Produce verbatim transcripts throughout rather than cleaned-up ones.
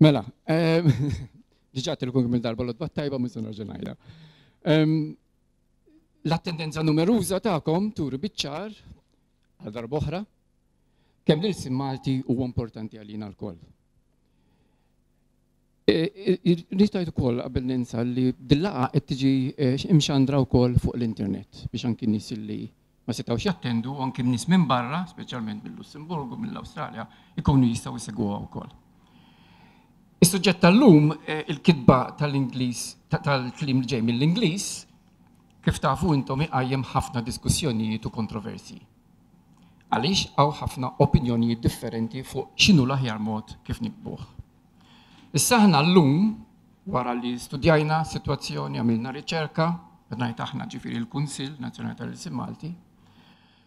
Mela, diġà għedtilkom kemm-il darba l-għodwa t-tajba, mhux se nerġa' ngħidha. L-attendenza numeruża tagħkom turi biċ-ċar għal darb'oħra kemm l-ilsien Malti huwa importanti għalina lkoll. Irrid ngħid ukoll, qabel ninsa, li dil-laqgħa qed tiġi imxandra wkoll fuq l-internet biex anki nies li ma setgħux jattendu, anki nies minn barra, speċjalment mill-Lussemburgu, mill-Awstralja, ikunu jistgħu jsegwuha wkoll. Is-suġġett tal-lum, il-kitba tal-Ingliż, tal-kliem li ġej mill-Ingliż, kif tafu intom, iqajjem ħafna diskussjonijiet u kontroversi. Għaliex hawn ħafna opinjonijiet differenti fuq x'inhu l-aħjar mod kif niktbuh. Issa aħna llum, wara li studjajna situazzjoni, għamilna riċerka, ngħid aħna, ġifieri l-Kunsill Nazzjonali tal-Ilsien Malti,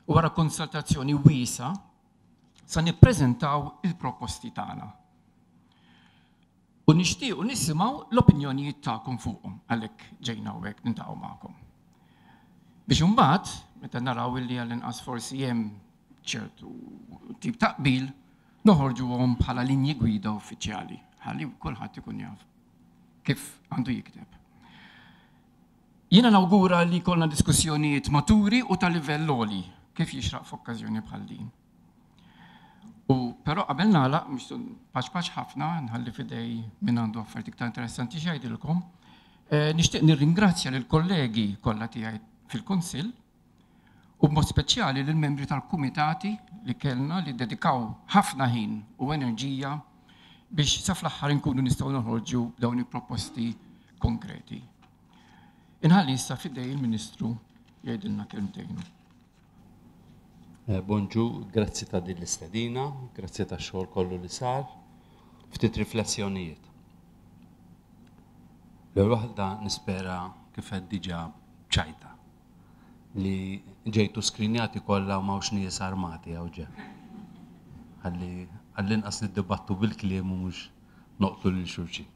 u wara konsultazzjoni wiesgħa, sa nippreżentaw il-proposti tagħna. U nixtiequ nisimgħu l-opinjonijiet tagħkom fuqhom, għalhekk ġejna hawnhekk niltaqgħu magħkom. Biex imbagħad, meta naraw illi għall-inqas forsi hemm ċertu tip ta' qbil, noħorġuhom bħala linji gwida uffiċjali, ħalli kulħadd ikun jaf kif għandu jikteb. Jiena nawgura li jkollna diskussjonijiet maturi u ta' livell għoli, kif jixraq f'okkażjoni bħal din. U però qabel nagħlaq, mhux paċ paċ ħafna, nħalli f'idejn min għandu affarijiet iktar interessanti x'jgħidilkom, eh, nixtieq nirringrazzja lill kollegi kollha tiegħi fil-Kunsill u b'mod speċjali lill-membri tal-kumitati li kellna, li dedikaw ħafna ħin u enerġija biex sa fl-aħħar inkunu nistgħu noħorġu dawn il-proposti konkreti. Inħalli issa f'idejn il-Ministru jgħidilna kelmtejn. Eh, bonġu, grazzi ta' din l-istedina, grazzi ta' xogħol kollu li sar, ftit riflessjonijiet. L-ewwel waħda, nispera kif qed diġà ċajta li ġejtu skrinjati kollha u m'hawnx nies armati hawn ġe. Ħalli għall-inqas niddibattu bil-kliem u mhux noqtlu lil xulxin.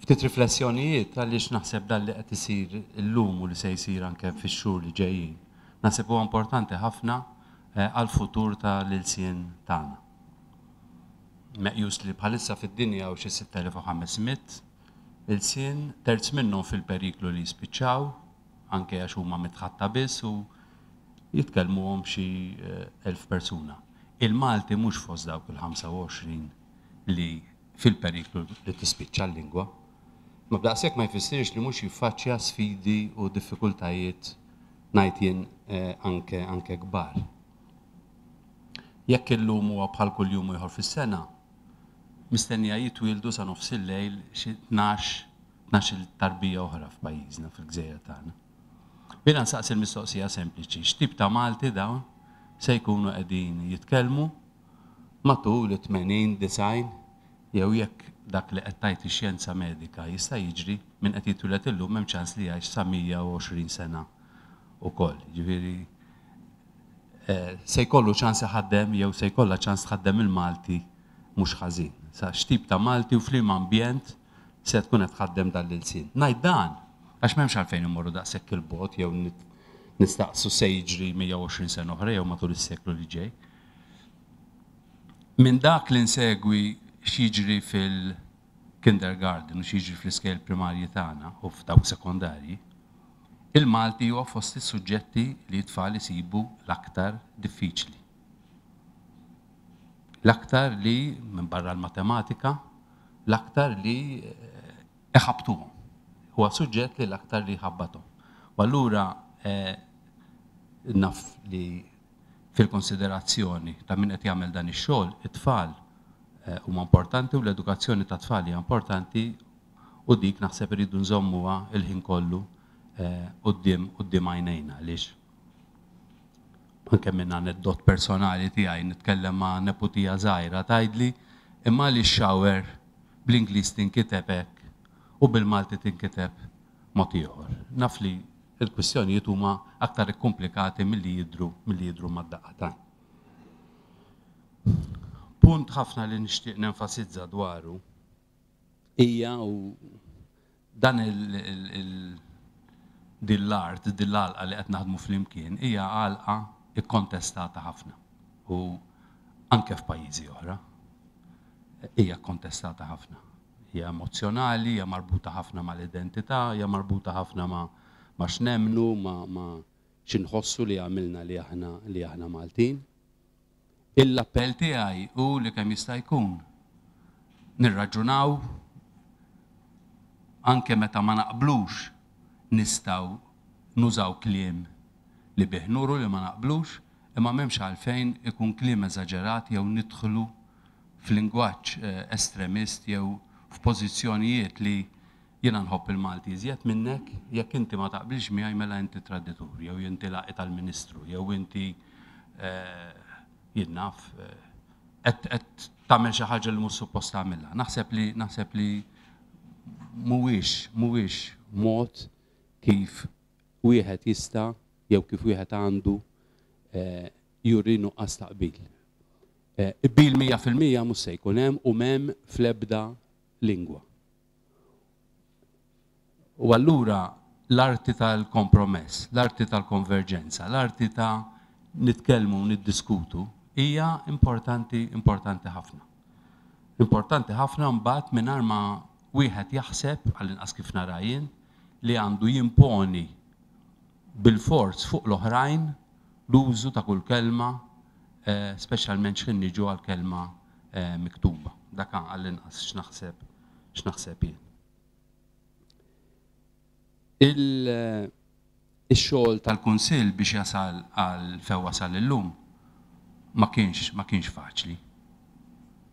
Ftit riflessjonijiet għaliex naħseb dan li qed isir illum u li se jsir anke fix-xhur li ġejjin, naħseb huwa importanti ħafna eh, għal-futur tal-ilsien tagħna. Meqjus li bħalissa fid-dinja hawn xi sitt elef u ħames mitt ilsien, terz minnhom fil-periklu li jispiċċaw, anke għax huma mitħaddta biss u jitkellmuhom xi eh, elf persuna. Il-Malti mhux fost dawk il-ħamsa u għoxrin li fil-periklu li tispiċċa l-lingwa. Ma b'daqshekk ma jfissirx li mhux jiffaċċja sfidi u diffikultajiet, ngħid jien, eh, anke anke kbar. Jekk illum huwa bħal kull jum ieħor fis-sena, mistennija jitwieldu sa nofs il-lejl xi tnax tnax-il tarbija oħra f'pajjiżna, fil-gżejjer tagħna. Jiena nsaqsi l-mistoqsija sempliċi: x'tip ta' Malti dawn se jkunu qegħdin jitkellmu matul it-tmenin, disgħin, jew jekk dak li qed tgħid ix-xjenza medika jista' jiġri, minn qed jitwieled illum hemm ċans li jgħix sa mija u għoxrin sena ukoll. Ġifieri eh, se jkollu ċans iħaddem jew se jkollha ċans tħaddem il-Malti mhux ħażin. Sa x'tip ta' Malti u f'liema ambjent se tkun qed tħaddem dan l-ilsien? Ngħid dan għax m'hemmx għalfejn immorru daqshekk 'il bogħod jew nistaqsu se jiġri mija u għoxrin sena oħra jew matul is-seklu li ġej. Minn dak li nsegwi x'jiġri fil-kindergarten u x'jiġri fl-iskejjel primarji tagħna u f'dawk sekondarji, il-Malti huwa fost is-suġġetti li t-tfal isibu l-aktar diffiċli. L-aktar li, minn barra l-matematika, l-aktar li eh, iħabbtuhom. Huwa suġġett li l-aktar li ħabbathom. U allura eh, naf li fil-konsiderazzjoni ta' min qed jagħmel dan ix-xogħol, it-tfal eh, huma importanti u l-edukazzjoni ta' tfal hija importanti u dik naħseb iridu nżommuha il-ħin kollu eh, quddiem quddiem għajnejna, għaliex anke minn aneddot personali tiegħi, nitkellem ma' neputija żgħira, tgħidli: "Imma li shower bl-Ingliż tinkiteb hekk u bil-Malti tinkiteb mod ieħor?" Naf li il-kwistjonijiet huma aktar ikkomplikati milli jidru milli jidru mad-daqqa t'għajn. Punt ħafna li nixtieq nenfasizza dwaru hija u dan il, il, il din l-art, din l-għalqa li qed naħdmu flimkien hija għalqa ikkontestata ħafna u anke f'pajjiżi oħra. hija kontestata ħafna. Hija emozjonali, hija marbuta ħafna mal-identità, hija marbuta ħafna ma' ma' x'nemmnu, ma' ma' x'inħossu li għamilna li aħna li aħna Maltin. L-appell tiegħi hu li kemm jista' jkun nirraġunaw, anke meta ma naqblux nistgħu nużaw kliem li bih nuru li ma naqblux, imma m'hemmx għalfejn ikun kliem eżaġerat jew nidħlu f'lingwaġġ estremist jew f'pożizzjonijiet li jiena nħobb il-Malti iżjed minnek, jekk inti ma taqbilx miegħi mela inti traditur, jew inti laqi tal-Ministru, jew inti jien naf qed tagħmel xi ħaġa li mhux suppost tagħmilha. Naħseb li naħseb li mhuwiex mhuwiex mod kif wieħed jista' jew kif wieħed għandu juri nuqqas ta' qbil. Qbil mija fil-mija mhux se jkun hemm u m'hemm fl-ebda lingwa. U allura l-arti tal-kompromess, l-arti tal-konverġenza, l-arti ta' nitkellmu u niddiskutu hija importanti, importanti ħafna. Importanti ħafna mbagħad mingħajr ma wieħed jaħseb, għall-inqas kif nara jien, li għandu jimponi bil-forz fuq l-oħrajn l-użu ta' kull kelma, speċjalment x'ħin niġu għal-kelma miktuba. Dak għall-inqas x'naħseb x'naħseb jien. Il-xogħol tal-Kunsill biex jasal għal fejn wasal illum ma kienx ma kienx faċli.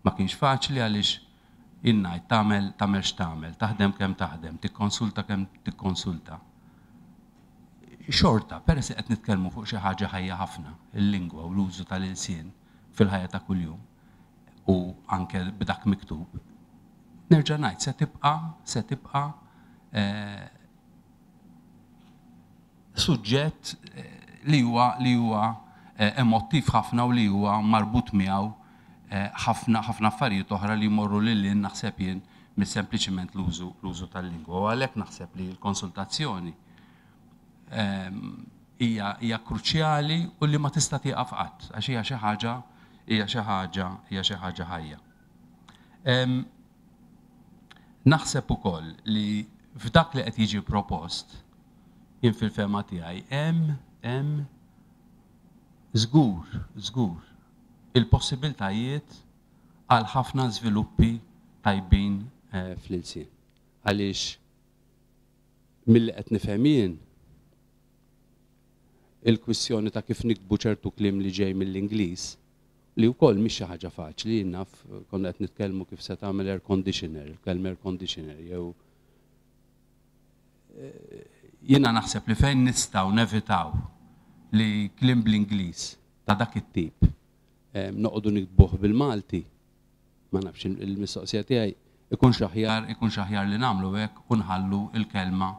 Ma kienx faċli għaliex innajt tagħmel tagħmel x'tagħmel, taħdem kemm taħdem, tikkonsulta kemm tikkonsulta. Xorta, peress li qed nitkellmu fuq xi ħaġa ħajja ħafna, il-lingwa u l-użu tal-ilsien fil-ħajja ta' kuljum u anke b'dak miktub, nerġa' ngħid se tibqa' se tibqa' suġġett li huwa li huwa emottiv ħafna u li huwa marbut miegħu ħafna ħafna affarijiet oħra li jmorru lil hinn naħseb jien mis-sempliċiment l-użu l-użu tal-lingwa. U għalhekk naħseb li l-konsultazzjoni hija hija kruċjali u li ma tista' tieqaf qatt għax hija xi ħaġa hija xi ħaġa hija xi ħaġa ħajja. Naħseb ukoll li f'dak li qed jiġi propost jien fil-fehma tiegħi hemm hemm żgur żgur il-possibiltajiet għal ħafna żviluppi tajbin fl-ilsien. Għaliex milli qed nifhem jien il-kwistjoni ta' kif nikbu ċertu kliem li ġej mill-Ingliż li wkoll mhix xi ħaġa faċli, jien naf konna qed nitkellmu kif se tagħmel air conditioner, il-kelma air conditioner jew jiena naħseb li fejn nistgħu nevitaw li kliem bl-Ingliż ta' dak it-tip noqogħdu nikbuh bil-Malti, ma nafx il-mistoqsija tiegħi ikunx aħjar ikunx aħjar li nagħmlu hekk u nħallu il-kelma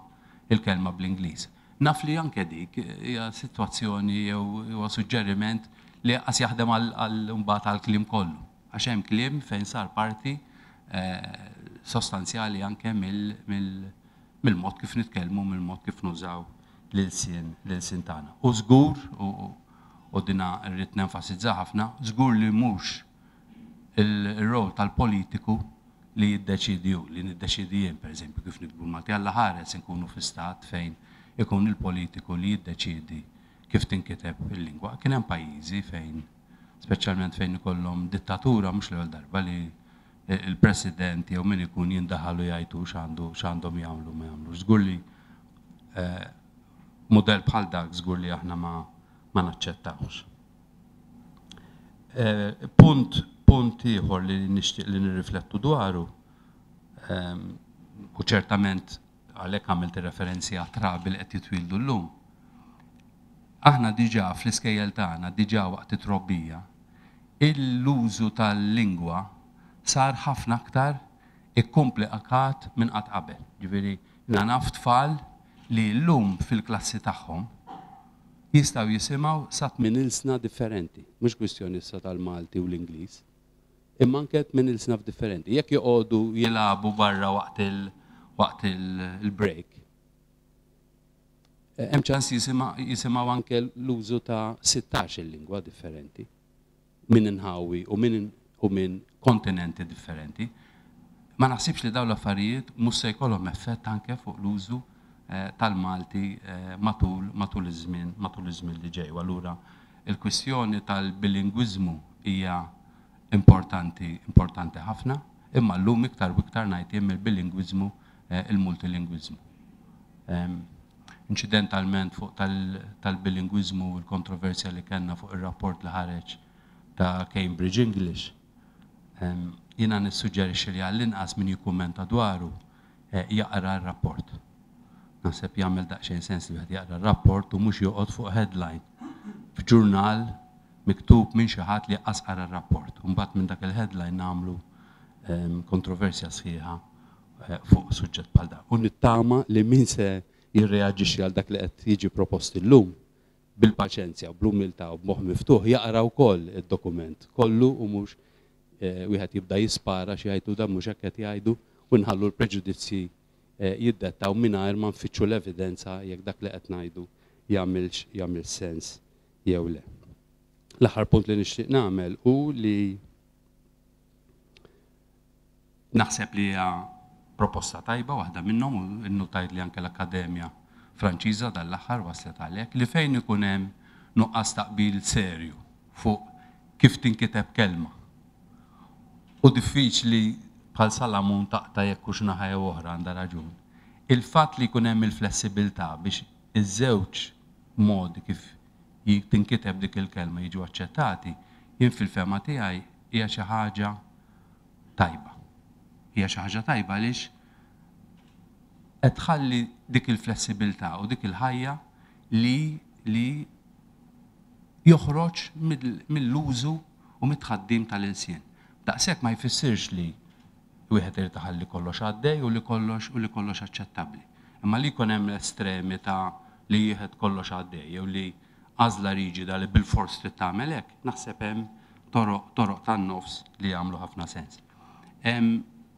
il-kelma bl-Ingliż. Naf li anke dik hija sitwazzjoni jew huwa suġġeriment li qas jaħdem għal mbagħad għall-kliem kollu. Għax hemm kliem fejn sar parti sostanzjali anke mill-mod kif nitkellmu, mill-mod kif nużaw l-ilsien l-ilsien tagħna. U żgur, u dina rrid nenfasizza ħafna, żgur li mhux il-rol tal-politiku li jiddeċidi hu, li niddeċidi jien pereżempju kif nikbu l-Malti. Alla ħares inkunu fi stat fejn ikun il-politiku li jiddeċidi kif tinkiteb il-lingwa. Kien hemm pajjiżi fejn, speċjalment fejn ikollhom dittatura, mhux l-ewwel darba li il-president jew min ikun jindaħalu jgħidu x'għandu x'għandhom jagħmlu ma jagħmlux. Żgur li mudell bħal dak żgur li aħna ma ma naċċettawx. Punt punt ieħor li nixtieq li nirriflettu dwaru, u ċertament għalhekk għamilt referenzi għat-trabi li qed jitwieldu llum. Aħna diġà fl-iskejjel tagħna, diġà waqt it-trobbija, l-użu tal-lingwa sar ħafna aktar ikkomplikat minn qatt qabel. Ġifieri, jiena naf tfal li llum fil-klassi tagħhom jistgħu jisimgħu sa tmien ilsna differenti, mhux kwistjoni issa tal-Malti u l-Ingliż, imma anke tmien ilsna differenti. Jekk joqogħdu jilagħbu barra waqt il waqt il-break, hemm ċans jisimgħu anke l-użu ta' sittax il-lingwa differenti minn inħawi u minn u minn kontinenti differenti. Ma naħsibx li dawn l-affarijiet mhux se jkollhom effett anke fuq l-użu tal-Malti matul matul iż-żmien matul iż-żmien li ġej. Allura il-kwistjoni tal-bilingwiżmu hija importanti importanti ħafna, imma llum iktar u iktar ngħid jien il-bilingwiżmu, il-multilingwiżmu. Incidentalment fuq tal-bilingwiżmu u l-kontroversja li kellna fuq ir-rapport li ħareġ ta' Cambridge English, jiena nissuġġerixxi li għall-inqas min jikkummenta dwaru jaqra r-rapport. Naħseb jagħmel daqsxejn sens li wieħed jaqra r-rapport u mhux joqgħod fuq headline f'ġurnal miktub minn xi ħadd li qas qara r-rapport. U mbagħad minn dak il-headline nagħmlu kontroversja sħiħa fuq suġġett bħal dan. U nittama li min se jirreaġixxi għal dak li qed jiġi propost illum bil-paċenzja, bl-umiltà u b'moħħ miftuħ jaqra wkoll id-dokument kollu u mhux wieħed jibda jispara xi jgħidu dan mhux hekk qed jgħidu u nħallu l-preġudizzji jiddettaw mingħajr ma nfittxu l-evidenza jekk dak li qed ngħidu jagħmilx jagħmel sens jew le. L-aħħar punt li nixtieq nagħmel hu li naħseb li hija proposta tajba waħda minnhom u nnutajt li anke l-Akkademja Franċiża dal-aħħar waslet għalhekk li fejn ikun hemm nuqqas taqbil serju fuq kif tinkiteb kelma. U diffiċli bħal Salamun taqta' jekk hux naħa jew oħra għandha raġun. Il-fatt li jkun hemm il-flessibilità biex iż-żewġ modi kif tinkiteb dik il-kelma jiġu aċċettati, jien fil-fehma tiegħi hija xi ħaġa tajba. Hija xi ħaġa tajba għaliex qed tħalli dik il-flessibilità u dik il-ħajja li li joħroġ mill-użu u mit-tħaddim tal-ilsien. Daqshekk ma jfissirx li wieħed irid iħalli kollox għaddej u li kollox u li kollox aċċettabbli. Imma li jkun hemm l-estremi ta' li wieħed kollox għaddej jew li għażla riġida li bilfors trid tagħmel hekk, naħseb hemm toroq toroq tan-nofs li jagħmlu ħafna sens.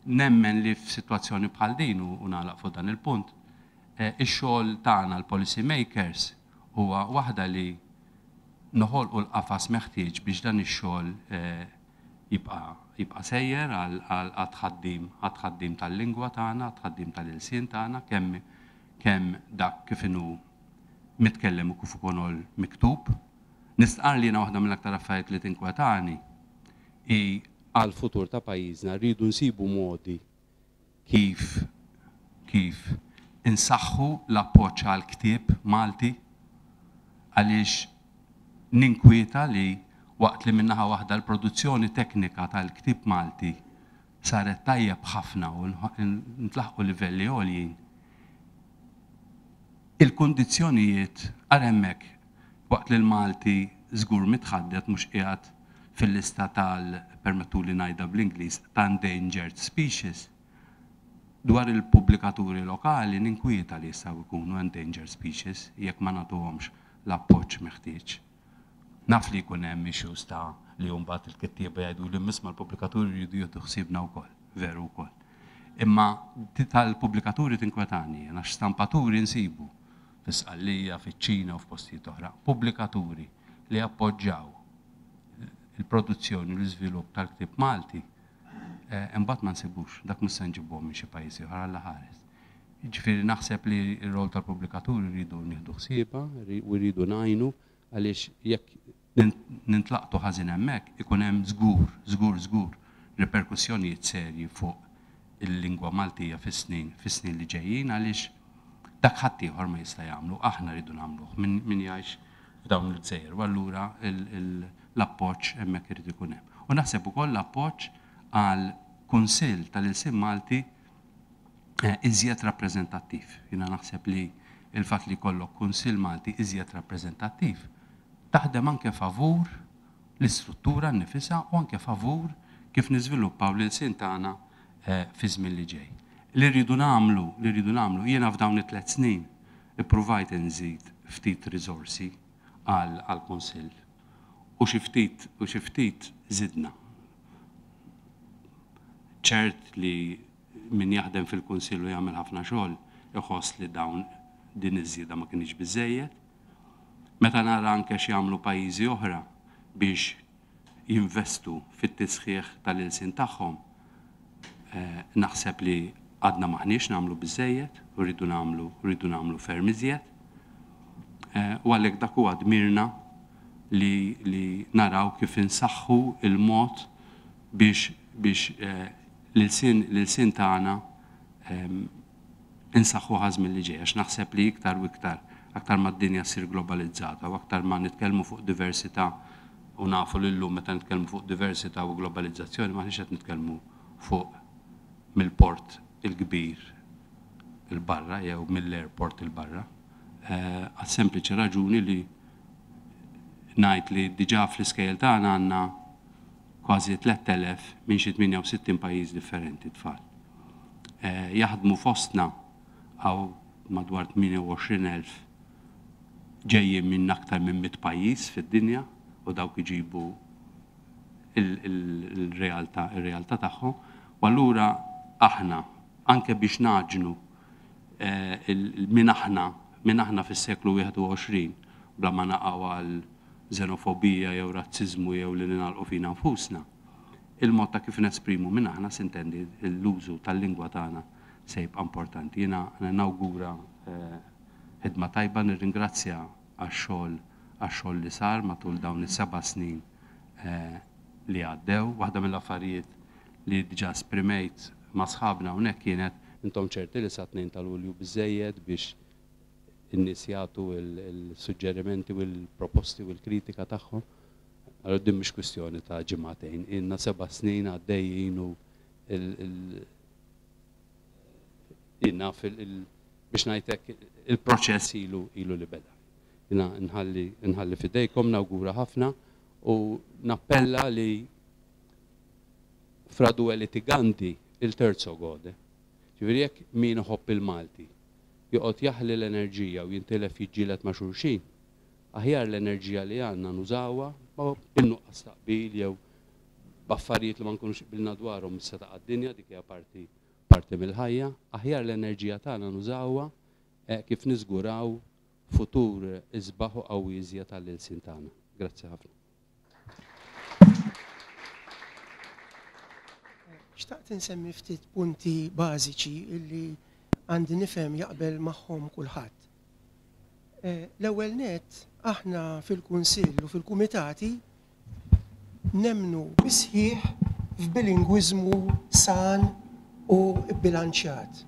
Nemmen li f'sitwazzjoni bħal din u nagħlaq fuq dan il-punt, ix-xogħol tagħna l-policy makers huwa waħda li noħolqu l-qafas meħtieġ biex dan ix-xogħol jibqa' jibqa' sejjer għal tħaddim għat-tħaddim tal-lingwa tagħna, għat-tħaddim tal-ilsien tagħna, kemm kemm dak kif inhu mitkellem u kif ukoll miktub. Nistqar li jiena waħda mill-aktar affarijiet li tinkwetani hi għal-futur ta' pajjiżna rridu nsibu modi kif kif insaħħu l-appoġġ għal ktieb Malti, għaliex ninkwieta li waqt li minnaħa waħda l-produzzjoni teknika tal-ktieb Malti saret tajjeb ħafna u ntlaħqu livelli għoljin, il-kundizzjonijiet għal hemmhekk waqt li l-Malti żgur mitħaddet mhux qiegħed fil-lista tal, permettu li ngħidha bl-Ingliż, ta' endangered species. Dwar il-pubblikaturi lokali ninkwieta li jistgħu jkunu endangered species jekk ma nagħtuhomx l-appoġġ meħtieġ. Naf li jkun hemm issues ta' li mbagħad il-kittieba jgħidu li misma l-pubblikaturi jridu jieħdu ħsiebna wkoll, veru wkoll. Imma tal-pubblikaturi tinkwetani, għax stampaturi nsibu fis-Sqallija, fiċ-Ċina u f'postijiet oħra. Pubblikaturi li appoġġjaw il-produzzjoni u l-iżvilupp tal-ktieb Malti, imbagħad ma nsibux, dak mhux se nġibuhom minn xi pajjiż ieħor Alla ħares. Jiġifieri naħseb li r-rol tal-pubblikaturi rridu nieħdu ħsiebha u rridu ngħinu, għaliex jekk nintlaqtu ħażin hemmhekk ikun hemm żgur, żgur, żgur riperkussjonijiet serji fuq il-lingwa Maltija fis-snin fis-snin li ġejjin, għaliex dak ħadd ieħor ma jista' jagħmlu, aħna rridu nagħmluh min jgħix f'dawn il-gżejjer, u allura l-appoġġ hemmhekk irid ikun hemm. U naħseb ukoll l-appoġġ għal Kunsill tal-Ilsien Malti iżjed rappreżentattiv. Jiena naħseb li il-fatt li jkollok Kunsill Malti iżjed rappreżentattiv taħdem anke favur l-istruttura nnifisha u anke favur kif niżviluppaw l-ilsien tagħna fi żmien li ġej. Li rridu nagħmlu, li rridu nagħmlu, jiena f'dawn it-tliet snin ippruvajt inżid ftit riżorsi għall-Kunsill u xi ftit u xi ftit żidna. Ċert li min jaħdem fil-Kunsill u jagħmel ħafna xogħol iħoss li dawn din iż-żieda ma kienx biżejjed. Meta nara anke x'jagħmlu pajjiżi oħra biex jinvestu fit-tisħiħ tal-ilsien tagħhom, naħseb li għadna maħniex nagħmlu biżejjed u rridu nagħmlu rridu nagħmlu ferm iżjed. U għalhekk dak huwa dmirna li, li naraw kif insaħħu il-mod biex biex l-ilsien l-ilsien tagħna insaħħu ħażmin li ġej, għax naħseb li iktar u iktar aktar ma d-dinja ssir globalizzata u aktar ma nitkellmu fuq diversità, u nafu li llum meta nitkellmu fuq diversità u globalizzazzjoni maħniex qed nitkellmu fuq mill-port il-kbir il-barra jew mill-airport il-barra, għal sempliċi raġuni li ngħid li diġà fl-iskejjel tagħna għandna kważi tliet elef minn xi tmienja u sittin pajjiż differenti tfal. Jaħdmu fostna għaw madwar tmienja u għoxrin elf ġejjin minn aktar minn mitt pajjiż fid-dinja, u dawk iġibu il-realtà, il-realtà tagħhom. U allura aħna anke biex naġnu minn aħna, minn aħna fis-seklu wieħed u għoxrin, bla ma naqgħu għal xenofobija jew razziżmu jew li ningħalqu fina nfusna, il-mod ta' kif nesprimu minn aħna, sintendi l-użu tal-lingwa tagħna se jibqa' importanti. Jiena nawgura ħidma tajba, nirringrazzja għax-xogħol għax-xogħol li sar matul dawn is-seba' snin li għaddew. Waħda mill-affarijiet li diġà esprimejt ma' sħabna hawnhekk kienet intom ċerti li sa tnejn ta' Lulju biżejjed biex in-nies jagħtu il-suġġerimenti u l-proposti u l-kritika tagħhom. Allora din mhix kwistjoni ta' ġimagħtejn, ilna seba' snin għaddejjin u ilna biex ngħidlek il-proċess ilu, ilu li beda. Jiena nħalli, nħalli fidejkom, nawgura ħafna u nappella li fra due litiganti il terzo gode. Ġifieri jekk min iħobb il-Malti joqgħod jaħli l-enerġija u jintilef jiġġieled ma' xulxin, aħjar l-enerġija li għandna nużawha bin-nuqqas ta' qbil jew b'affarijiet li ma nkunux qbilna dwarhom issa ta' d-dinja, dik hija parti, parti mill-ħajja, aħjar l-enerġija tagħna nużawha, eh, kif niżguraw futur isbaħ u qawwi iżjed tal-ilsien tagħna. Grazzi ħafna. Xtaqt insemmi ftit punti bażiċi illi għandi nifhem jaqbel magħhom kulħadd. Eh, l-ewwel nett aħna fil-Kunsill u fil-Kumitati nemnu bisħiħ f'bilingwiżmu san u bbilanċjat.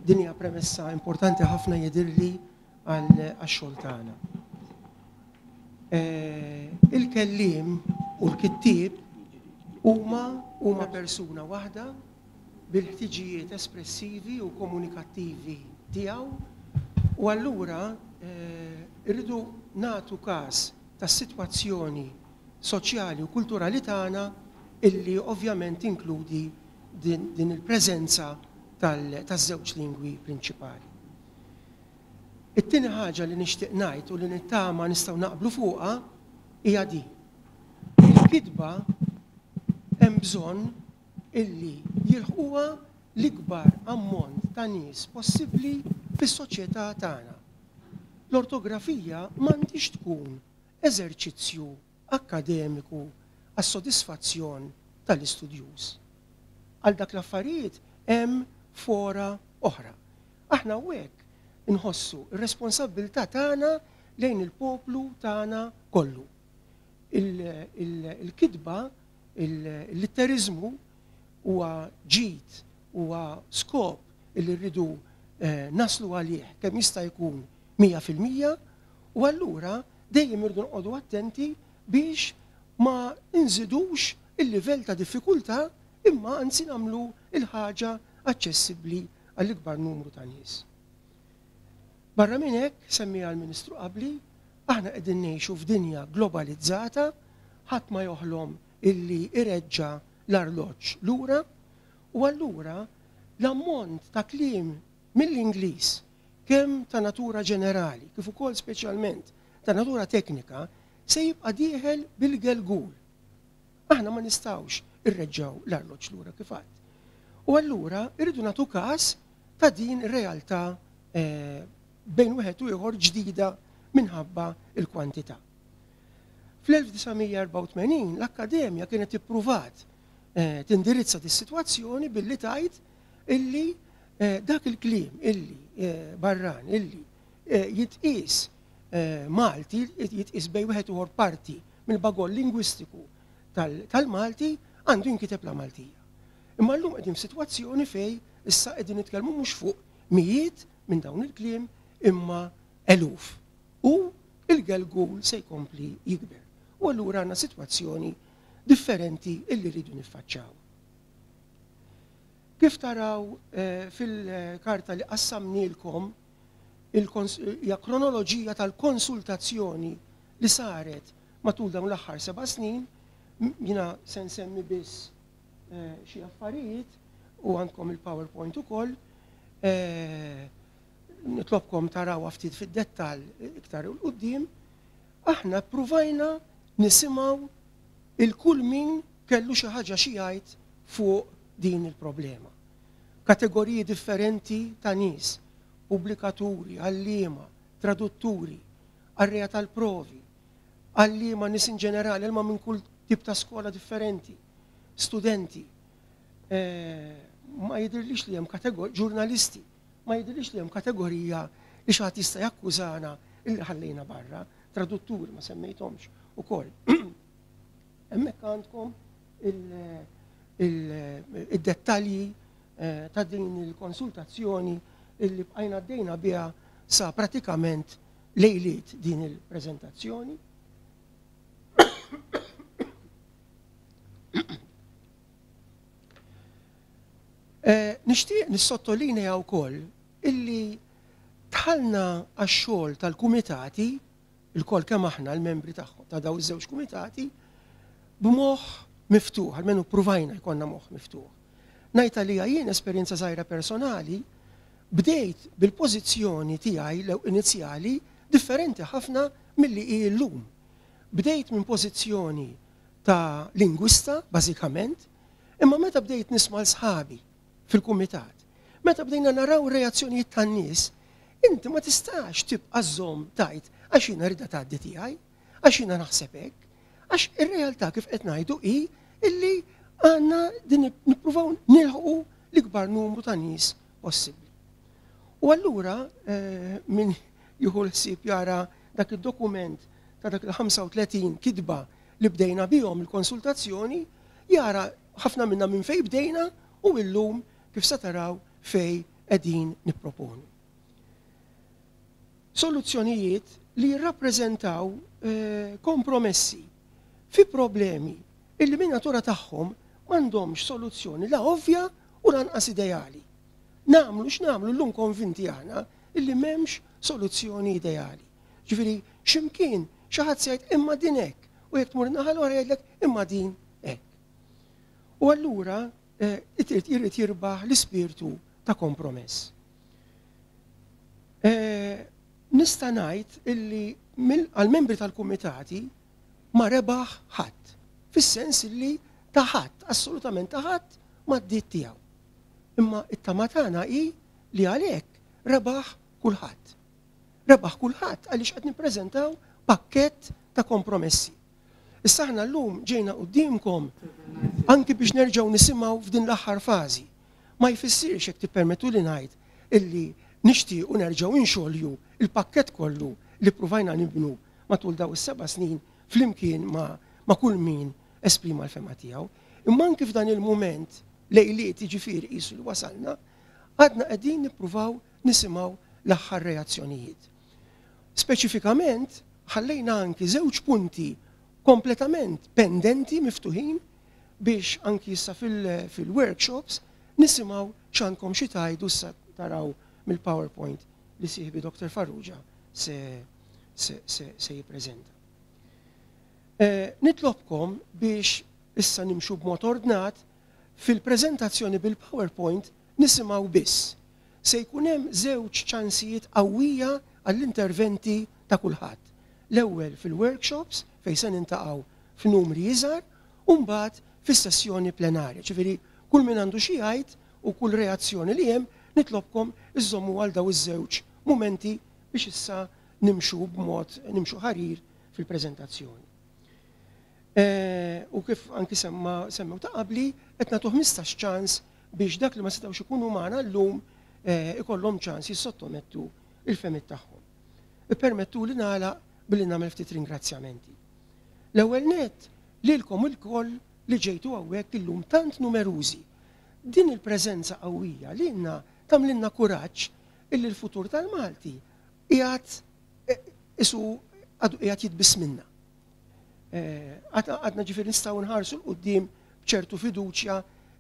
Din hija premessa importanti ħafna jidhirli għax-xogħol tagħna. Eh, il-kelliem u l-kittieb huma huma persuna waħda bil-ħtiġijiet espressivi u komunikattivi tiegħu, u allura, eh, irridu nagħtu każ tas-sitwazzjoni soċjali u kulturali tagħna illi ovvjament inkludi din, din il-preżenza tal-, taż-żewġ lingwi prinċipali. It-tieni ħaġa li nixtieq ngħid u li nittama nistgħu naqblu fuqha hija din. Il-kitba hemm bżonn illi jilħquha l-ikbar ammont ta' nies possibbli fis-soċjetà tagħna. L-ortografija m'għandix tkun eżerċizzju akkademiku għas-sodisfazzjon tal-istudjuż. Għal dak l-affarijiet hemm fora oħra. Aħna hawnhekk inħossu r-responsabbiltà tagħna lejn il-poplu tagħna kollu. Il-kitba, il-litterizmu huwa ġid, huwa skop illi rridu, eh, naslu għalih kemm jista' jkun mija fil-mija, u allura dejjem irridu noqogħdu attenti biex ma nżidux il-livell ta' diffikultà, imma anzi nagħmlu il-ħaġa aċċessibbli għall-ikbar numru ta' nies. Barra minn hekk, semmiha l-Ministru qabli, aħna qegħdin ngħixu f'dinja globalizzata, ħadd ma joħlom illi ireġġa' l-arloġġ lura, u allura l-ammont ta' kliem mill-Ingliż, kemm ta' natura ġenerali, kif ukoll speċjalment ta' natura teknika, se jibqa' dieħel bil-gelgul. Aħna ma nistgħux irreġġaw l-arloġġ lura kif għadd. U allura irridu nagħtu każ ta' din ir-realtà, eh, bejn wieħed u ieħor ġdida minħabba il-kwantità. Fl-elf disa' mija erbgħa u tmenin l-Akkademja kienet ippruvat, eh, tindirizza dis-sitwazzjoni billi tgħid illi, eh, dak il-kliem illi, eh, barran illi, eh, jitqies, eh, Malti, jitqies bej wieħed ieħor parti mill-bagoll lingwistiku tal-, tal-Malti għandu jinkiteb la Maltija. Imma llum qegħdin f'sitwazzjoni fej issa qegħdin nitkellmu mhux fuq mijiet minn dawn il-kliem imma eluf. U il-gelgul se jkompli jikber. U allura għandna sitwazzjoni differenti illi rridu niffaċċaw. Kif taraw, eh, fil-karta li qassamnilkom il-kons-, hija kronoloġija tal-konsultazzjoni li saret matul dawn l-aħħar seba' snin, m-, jiena se nsemmi biss, eh, xi affarijiet u għandkom il-PowerPoint ukoll. Eh, nitlobkom taraw ftit fid-dettall iktar 'il quddiem. Aħna ppruvajna nisimgħu il-kull min kellu xi ħaġa xi jgħid fuq din il-problema. Kategoriji differenti ta' nies, pubblikaturi, għalliema, tradutturi, qarrejja tal-provi, għalliema nies in ġenerali, għalliema minn kull tip ta' skola differenti, studenti, eh, ma jidhirlix li hemm kategor-, ġurnalisti, ma jidhirlix li hemm kategorija li xi ħadd jista' jakkużana illi ħallejna barra, tradutturi ma semmejthomx ukoll. Hemmhekk għandkom il-, il-, id-dettalji, eh, ta' din il-konsultazzjoni illi bqajna għaddejna biha sa pratikament lejliet din il-preżentazzjoni. Eh, nixtieq nissottolinea wkoll illi dħalna għax-xogħol tal-kumitati, il-kol kemm aħna l-membri tagħhom ta' daw iż-żewġ kumitati, b'moħħ miftuħ, almenu ppruvajna jkollna moħħ miftuħ. Ngħid għalija jien esperjenza żgħira personali, bdejt bil-pożizzjoni tiegħi l inizjali differenti ħafna milli hi llum. Bdejt minn pożizzjoni ta' lingwista, bażikament, imma meta bdejt nisma' l-sħabi fil-kumitat, meta bdejna naraw reazzjonijiet tan-nies, inti ma tistax tibqa' żżomm tajt għax jiena rida tgħaddi tiegħi, għax jiena naħseb hekk, għax ir-realtà kif qed ngħidu hi illi għandna din nippruvaw nilħqu l-ikbar numru ta' nies possibbli. U allura, eh, min jieħu l-ħsieb jara dak id-dokument ta' dak il-ħamsa u tletin kitba li bdejna bihom il-konsultazzjoni, jara ħafna minna minn fej bdejna u illum kif se taraw fej qegħdin nipproponu. Soluzzjonijiet li jirrappreżentaw, eh, kompromessi fi problemi illi minn natura tagħhom m'għandhomx soluzzjoni la ovvja u lanqas ideali. Namlu x'namlu llum konvinti aħna illi m'hemmx soluzzjoni ideali. Ġifieri x'imkien xi ħadd se jgħid imma din hekk u jekk tmur naħa l-oħra jgħidlek imma din hekk. U allura, eh, irid irid jirbaħ l-ispirtu ta' kompromess. Eh, nista' ngħid illi mill-, għall-membri tal-kumitati ma rebaħ ħadd, fis-sens illi ta' ħadd, assolutament ta' ħadd ma d-ditt tiegħu. Imma it-tama tagħna hi li għalhekk rebaħ kulħadd. Rebaħ kulħadd għaliex qed nippreżentaw pakkett ta' kompromessi. Issa aħna llum ġejna quddiemkom anki biex nerġgħu nisimgħu f'din l-aħħar fażi. Ma jfissirx jekk tippermettu li ngħid illi nixtiequ nerġgħu inxolju il-pakkett kollu li ppruvajna nibnu matul daw is-seba' snin flimkien ma, ma' kull min esprima l-fema tiegħu. Imma anki f'dan il-mument lejliet jiġifieri qisu li wasalna, għadna qegħdin nippruvaw nisimgħu l-aħħar reazzjonijiet. Speċifikament ħallejna anki żewġ punti kompletament pendenti miftuħin biex anki issa fil-, fil-workshops nisimgħu x'għandkom xi tgħidu issa taraw mill-PowerPoint li sieħbi Doktor Farrugia se, se, se, se jippreżenta. Eh, nitlobkom biex issa nimxu b'mod ordnat fil-preżentazzjoni bil-PowerPoint nisimgħu biss. Se jkun hemm żewġ ċansijiet qawwija għall-interventi ta' kulħadd. L-ewwel fil-workshops fejn se nintaqgħu f'numri iżgħar u mbagħad fis-sessjoni plenarja. Ġifieri kull min għandu xi jgħid u kull reazzjoni li hemm nitlobkom iżommu għal daw iż-żewġ mumenti biex issa nimxu b'mod nimxu ħarir fil-preżentazzjoni. U kif anki semma semmew ta' qabli, qed nagħtu ħmistax ċans biex dak li ma setgħux ikunu magħna llum ikollhom ċans jissottomettu il-fehmiet tagħhom. Ippermettu li nagħlaq billi nagħmel ftit ringrazzjamenti. L-ewwel nett lilkom ilkoll li ġejtu hawnhekk illum tant numerużi. Din il-preżenza qawwija lilna tagħmlilna kuraġġ illi l-futur tal-Malti qiegħed isu għadu qiegħed jitbisminna. Għadna ġifieri nistgħu nħarsu 'l quddiem b'ċertu fiduċja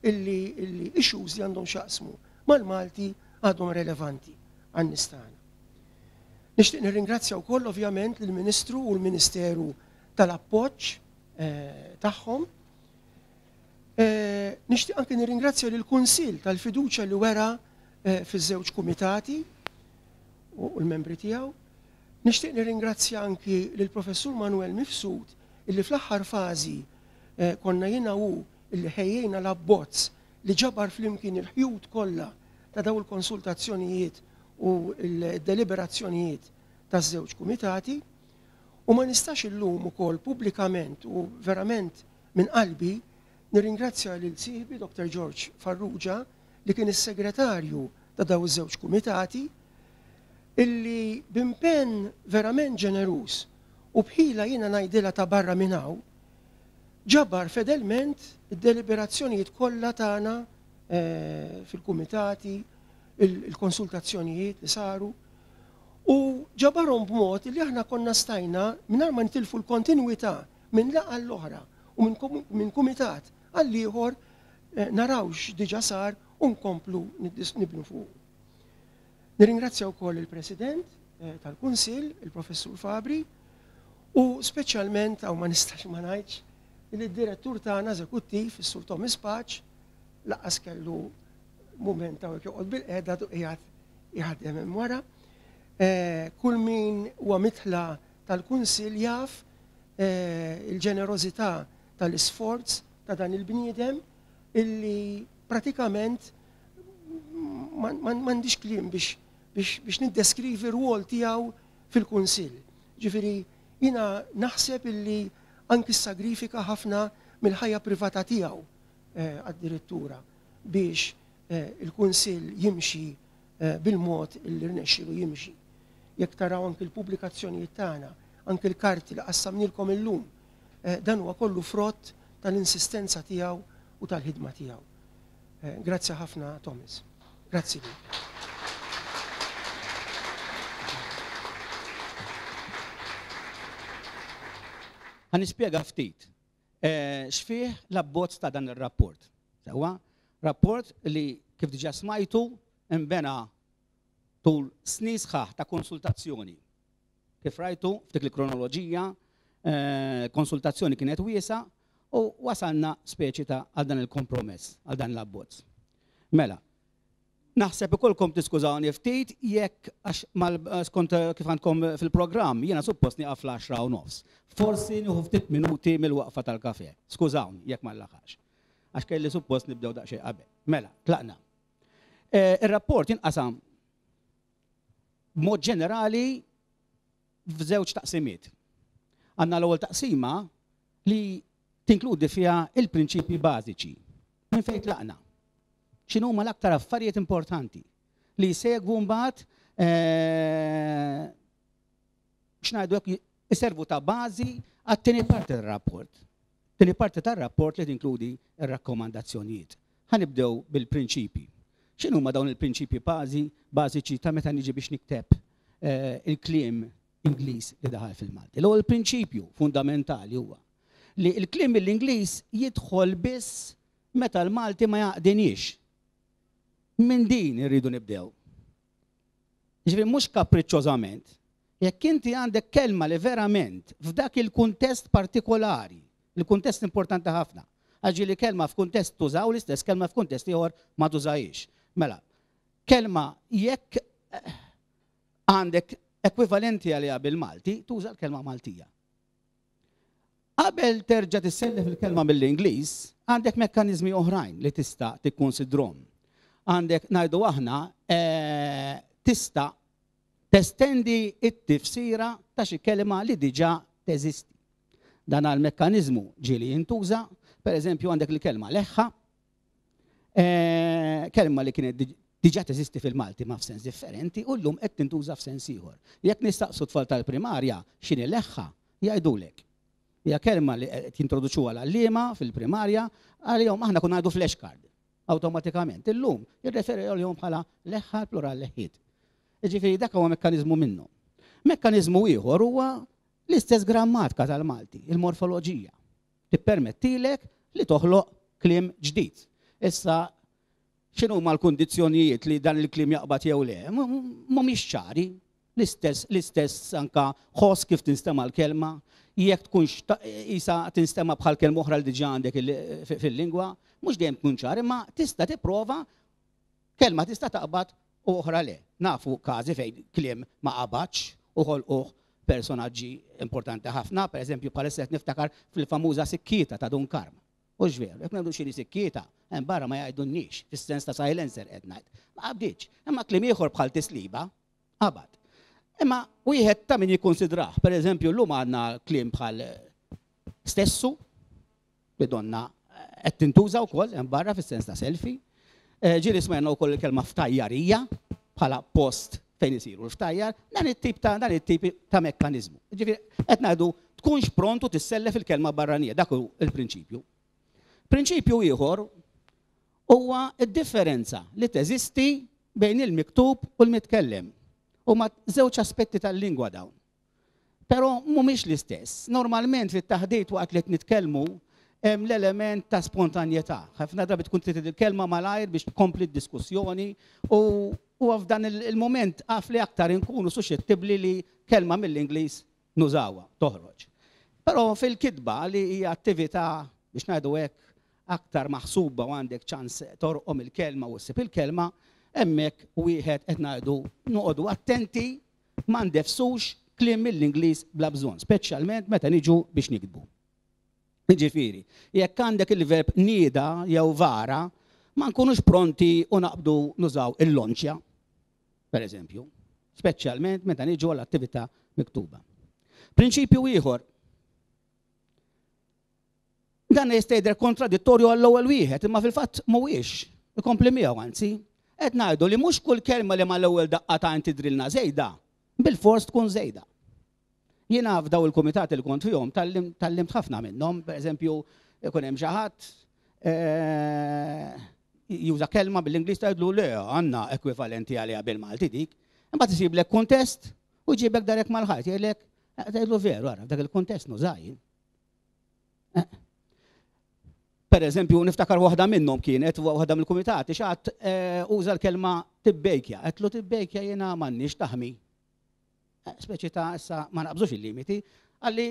illi issues li għandhom x'jaqsmu mal-Malti għadhom relevanti għan-nies tagħna. Nixtieq nirringrazzja wkoll ovvjament lill-Ministru u l-Ministeru tal-appoġġ tagħhom. Nixtieq anke nirringrazzja lill-Kunsill tal-fiduċja li wera fiż-żewġ kumitati u l-membri tiegħu. Nixtieq nirringrazzja anki lill-Professur Manuel Mifsud illi fl-aħħar fażi konna jiena hu illi ħejjejna l-abbozz li ġabar flimkien il-ħjut kollha ta' daw il-konsultazzjonijiet u l-deliberazzjonijiet taż-żewġ kumitati. U ma nistax illum ukoll pubblikament u verament minn qalbi nirringrazzja lil sieħbi Doctor George Farrugia li kien is-segretarju ta' daw iż-żewġ kumitati illi b'impenn verament ġeneruż u bħila jiena ngħidilha ta' barra minn hawn ġabar fedelment id-deliberazzjonijiet kollha tagħna fil-kumitati, il-konsultazzjonijiet li saru, u ġabarhom b'mod li aħna konna stajna mingħajr ma nitilfu l-kontinwità minn laqgħa l-oħra u minn kumitat għal ieħor naraw x'diġà sar u nkomplu nibnu fuq. Nirringrazzja wkoll il-President tal-Kunsill, il-Professur Fabri, u speċjalment, hawn ma nistax ma ngħidx, il-direttur tagħna eżekuttiv, is-Sur Thomas Pace, laqas kellu mument hawnhekk joqgħod bil-qiegħda du qiegħed jaħdem hemm wara. Kull min huwa mitħla tal-Kunsill jaf il-ġenerożità tal-isforz ta' dan il-bniedem illi pratikament m'għandix kliem biex niddeskrivi r-rwol tiegħu fil-Kunsill. Ġifieri jiena naħseb illi anki sagrifika ħafna mill-ħajja privata tiegħu addirittura biex il-Kunsill jimxi bil-mod illi rnexxielu jimxi. Jekk taraw anki l-pubblikazzjonijiet tagħna, anki l-karti li qassamnilkom illum, dan huwa kollu frott tal-insistenza tiegħu u tal-ħidma tiegħu. Grazzi ħafna, Thomas. Grazzi. Ħa nispjega ftit x'fih l-abbozz ta' dan ir-rapport. Sewwa, rapport li kif diġà smajtu imbena tul snin sħaħ ta' konsultazzjoni. Kif rajtu f'dik il-kronoloġija, konsultazzjoni kienet wiesa u wasalna speċi ta' għal dan il-kompromess, għal dan l-abbozz. Mela, naħseb ikolkom tiskużawni ftit jekk għax skont kif għandkom fil-programm jiena suppost nieqaf fl-għaxra u nofs. Forsi nieħu ftit minuti mill-waqfa tal-kafe. Skużawni jekk ma nlaħax. Għax kelli suppost nibdew daqsxejn qabel. Mela, tlaqna. Ir-rapport jinqasam b'mod ġenerali f'żewġ taqsimiet. Għandna l-ewwel taqsima li tinkludi fiha il-prinċipji bażiċi. Minn fejn tlaqna? X'inhuma l-aktar affarijiet importanti li jsegwu mbagħad x'ngħidu hekk iservu ta' bażi għat-tieni parti tar-rapport. Tieni parti tar-rapport li tinkludi r-rakkomandazzjonijiet. Ħa nibdew bil-prinċipji. X'inhuma dawn il-prinċipji bażi bażiċi ta' meta niġi biex nikteb il-kliem Ingliż li daħal fil-Malti? L-ewwel prinċipju fundamentali huwa li l-kliem mill-Ingliż jidħol biss meta l-Malti ma jaqdiniex. Minn din irridu nibdew. Ġifieri mhux kapriċċożament. Jekk inti għandek kelma li verament f'dak il-kuntest partikolari, il-kuntest importanti ħafna, għax li kelma f'kuntest tużaw l-istess kelma f'kuntest ieħor ma tużajiex. Mela, kelma jekk għandek ekwivalenti għaliha bil-Malti, tuża l-kelma Maltija. Qabel terġa' tissellef il-kelma mill-Ingliż, għandek mekkaniżmi oħrajn li tista' tikkonsidrom. Għandek ngħidu aħna tista' testendi it-tifsira ta' xi kelma li diġà teżisti. Dan għal-mekkaniżmu ġieli jintuża, per eżempju għandek il-kelma leħħa, eh, kelma li kienet diġà teżisti fil-Malti ma f'sens differenti u llum qed tintuża f'sens ieħor. Jekk nistaqsu tfal tal-primarja x'inhi leħħa, jgħidulek. Hija kelma li qed jintroduċuha l-għalliema fil-primarja, għalihom aħna konna ngħidu flashcard awtomatikament. Illum jirreferi għalihom bħala leħħa, plural leħħiet. Jiġifieri dak huwa mekkaniżmu minnu. Mekkaniżmu ieħor huwa l-istess grammatika tal-Malti, il-morfoloġija. Tippermettilek li toħloq kliem ġdid. Issa, x'inhuma l-kundizzjonijiet li dan il-kliem jaqbad jew le? Mhumiex ċari. L-istess, l-istess anka ħoss kif tinstema' l-kelma, jekk tkunx isa tinstema' bħal kelma oħra li diġà għandek fil-lingwa, mhux dejjem tkun ċar, imma tista' tipprova kelma tista' taqbad u oħra le. Nafu każi fejn kliem ma qabadx u ħolquh personaġġi importanti ħafna, per eżempju bħalissa qed niftakar fil-famuża sikkieta ta' Dun Karm. U veru, jekk ngħidu xini sikkieta, hemm barra ma jgħidunniex, fis-sens ta' silencer qed ngħid. Ma qabdiċ, imma kliem ieħor bħal tisliba qabad. Imma wieħed ta' min jikkonsidrah, per eżempju llum għandna kliem bħal stessu, li donna qed tintuża wkoll hemm barra fis-sens ta' selfie. Ġieli smajna wkoll il-kelma ftajjarija bħala post fejn isiru l-ftajjar, dan it-tip ta' dan it-tip ta' mekkaniżmu. Ġifieri qed ngħidu tkunx prontu tissellef il-kelma barranija, dak hu il-prinċipju. Prinċipju ieħor huwa d-differenza li teżisti bejn il-miktub u l-mitkellem. Huma żewġ aspetti tal-lingwa dawn. Però mhumiex l-istess. Normalment fit-taħdit waqt li qed nitkellmu hemm l-element ta' spontanjetà. Ħafna drabi tkun trid il-kelma malajr biex tkompli d-diskussjoni u u f'dan il-moment għaf li aktar inkunu suxxettibbli li kelma mill-Ingliż nużawha, toħroġ. Però fil-kitba li hija attività biex ngħidu hekk aktar maħsuba u għandek ċans torqom il-kelma u ssib il-kelma, hemmhekk wieħed qed ngħidu noqogħdu attenti ma ndefsux kliem mill-Ingliż bla bżonn, speċjalment meta niġu biex nikdbu. Jiġifieri, jekk għandek il-verb nieda jew vara, ma nkunux pronti u naqbdu nużaw il-lonċja, per eżempju, speċjalment meta niġu għall-attività miktuba. Prinċipju ieħor, dan jista' jidher kontradittorju għall-ewwel wieħed, imma fil-fatt mhuwiex, ikompli miegħu anzi, qed ngħidu li mhux kull kelma li mal-ewwel daqqa ta' tidrilna żejda, bil-fors tkun żejda. Jiena f'daw il-kumitati li kont fihom tallimt ħafna minnhom, per eżempju, ikun hemm xi ħadd juża kelma bil-Ingliż tgħidlu le għandna ekwivalenti għaliha bil-Malti dik, imbagħad isiblek kuntest u jġibek darek mal-ħajt, jgħidlek tgħidlu veru ara f'dak il-kuntest nużaj. Per eżempju, niftakar waħda minnhom kienet waħda mill-kumitati xi ħadd uża l-kelma tibbejkja, qedlu tibbejkja jiena m'għandniex taħmi. Speċi ta' issa ma naqbżux il-limiti, għalli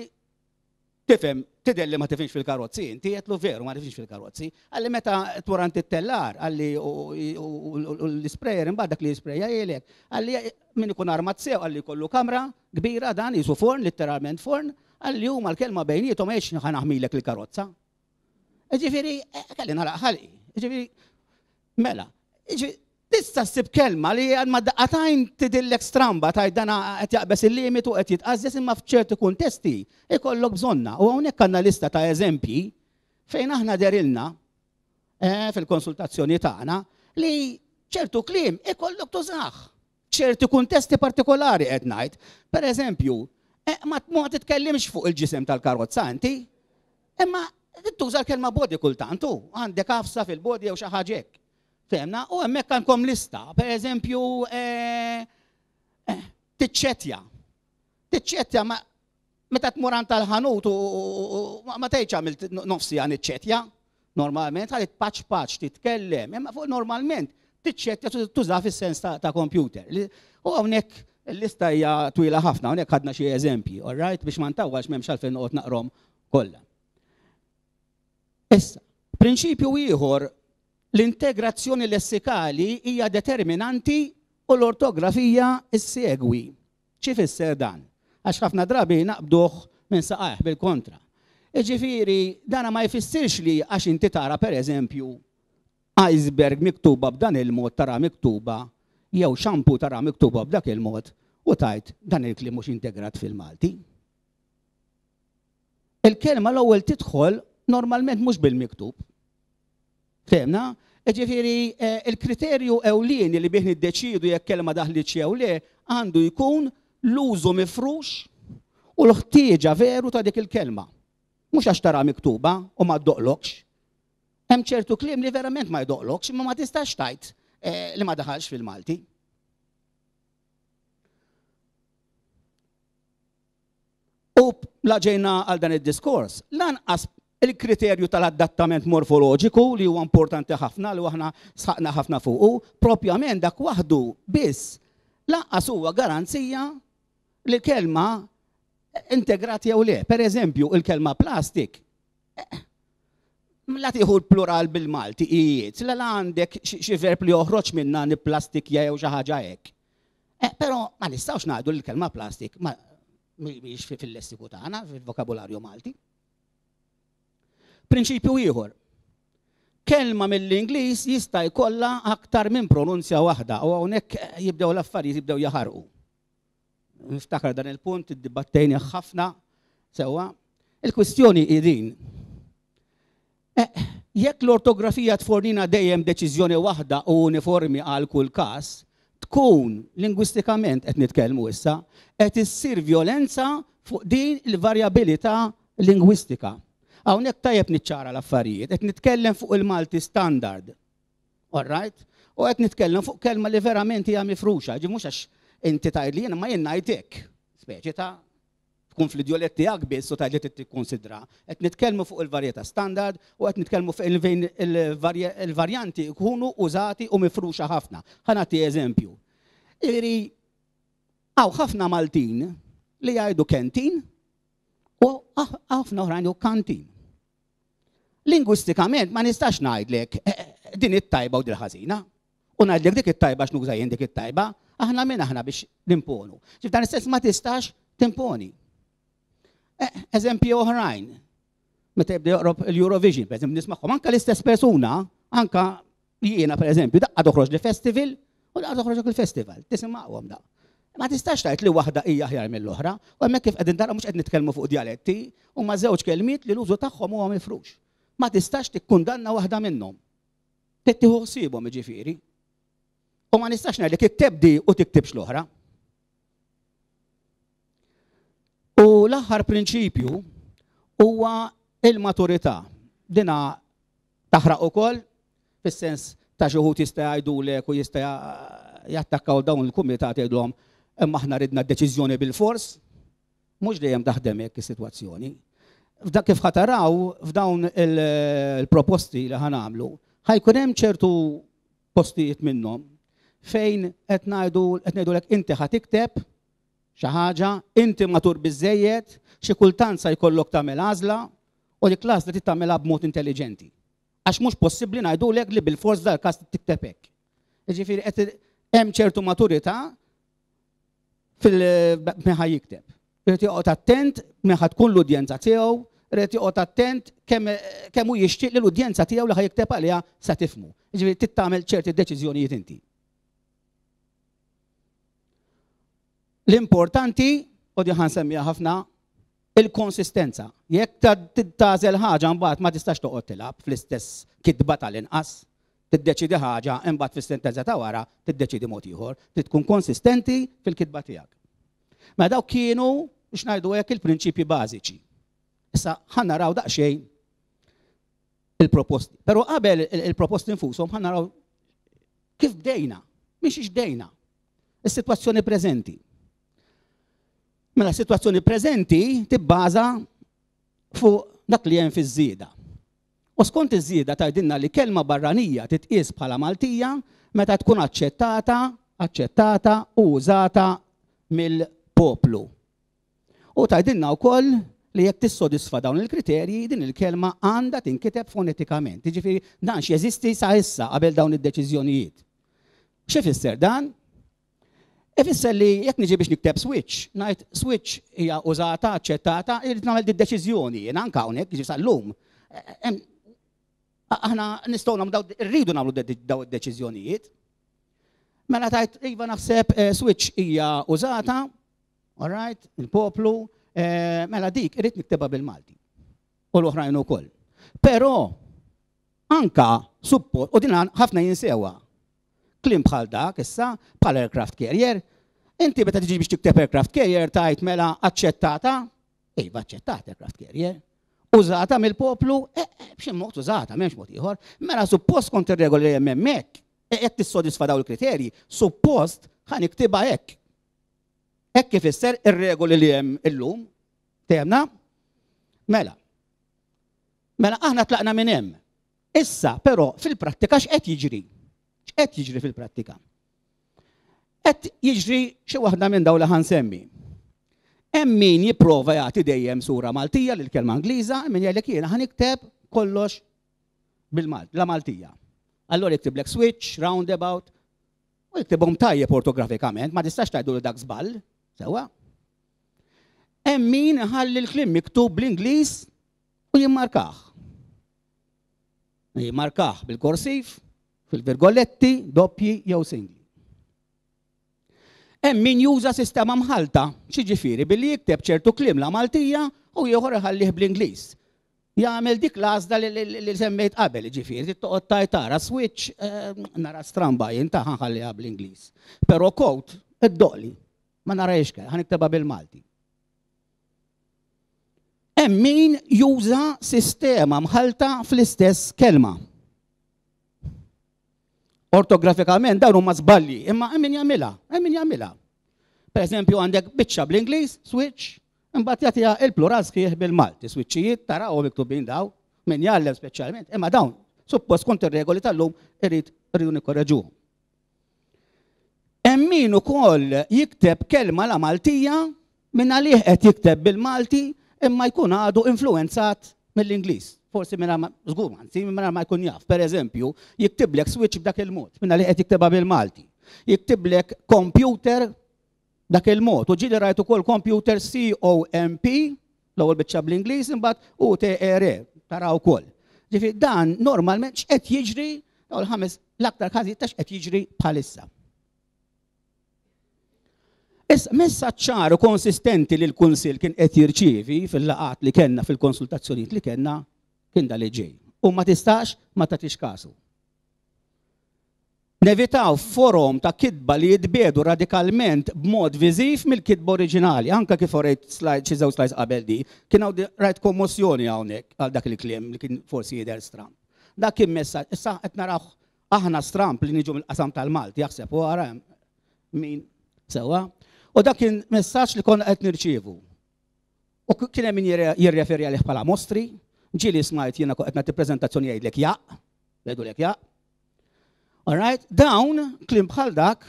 tifhem, tidher li ma tifhimx fil-karozzi, inti għedtlu veru ma tifhimx fil-karozzi, għalli meta tmur it-tellar, għalli u l-sprayer imbagħad dak li jisprejja jgħidlek, għalli min ikun armat sew, għalli jkollu kamra kbira dan jisu forn, literalment forn, għalli huma l-kelma bejniethom għex ħa naħmilek il-karozza. Ġifieri, kelli nagħlaq ħalqi. Ġifieri, mela, ġifieri, tista' ssib kelma li għal ma daqqatajn tidillek stramba tajt dana qed jaqbeż il-limitu qed jitqażżes imma f'ċerti kuntesti ikollok bżonna. U hawnhekk għandna lista ta' eżempji fejn aħna derilna fil-konsultazzjoni tagħna li ċertu kliem ikollok tużah. ċerti kuntesti partikolari qed ngħid. Per eżempju, ma titkellimx fuq il-ġisem tal-karozza inti, imma tuża l-kelma body kultant, għandek għafsa fil-body jew xi ħaġa hekk. Fehmna, u hemmhekk għandkom lista, per eżempju, tiċċettja. Tiċċettja ma meta tmur għand tal-ħanut u ma tgħidx għamilt nofsi għan iċċettja, normalment għalit paċ paċ titkellem, imma fuq normalment tiċċettja tuża fis-sens ta' computer. U hawnhekk il-lista hija twila ħafna, hawnhekk ħadna xi eżempji, all right, biex ma ntawwax m'hemmx għalfejn noqgħod naqrom kollha. Issa, prinċipju ieħor, l-integrazzjoni lessikali hija determinanti u l-ortografija issegwi. X'ifisser dan? Għax ħafna drabi naqbduh minn saqajh bil-kontra. Iġifieri, dana ma jfissirx li għax inti tara per eżempju iceberg miktuba b'dan il-mod tara miktuba jew shampoo tara miktuba b'dak il-mod u tajt dan il-kliem mhux integrat fil-Malti. Il-kelma l-ewwel tidħol normalment mhux bil-miktub. Fehmna? Ġifieri il-kriterju ewlieni li bih niddeċiedu jekk kelma daħlitx jew le għandu jkun l-użu mifrux u l-ħtieġa veru ta' dik il-kelma. Mhux għax tara miktuba u ma ddoqlokx. Hemm ċertu kliem li verament ma jdoqlokx, imma ma tistax tgħid li ma daħalx fil-Malti. U la ġejna għal dan id-diskors, lanqas il-kriterju tal-adattament morfoloġiku li huwa importanti ħafna li aħna sħaqna ħafna fuqu, propjament dak waħdu biss lanqas huwa garanzija li l-kelma integrati jew le. Per eżempju, il-kelma plastik, la tieħu l-plural bil-Malti ijiet, la għandek xi verb li joħroġ minna nipplastikja jew xi ħaġa hekk. Però ma nistgħux ngħidu li l-kelma plastik mhijiex fil-lessiku tagħna, fil-vokabularju Malti. Prinċipju ieħor. Kelma mill-Ingliż jista' jkollha aktar minn pronunzja waħda u hawnhekk jibdew l-affarijiet jibdew jaħarqu. Niftakar dan il-punt iddibattejni ħafna sewwa. Il-kwistjoni hi din. Jekk l-ortografija tfornina dejjem deċiżjoni waħda u uniformi għal kull każ, tkun lingwistikament qed nitkellmu issa, qed issir vjolenza fuq din il-varjabilità lingwistika. Hawnhekk tajjeb niċċara l-affarijiet, qed nitkellem fuq il-Malti standard. All right? U qed nitkellem fuq kelma li verament hija mifruxa, ġi mhux għax inti tgħid li jiena ma jien ngħid hekk. Speċi ta' tkun fl-idjolett tiegħek biss u tgħid li trid tikkonsidra. Qed nitkellmu fuq il-varjetà standard u qed nitkellmu fuq fejn il-varjanti jkunu użati u mifruxa ħafna. Ħa nagħti eżempju. Jiġifieri hawn ħafna Maltin li jgħidu kentin u ħafna oħrajn jgħidu kantin. Lingwistikament ma nistax ngħidlek din it-tajba u din ħażina. U ngħidlek dik it-tajba x'nuża jien dik it-tajba, aħna min aħna biex nimponu. Ġif dan istess ma tistax timponi. Eżempji oħrajn, meta jibda joqrob l-Eurovision, per eżempju, nismagħhom anke l-istess persuna, anke jiena per eżempju, daqqa toħroġ li festival u daqqa toħroġ il-festival, tisimgħuhom daqqa. Ma tistax tgħid li waħda hija aħjar mill-oħra, u hemmhekk kif qegħdin tara mhux qed nitkellmu fuq djaletti, huma żewġ kelmiet li l-użu tagħhom huwa mifrux. Ma tistax tikkundanna waħda minnhom. Trid tieħu ħsiebhom jiġifieri. U ma nistax ngħidlek ittebdi u tiktibx l-oħra. U l-aħħar prinċipju huwa il-maturità. Dina taħraq ukoll fis-sens ta' xi wħud jista' jgħidulek u jista' jattakkaw dawn il-kumitat jgħidulhom imma aħna ridna deċiżjoni bil-fors, mhux dejjem taħdem hekk is-sitwazzjoni. F'dak kif ħataraw f'dawn il-proposti li ħanamlu, ħajkun hemm ċertu postijiet minnhom fejn qed ngħidu qed ngħidulek inti ħa tikteb xi ħaġa, inti matur biżejjed, xi kultant sa jkollok tagħmel għażla u dik l-għażla trid tagħmilha b'mod intelliġenti. Għax mhux possibbli ngħidulek li bil-fors dal-każ tikteb hekk. Jiġifieri qed hemm ċertu maturità fil-min ħa jikteb. Irid joqgħod attent min ħa tkun l-udjenza tiegħu, irid joqgħod attent kemm hu jixtieq li l-udjenza tiegħu li ħa jikteb għaliha sa tifhmu. Jiġifieri trid tagħmel ċerti deċiżjonijiet inti. L-importanti, u di ħansemmiha ħafna, il-konsistenza. Jekk tagħżel ħaġa mbagħad ma tistax toqgħod tilgħab fl-istess kitba tal-inqas. Tiddeċidi ħaġa imbagħad fis-sentenza ta' wara tiddeċidi mod ieħor, trid tkun konsistenti fil-kitba tiegħek. Ma dawk kienu biex ngħidu hekk il-prinċipji bażiċi. Issa ħa naraw daqsxejn il-proposti. Però qabel il-proposti nfushom ħa naraw kif bdejna, mhix bdejna. Is-sitwazzjoni preżenti. Mela s-sitwazzjoni preżenti tibbaża fuq dak li hemm fiż-żieda. U skont iż-żieda tgħidilna li kelma barranija titqies bħala Maltija meta tkun aċċettata, aċċettata u użata mill-poplu. U tgħidilna wkoll li jekk tissodisfa dawn il-kriterji din il-kelma għandha tinkiteb fonetikament. Jiġifieri dan x'jeżisti sa issa qabel dawn id-deċiżjonijiet. X'ifisser dan? Ifisser li jekk niġi biex nikteb switch, ngħid switch hija użata, aċċettata, irid nagħmel id-deċiżjoni, jien anke hawnhekk jiġi sal-lum. Aħna nistgħu nagħmlu rridu nagħmlu daw id-deċiżjonijiet. Mela tajt iva naħseb switch hija użata, all right, il-poplu, mela dik irid niktebha bil-Malti. U l-oħrajn ukoll. Però anka suppost, u din ħafna jinsewha. Kliem bħal dak issa, bħal aircraft carrier, inti meta tiġi biex tikteb aircraft carrier tajt mela aċċettata, iva aċċettata aircraft carrier, użata mill-poplu, eh, eh, b'xi mod użata, m'hemmx mod ieħor. Mela suppost kont ir-regoli li hemm hemmhekk, jekk tissodisfa dawn il-kriterji, suppost ħa niktibha hekk. Hekk ifisser ir-regoli li hemm illum. Temna? Mela. Mela aħna tlaqna minn hemm. Issa, però, fil-prattika x'qed jiġri? X'qed jiġri fil-prattika? Qed jiġri xi waħda minn dawn li ħa nsemmi. Hemm min jipprova jagħti dejjem sura Maltija lil kelma Ingliża, min jgħidlek jiena ħa nikteb kollox bil-Malt, la Maltija. Allora jiktiblek switch, roundabout, u jiktibhom tajjeb ortografikament, ma tistax tgħidu li dak żball, sewwa. Hemm min ħalli l-kliem miktub bl-Ingliż u jimmarkah. Jimmarkah bil-korsiv, fil-virgoletti, doppji jew singli. Hemm min juża sistema mħalta, xiġifieri billi jikteb ċertu kliem la Maltija u ieħor iħallih bl-Ingliż. Jagħmel dik l-għażla li semmejt qabel, ġifieri, toqgħod tajt tara switch, nara stramba jien ta' ħanħalliha bl-Ingliż. Però coat iddoqli, ma narajx ħa niktebha bil-Malti. Hemm min juża sistema mħalta fl-istess kelma. Ortografikament dawn huma żbalji, imma hemm min jagħmilha, hemm min jagħmilha. Per eżempju għandek biċċa bl-Ingliż, switch, imbagħad jagħtiha il-plural sħiħ bil-Malti, switchijiet tarawhom miktubin daw, min jgħallem speċjalment, imma dawn suppost kont ir-regoli tal-lum irid irridu nikkorreġuhom. Hemm min ukoll jikteb kelma la Maltija minn għalih qed jikteb bil-Malti imma jkun għadu influenzat mill-Ingliż. Forsi minna ma, żgur, anzi minna ma jkun jaf. Per eżempju, jiktiblek switch b'dak il-mod, minna li qed jiktebha bil-Malti. Jiktiblek computer dak il-mod. U ġieli rajt ukoll computer C O M P, l-ewwel biċċa bl-Ingliż, imbagħad U T R E, taraw ukoll. Ġifieri dan normalment x'qed jiġri, dawn il-ħames l-aktar każijiet ta' x'qed jiġri bħalissa. Issa, messaġġ ċar u konsistenti li l-Kunsill kien qed jirċievi fil-laqgħat li kellna, fil-konsultazzjonijiet li kellna, kien da li ġej. U ma tistax ma tagħtix kasu. Nevitaw forom ta' kitba li jitbiedu radikalment b'mod viżiv mill-kitba oriġinali, anka kif orejt slide, xi żewġ slides qabel di, kien hawn rajt kommossjoni hawnhekk għal dak il-kliem li kien forsi jidher stramp. Dak kien messaġġ, issa qed naraw aħna stramp li niġu mill-qasam tal-Malti, jaħseb u ara min sewwa. U dak kien messaġġ li konna qed nirċievu. U kien hemm min jirreferi għalih bħala mostri, ġieli smajt jiena qed nagħti preżentazzjoni jgħidlek jaq, jgħidulek jaq. All right, dawn kliem bħal dak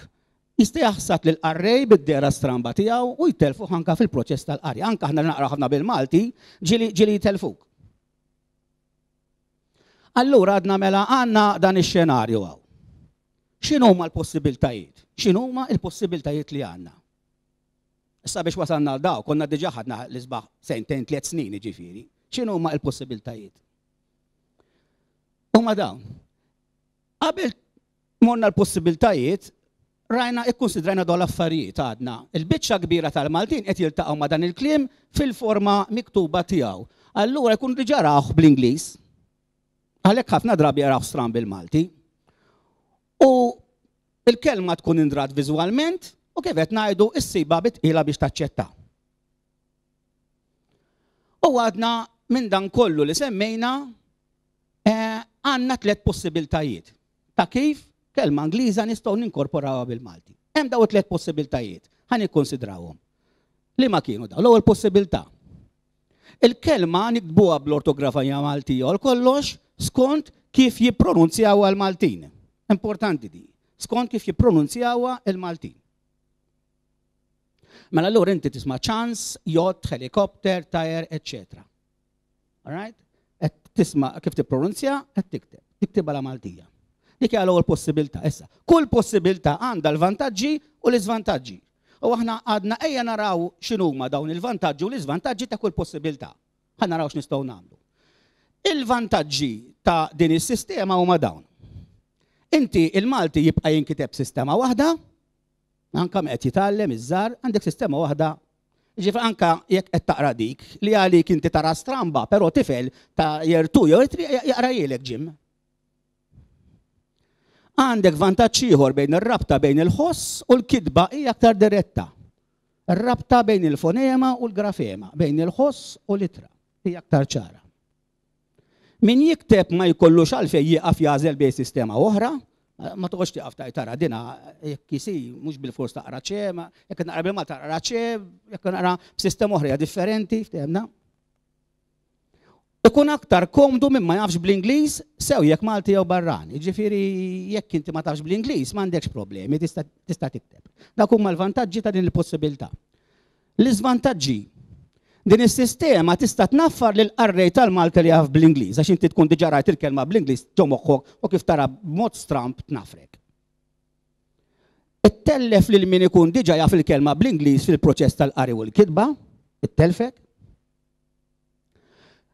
jista' jaħsad lil qarrej bid-dera stramba tiegħu u jtelfu anka fil-proċess tal-qari. Anka aħna naqra ħafna bil-Malti, ġieli ġieli jtelfuk. Allura għadna mela għandna dan ix-xenarju hawn. X'inhuma l-possibiltajiet? X'inhuma l-possibiltajiet li għandna? Issa biex wasalna għal daw, konna diġà ħadna l-isbaħ sentejn, tliet snin jiġifieri. X'inhuma l-possibiltajiet? Huma dawn. Qabel morna l-possibiltajiet, rajna ikkonsidrajna dawn l-affarijiet għadna. Il-biċċa kbira tal-Maltin qed jiltaqgħu ma' dan il-kliem fil-forma miktuba tiegħu. Allura jkun diġà rawh bl-Ingliż. Għalhekk ħafna drabi jaraw stramb bil-Malti. U il-kelma tkun indrat viżwalment u kif qed ngħidu ssiba bitqila biex taċċetta. U għadna minn dan kollu li semmejna, eh, għandna tliet possibiltajiet ta' kif kelma Ingliża nistgħu ninkorporawha bil-Malti. Hemm dawn tliet possibiltajiet, ħa nikkonsidrawhom. Li ma kienu dawn? L-ewwel possibilità. Il-kelma niktbuha bl-ortografija Maltija u kollox skont kif jippronunzjawha l-Maltin. Importanti di. Skont kif jippronunzjawha l-Maltin. Mela allura inti tisma' ċans, yacht, helikopter, tire, eccetera. All right? Qed tisma' kif tippronunzja, qed tikteb. Tiktibha la Maltija. Dik hija l-ewwel possibilità. Issa, kull possibilità għandha l-vantaġġi u l-iżvantaġġi. U aħna għadna ejja naraw x'inhuma dawn il-vantaġġi u l-iżvantaġġi ta' kull possibilità. Ħa naraw x'nistgħu nagħmlu. Il-vantaġġi ta' din is-sistema huma dawn. Inti il-Malti jibqa' jinkiteb sistema waħda, anke qed jitgħallem iż-żgħar, għandek sistema waħda. Ġifieri anka jekk qed taqra dik li għalik inti tara stramba, però tifel ta' year two jew jaqrahielek gym. Għandek vantaġġ ieħor bejn ir-rabta bejn il-ħoss u l-kitba hija aktar diretta. Ir-rabta bejn il-fonema u l-grafema, bejn il-ħoss u l-ittra hija aktar ċara. Min jikteb ma jkollux għalfejn jieqaf jagħżel bejn sistema oħra, ma toqgħodx tieqaf tgħid tara dina jekk isi mhux bil-fors taqra ċe, jekk naqra bil-Malti taqra ċe, jekk naqra b'sistema oħra differenti, ftehemna. Ikun aktar komdu minn ma jafx bl-Ingliż sew jekk Malti jew barrani. Ġifieri jekk inti ma tafx bl-Ingliż m'għandekx problemi, tista' tikteb. Dak huma l-vantaġġi ta' din il-possibilità. L-iżvantaġġi. Din is-sistema tista' tnaffar lil qarrej tal-Malti li jaf bl-Ingliż, għax inti tkun diġà rajt il-kelma bl-Ingliż ġo moħħok u kif tara b'mod stramp tnafrek. Ittellef lil min ikun diġà jaf il-kelma bl-Ingliż fil-proċess tal-qari u l-kitba, ittellfek.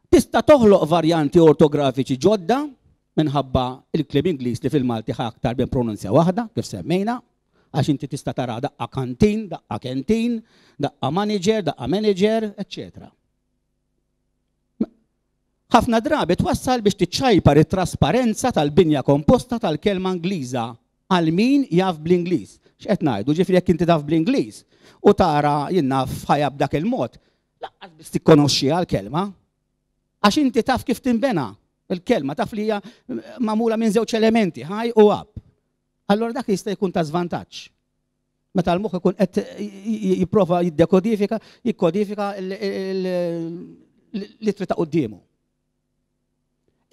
Tista' toħloq varjanti ortografiċi ġodda minħabba il-kliem Ingliż li fil-Malti ħa aktar minn pronunzja waħda, kif semmejna, għax inti tista' tara daqqa kantin, daqqa kentin, daqqa manager, daqqa manager, eċċetera. Ħafna drabi twassal biex tiċċajpar it-trasparenza tal-binja komposta tal-kelma Ingliża għal min jaf bl-Ingliż. X'qed ngħidu, ġifieri jekk inti taf bl-Ingliż u tara jien naf ħajja b'dak il-mod, lanqas biss tikkonoxxiha l-kelma. Għax inti taf kif tinbena il-kelma, taf li hija magħmula minn żewġ elementi, high u up. Allora dak jista' jkun ta' żvantaġġ. Meta l-moħħ ikun qed jipprova jiddekodifika, jikkodifika l-ittri ta' quddiemu.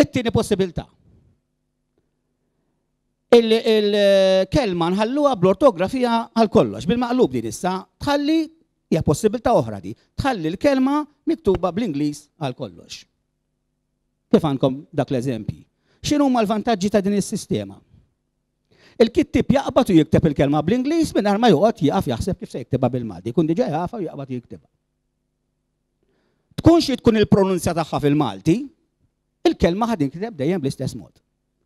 It-tieni possibilità. Il-kelma nħalluha bl-ortografija għal kollox, bil-maqlub din issa, tħalli hija possibilità oħra di, tħalli l-kelma miktuba bl-Ingliż għal kollox. Kif għandkom dak l-eżempji? X'inhuma l-vantaġġi ta' din is-sistema? Il-kittib jaqbad u jikteb il-kelma bl-Ingliż mingħajr ma joqgħod jieqaf jaħseb kif se jiktibha bil-Malti, jkun diġà jafha u jaqbad jiktibha. Tkun xi tkun il-pronunzja tagħha fil-Malti, il-kelma ħad tinkteb dejjem bl-istess mod.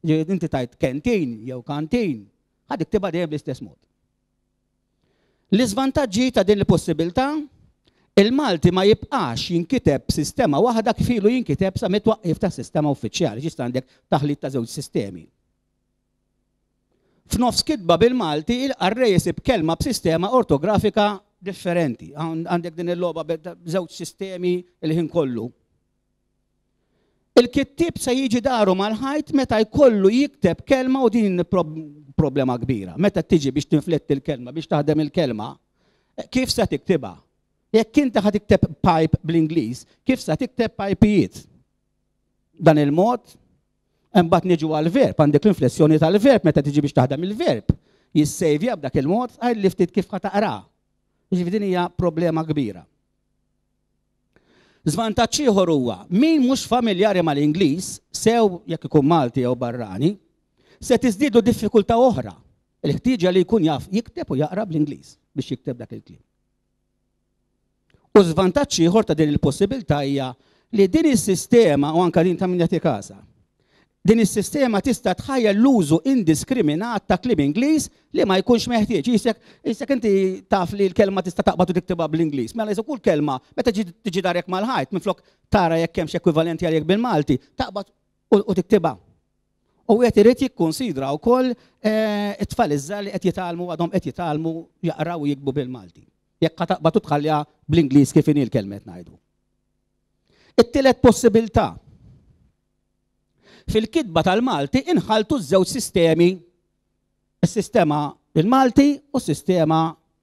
Inti tajt kentin jew kantin, ħad tiktibha dejjem bl-istess mod. L-iżvantaġġi ta' din il-possibilità, il-Malti ma jibqax jinkiteb sistema waħda kif ilu jinkiteb sa mit-twaqqif ta' sistema uffiċjali, ġista għandek taħlit ta' żewġ sistemi. F'nofs kitba bil-Malti, il-qarrej isib kelma b'sistema ortografika differenti. Għandek din il-logħba b'żewġ sistemi il-ħin kollu. Il-kittib se jiġi daru mal-ħajt meta jkollu jikteb kelma u din problema kbira. Meta tiġi biex tinfletti l-kelma, biex taħdem il-kelma, kif se tiktibha? Jekk inti ħa tikteb pipe bl-Ingliż, kif se tikteb pipijiet? Dan il-mod, imbagħad niġu għal-verb, għandek l-inflessjoni tal-verb meta tiġi biex taħdem il-verb. Jissejvja b'dak il-mod, għaj li ftit kif ħa taqra. Jiġifieri din hija problema kbira. Żvantaġġ ieħor huwa min mhux familjari mal-Ingliż, sew jekk ikun Malti jew barrani, se tiżdiedu diffikultà oħra, il-ħtieġa li jkun jaf jikteb u jaqra bl-Ingliż biex jikteb dak il-kliem. U żvantaġġ ieħor ta' din il-possibilità hija li din is-sistema u anke din ta' min jagħti casa. Din is-sistema tista' tħajja l-użu indiskriminat ta' kliem Ingliż li ma jkunx meħtieġ. Jisek, jisek inti taf li l-kelma tista' taqbad u tiktibha bl-Ingliż. Mela jisek kull kelma meta tiġi darek mal-ħajt minflok tara jekk hemmx ekwivalenti għalih bil-Malti, taqbad u tiktibha. U qed irid jikkunsidra wkoll it-tfal iż-żgħar li qed jitgħallmu għadhom qed jitgħallmu jaqraw u jiktbu bil-Malti. Jekk taqbad u tħallija bl-Ingliż kif inhi l-kelma qed ngħidu. It-tielet possibilità. Fil-kitba tal-Malti inħaltu ż-żewġ sistemi, is-sistema bil-Malti u s-sistema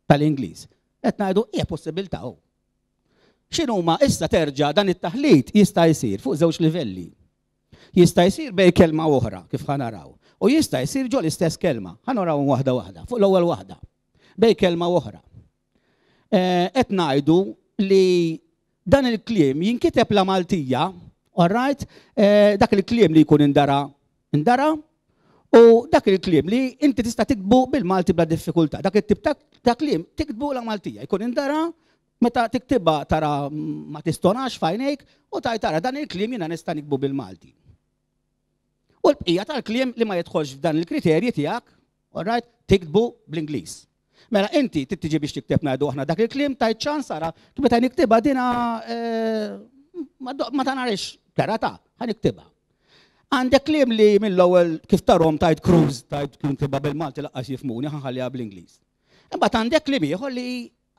tal-Ingliż. Qed ngħidu hija possibilità hu. X'inhuma issa terġa' dan it-taħlit jista' jsir fuq żewġ livelli. Jista' jsir bej kelma oħra kif ħa naraw, u jista' jsir ġo l-istess kelma. Ħa naraw waħda waħda, fuq l-ewwel waħda. Bej kelma oħra. Qed ngħidu li dan il-kliem jinkiteb la Maltija, all right, dak il-kliem li jkun indara, indara, u dak il-kliem li inti tista' tiktbu bil-Malti bla diffikultà. Dak it-tip ta' kliem tiktbu la Maltija, jkun indara, meta tiktibha tara ma tistonax f'għajnejk u taj tara dan il-kliem jiena nista' niktbu bil-Malti. U l-bqija tal-kliem li ma jidħolx f'dan il-kriterji tiegħek, all right, tiktbu bl-Ingliż. Mela inti tiġi biex tikteb, ngħidu aħna, dak il-kliem, tajt ċans ara meta niktibha dina eh, ma tanarix kera ta' ħa niktibha. Għandek kliem li mill-ewwel kif tarhom tajt cruise, tajt kien tibha bil-Malti laqqas jifhmuni, ħa nħalliha bl-Ingliż. Imbagħad għandek kliem ieħor li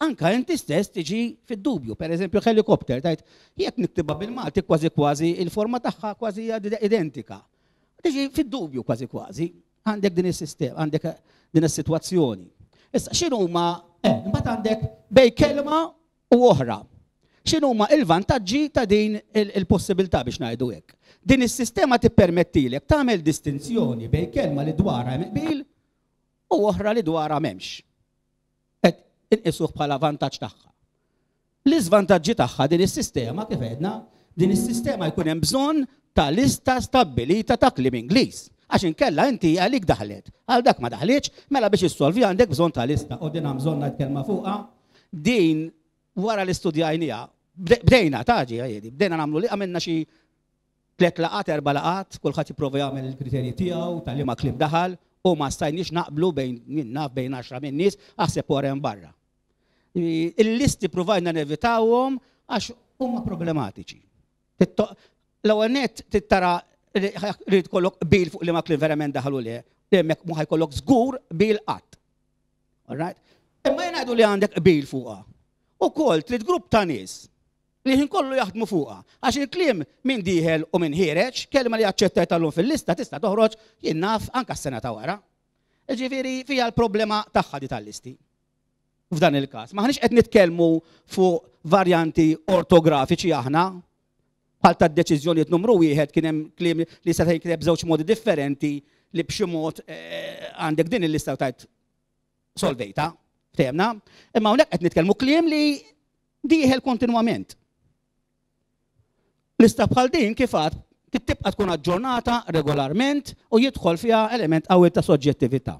anka inti stess tiġi fid-dubju. Per eżempju, helikopter, tajt jekk niktibha bil-Malti kważi kważi il-forma tagħha kważi hija identika. Tiġi fid-dubju kważi kważi. Għandek din is-sistema, għandek din is-sitwazzjoni. Issa x'inhuma, eh, imbagħad għandek bej kelma u oħra. X'inhuma il-vantaġġi ta' din il-possibilità, biex ngħidu hekk? Din is-sistema tippermettilek tagħmel distinzjoni bejn kelma li dwarha hemm qbil u oħra li dwarha m'hemmx. Qed inqisuh bħala vantaġġ tagħha. L-iżvantaġġi tagħha din is-sistema, kif għedna, din is-sistema jkun hemm bżonn ta' lista stabbilita ta' kliem Ingliż. Għax inkella inti għalik daħlet, għal dak ma daħletx, mela biex issolvi għandek bżonn ta' lista u din hemm bżonn ngħid kelma fuqha. Din wara li studjajniha, bdejna taġi għajedi, bdejna nagħmlu li għamilna xi tliet laqat, erba' laqat, kulħadd jipprova jagħmel il-kriterji tiegħu tal ma kliem daħal u ma stajniex naqblu bejn naf bejn għaxra minn nies, aħseb wara hemm barra. Il-listi provajna nevitawhom għax huma problematiċi. L-ewwel nett tittara li tkollok qbil fuq li ma kliem verament daħlu le, li hemmhekk mhu ħa jkollok żgur qbil qatt. Alright? Imma jien ngħidu li għandek qbil fuqha. Ukoll trid grupp ta' nies li ħin kollu jaħdmu fuqha. Għax il-kliem min dieħel u min ħiereġ, kelma li aċċettajt tal fil-lista tista' toħroġ, jien naf, anka s-sena ta' wara. Ġifieri fija l-problema tagħha di tal-listi. F'dan il-każ. M'aħniex qed nitkellmu fuq varjanti ortografiċi aħna, bħal ta' deċiżjonijiet numru wieħed kien hemm kliem li seta' jinkiteb b'żewġ modi differenti li b'xi mod eh, għandek din il-lista u tajt solvejta, ftehemna, imma hawnhekk qed nitkellmu kliem li dieħel kontinwament. Lista bħal din, kif għad, tibqa' tkun aġġornata regolarment u jidħol fiha element qawwi ta' soġġettività.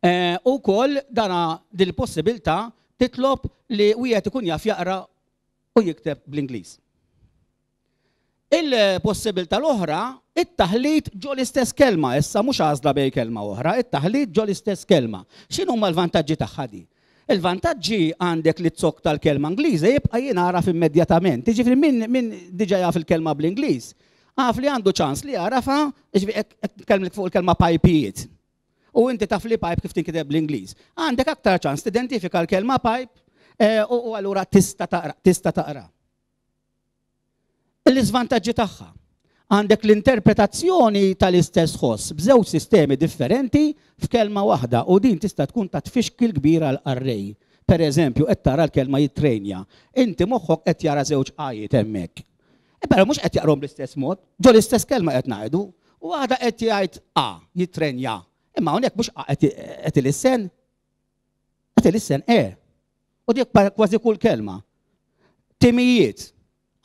Eh, u koll dana dil-possibilità titlob li wieħed ikun jaf jaqra u jikteb bl-Ingliż. Il-possibilità l-oħra, it-taħlit ġo l-istess kelma, issa mhux għażla bej kelma oħra, it-taħlit ġo l-istess kelma. X'inhuma l-vantaġġi tagħha di? Il-vantaġġi għandek li z-zokk tal-kelma Ingliża jibqa' jingħaraf immedjatament. Jiġifieri min, min diġà jaf il-kelma bl-Ingliż, għaf li għandu ċans li jagħrafha, jiġifieri qed nitkellem fuq il-kelma pajpijiet. U inti taf li pipe kif tinkiteb bl-Ingliż. Għandek aktar ċans tidentifika l-kelma pipe eh, u allura tista' taqra, tista' taqra. L-iżvantaġġi tagħha. Għandek l-interpretazzjoni tal-istess ħoss b'żewġ sistemi differenti f'kelma waħda u din tista' tkun ta' tfixkil kbir għal qarrej. Per eżempju, qed tara l-kelma jitrenja. Inti moħħok qed jara żewġ għajiet hemmhekk. E però mhux qed jaqrom bl-istess mod, ġo l-istess kelma qed ngħidu, u waħda qed jgħid a jitrenja. Imma hawnhekk mhux a qed ilissen. Qed ilissen e. U dik kważi kull kelma. Timijiet.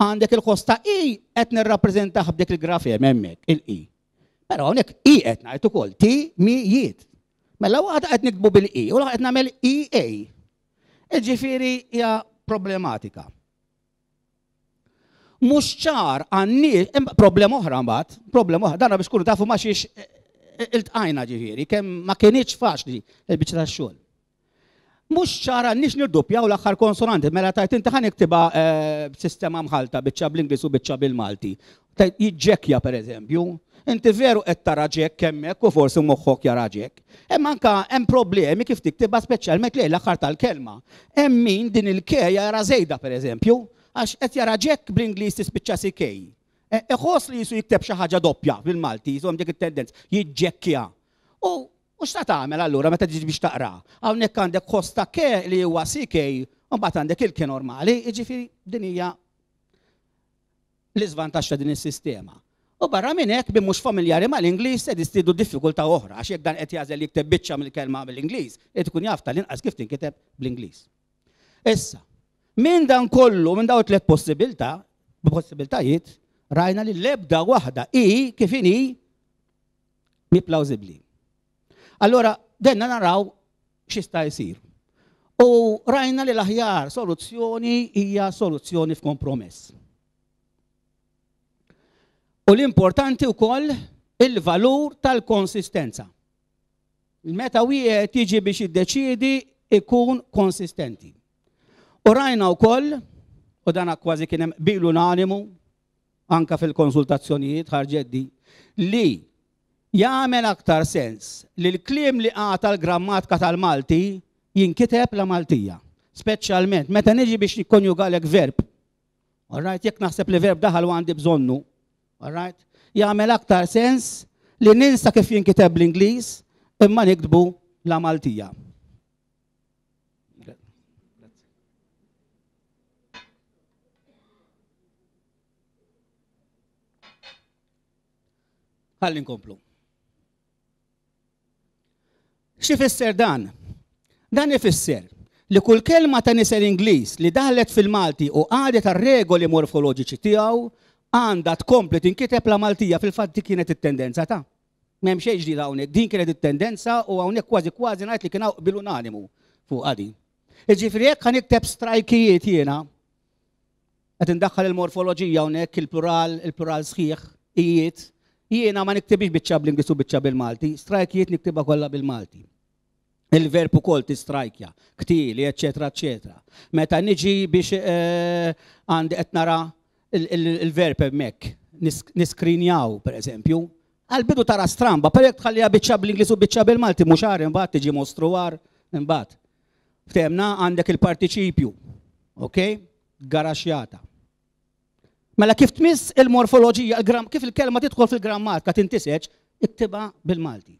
Għandek il-ħoss ta' i qed nirrappreżentah b'dik il-grafem hemmhekk, il-i. Però hawnhekk i qed ngħid ukoll, ti mi jiet. Mela waħda qed nikbu bil-i u l qed nagħmel I A. Ġifieri hija problematika. Mhux ċar għan-nies, problema oħra mbagħad, problema oħra, dana biex kunu tafu ma xiex iltqajna, ġifieri, kemm ma kienx faċli il-biċċa tax-xogħol. Mhux ċara nix nirdoppjaw l-aħħar konsonanti, mela tajt inti ħa niktibha eh, b'sistema mħalta, biċċa bl-Ingliż u biċċa bil-Malti. Tajt jiġġekkja, per eżempju, inti veru qed tara ġekk hemmhekk u forsi moħħok jara ġekk. Hemm anka hemm problemi kif tiktibha, speċjalment lejn l-aħħar tal-kelma. Hemm min din il-K jara żejda, per eżempju, għax qed jara ġekk bl-Ingliż tispiċċa C K. E, iħoss li jisu jikteb xi ħaġa doppja bil-Malti, jisom dik it-tendenza, jiġġekkja. U U x'ta tagħmel allura meta tiġi biex taqra? Hawnhekk għandek ħoss ta' K li huwa C K, u mbagħad għandek il-K normali, jiġifieri din hija l-iżvantaġġ ta' din is-sistema. U barra minn hekk, bi mhux familjari mal-Ingliż se jistidu diffikultà oħra, għax jekk dan qed jagħżel jikteb biċċa mill-kelma bil-Ingliż, qed ikun jaf tal-inqas kif tinkiteb bl-Ingliż. Issa, minn dan kollu, minn dawn tliet possibilità, possibiltajiet, rajna li l-ebda waħda i kif inhi mi plawsibbli. Allora, denna naraw x'jista' jsir. U rajna li l-aħjar soluzzjoni hija soluzzjoni f'kompromess. U l-importanti wkoll il-valur tal-konsistenza. Meta wieħed jiġi biex jiddeċiedi ikun konsistenti. U rajna wkoll, u dan kważi kien hemm qbil unanimu, anka fil-konsultazzjonijiet ħarġet di, li jagħmel aktar sens li l-kliem li għata l-grammatika tal-Malti jinkiteb la Maltija. Speċjalment meta niġi biex nikkonjugalek verb. All right, jekk naħseb li verb daħal u għandi bżonnu, all right, jagħmel aktar sens li ninsa kif jinkiteb l-Ingliż imma niktbu la Maltija. Ħalli nkomplu. X'ifisser dan? Dan ifisser li kull kelma ta' nisel Ingliż li daħlet fil-Malti u għadet għar-regoli morfoloġiċi tiegħu għandha tkompli tinkiteb la Maltija. Fil-fatt dik kienet it-tendenza ta'. M'hemm xejn ġdid hawnhekk, din kienet it-tendenza u hawnhekk kważi kważi ngħid li kien hawn qbil unanimu fuq din. Jiġifieri jekk ħa nikteb strajkijiet jiena, qed indaħħal il-morfoloġija hawnhekk, il-plural, il-plural sħiħ, ijiet, jiena ma niktibix biċċa bl-Ingliż u biċċa bil-Malti, strajkijiet niktibha kollha bil-Malti. Il-verb ukoll tistrajkja, ktili, eċetera, eċetera. Meta niġi biex għandi qed nara il-verb hemmhekk, niskrinjaw pereżempju, għal-bidu tara stramba, per jekk tħalliha biċċa bl-Ingliż u biċċa bil-Malti, mhux għar imbagħad tiġi mostru għar imbagħad. Ftemna għandek il-partiċipju, ok? Garaxjata. Mela kif tmiss il-morfoloġija, kif il-kelma tidħol fil-grammatika tintiseġ, iktibha bil-Malti.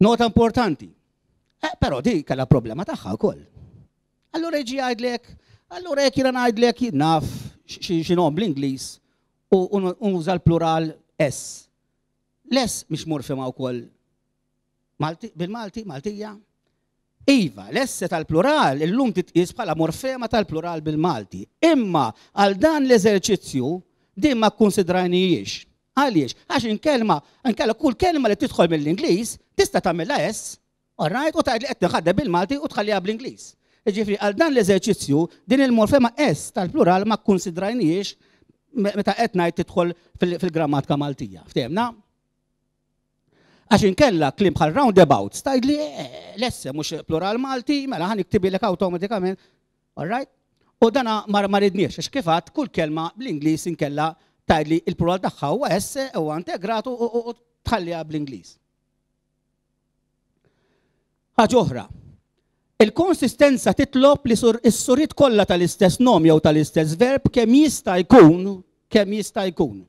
Nota importanti. Eh, però di kellha problema tagħha wkoll. Allura jiġi jgħidlek, allura jekk jiena ngħidlek naf x'inhom bl-Ingliż u nuża l-plural S. L-S mhix morfema wkoll bil-Malti, Maltija. Iva, l-S tal-plural illum titqies bħala morfema tal-plural bil-Malti. Imma għal dan l-eżerċizzju din ma kkunsidrajnijiex. Għaliex? Għax inkelma, inkella kull kelma li tidħol mill-Ingliż tista' tagħmilha S, all right, u tgħid li qed tinħaddem bil-Malti u tħalliha bl-Ingliż. Jiġifieri għal dan l-eżerċizzju din il-morfema S tal-plural ma kkunsidrajnijiex meta qed ngħid tidħol fil-grammatika Maltija. Ftehmna? Għax inkella kliem bħal roundabouts tgħidli l-S mhux plural Malti, mela ħa niktibilek awtomatikament, all right? U dana ma ridniex, għax kif għadt kull kelma bl-Ingliż inkella tgħidli il-plural tagħha huwa S huwa integrat u tħalliha bl-Ingliż. Ħaġa oħra, il-konsistenza titlob li s-suriet kollha tal-istess nom jew tal-istess verb kemm jista' jkun, kemm jista' jkun.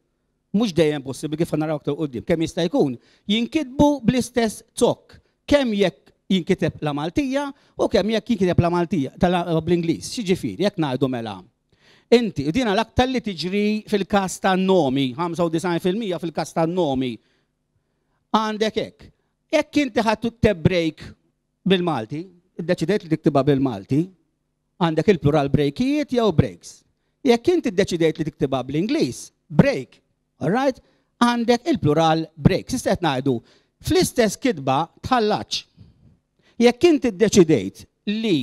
Mhux dejjem possibbli kif naraw aktar quddiem, kemm jista' jkun jinkitbu bl-istess zokk, kemm jekk jinkiteb la Maltija u kemm jekk jinkiteb la Maltija bl-Ingliż. X'jiġifieri jekk ngħidu mela. Inti, u dina l-aktar li tiġri fil-każ tan-nomi, ħamsa u disgħin fil-mija fil-każ tan-nomi. Għandek hekk. Jekk inti ħadd tikteb break bil-Malti, iddeċidejt li tiktibha bil-Malti, għandek il-plural breakijiet jew breaks. Jekk inti ddeċidejt li tiktibha bl-Ingliż, break, all right? Għandek il-plural breaks. Issa qed ngħidu, fl-istess kitba tħallax. Jekk inti ddeċidejt li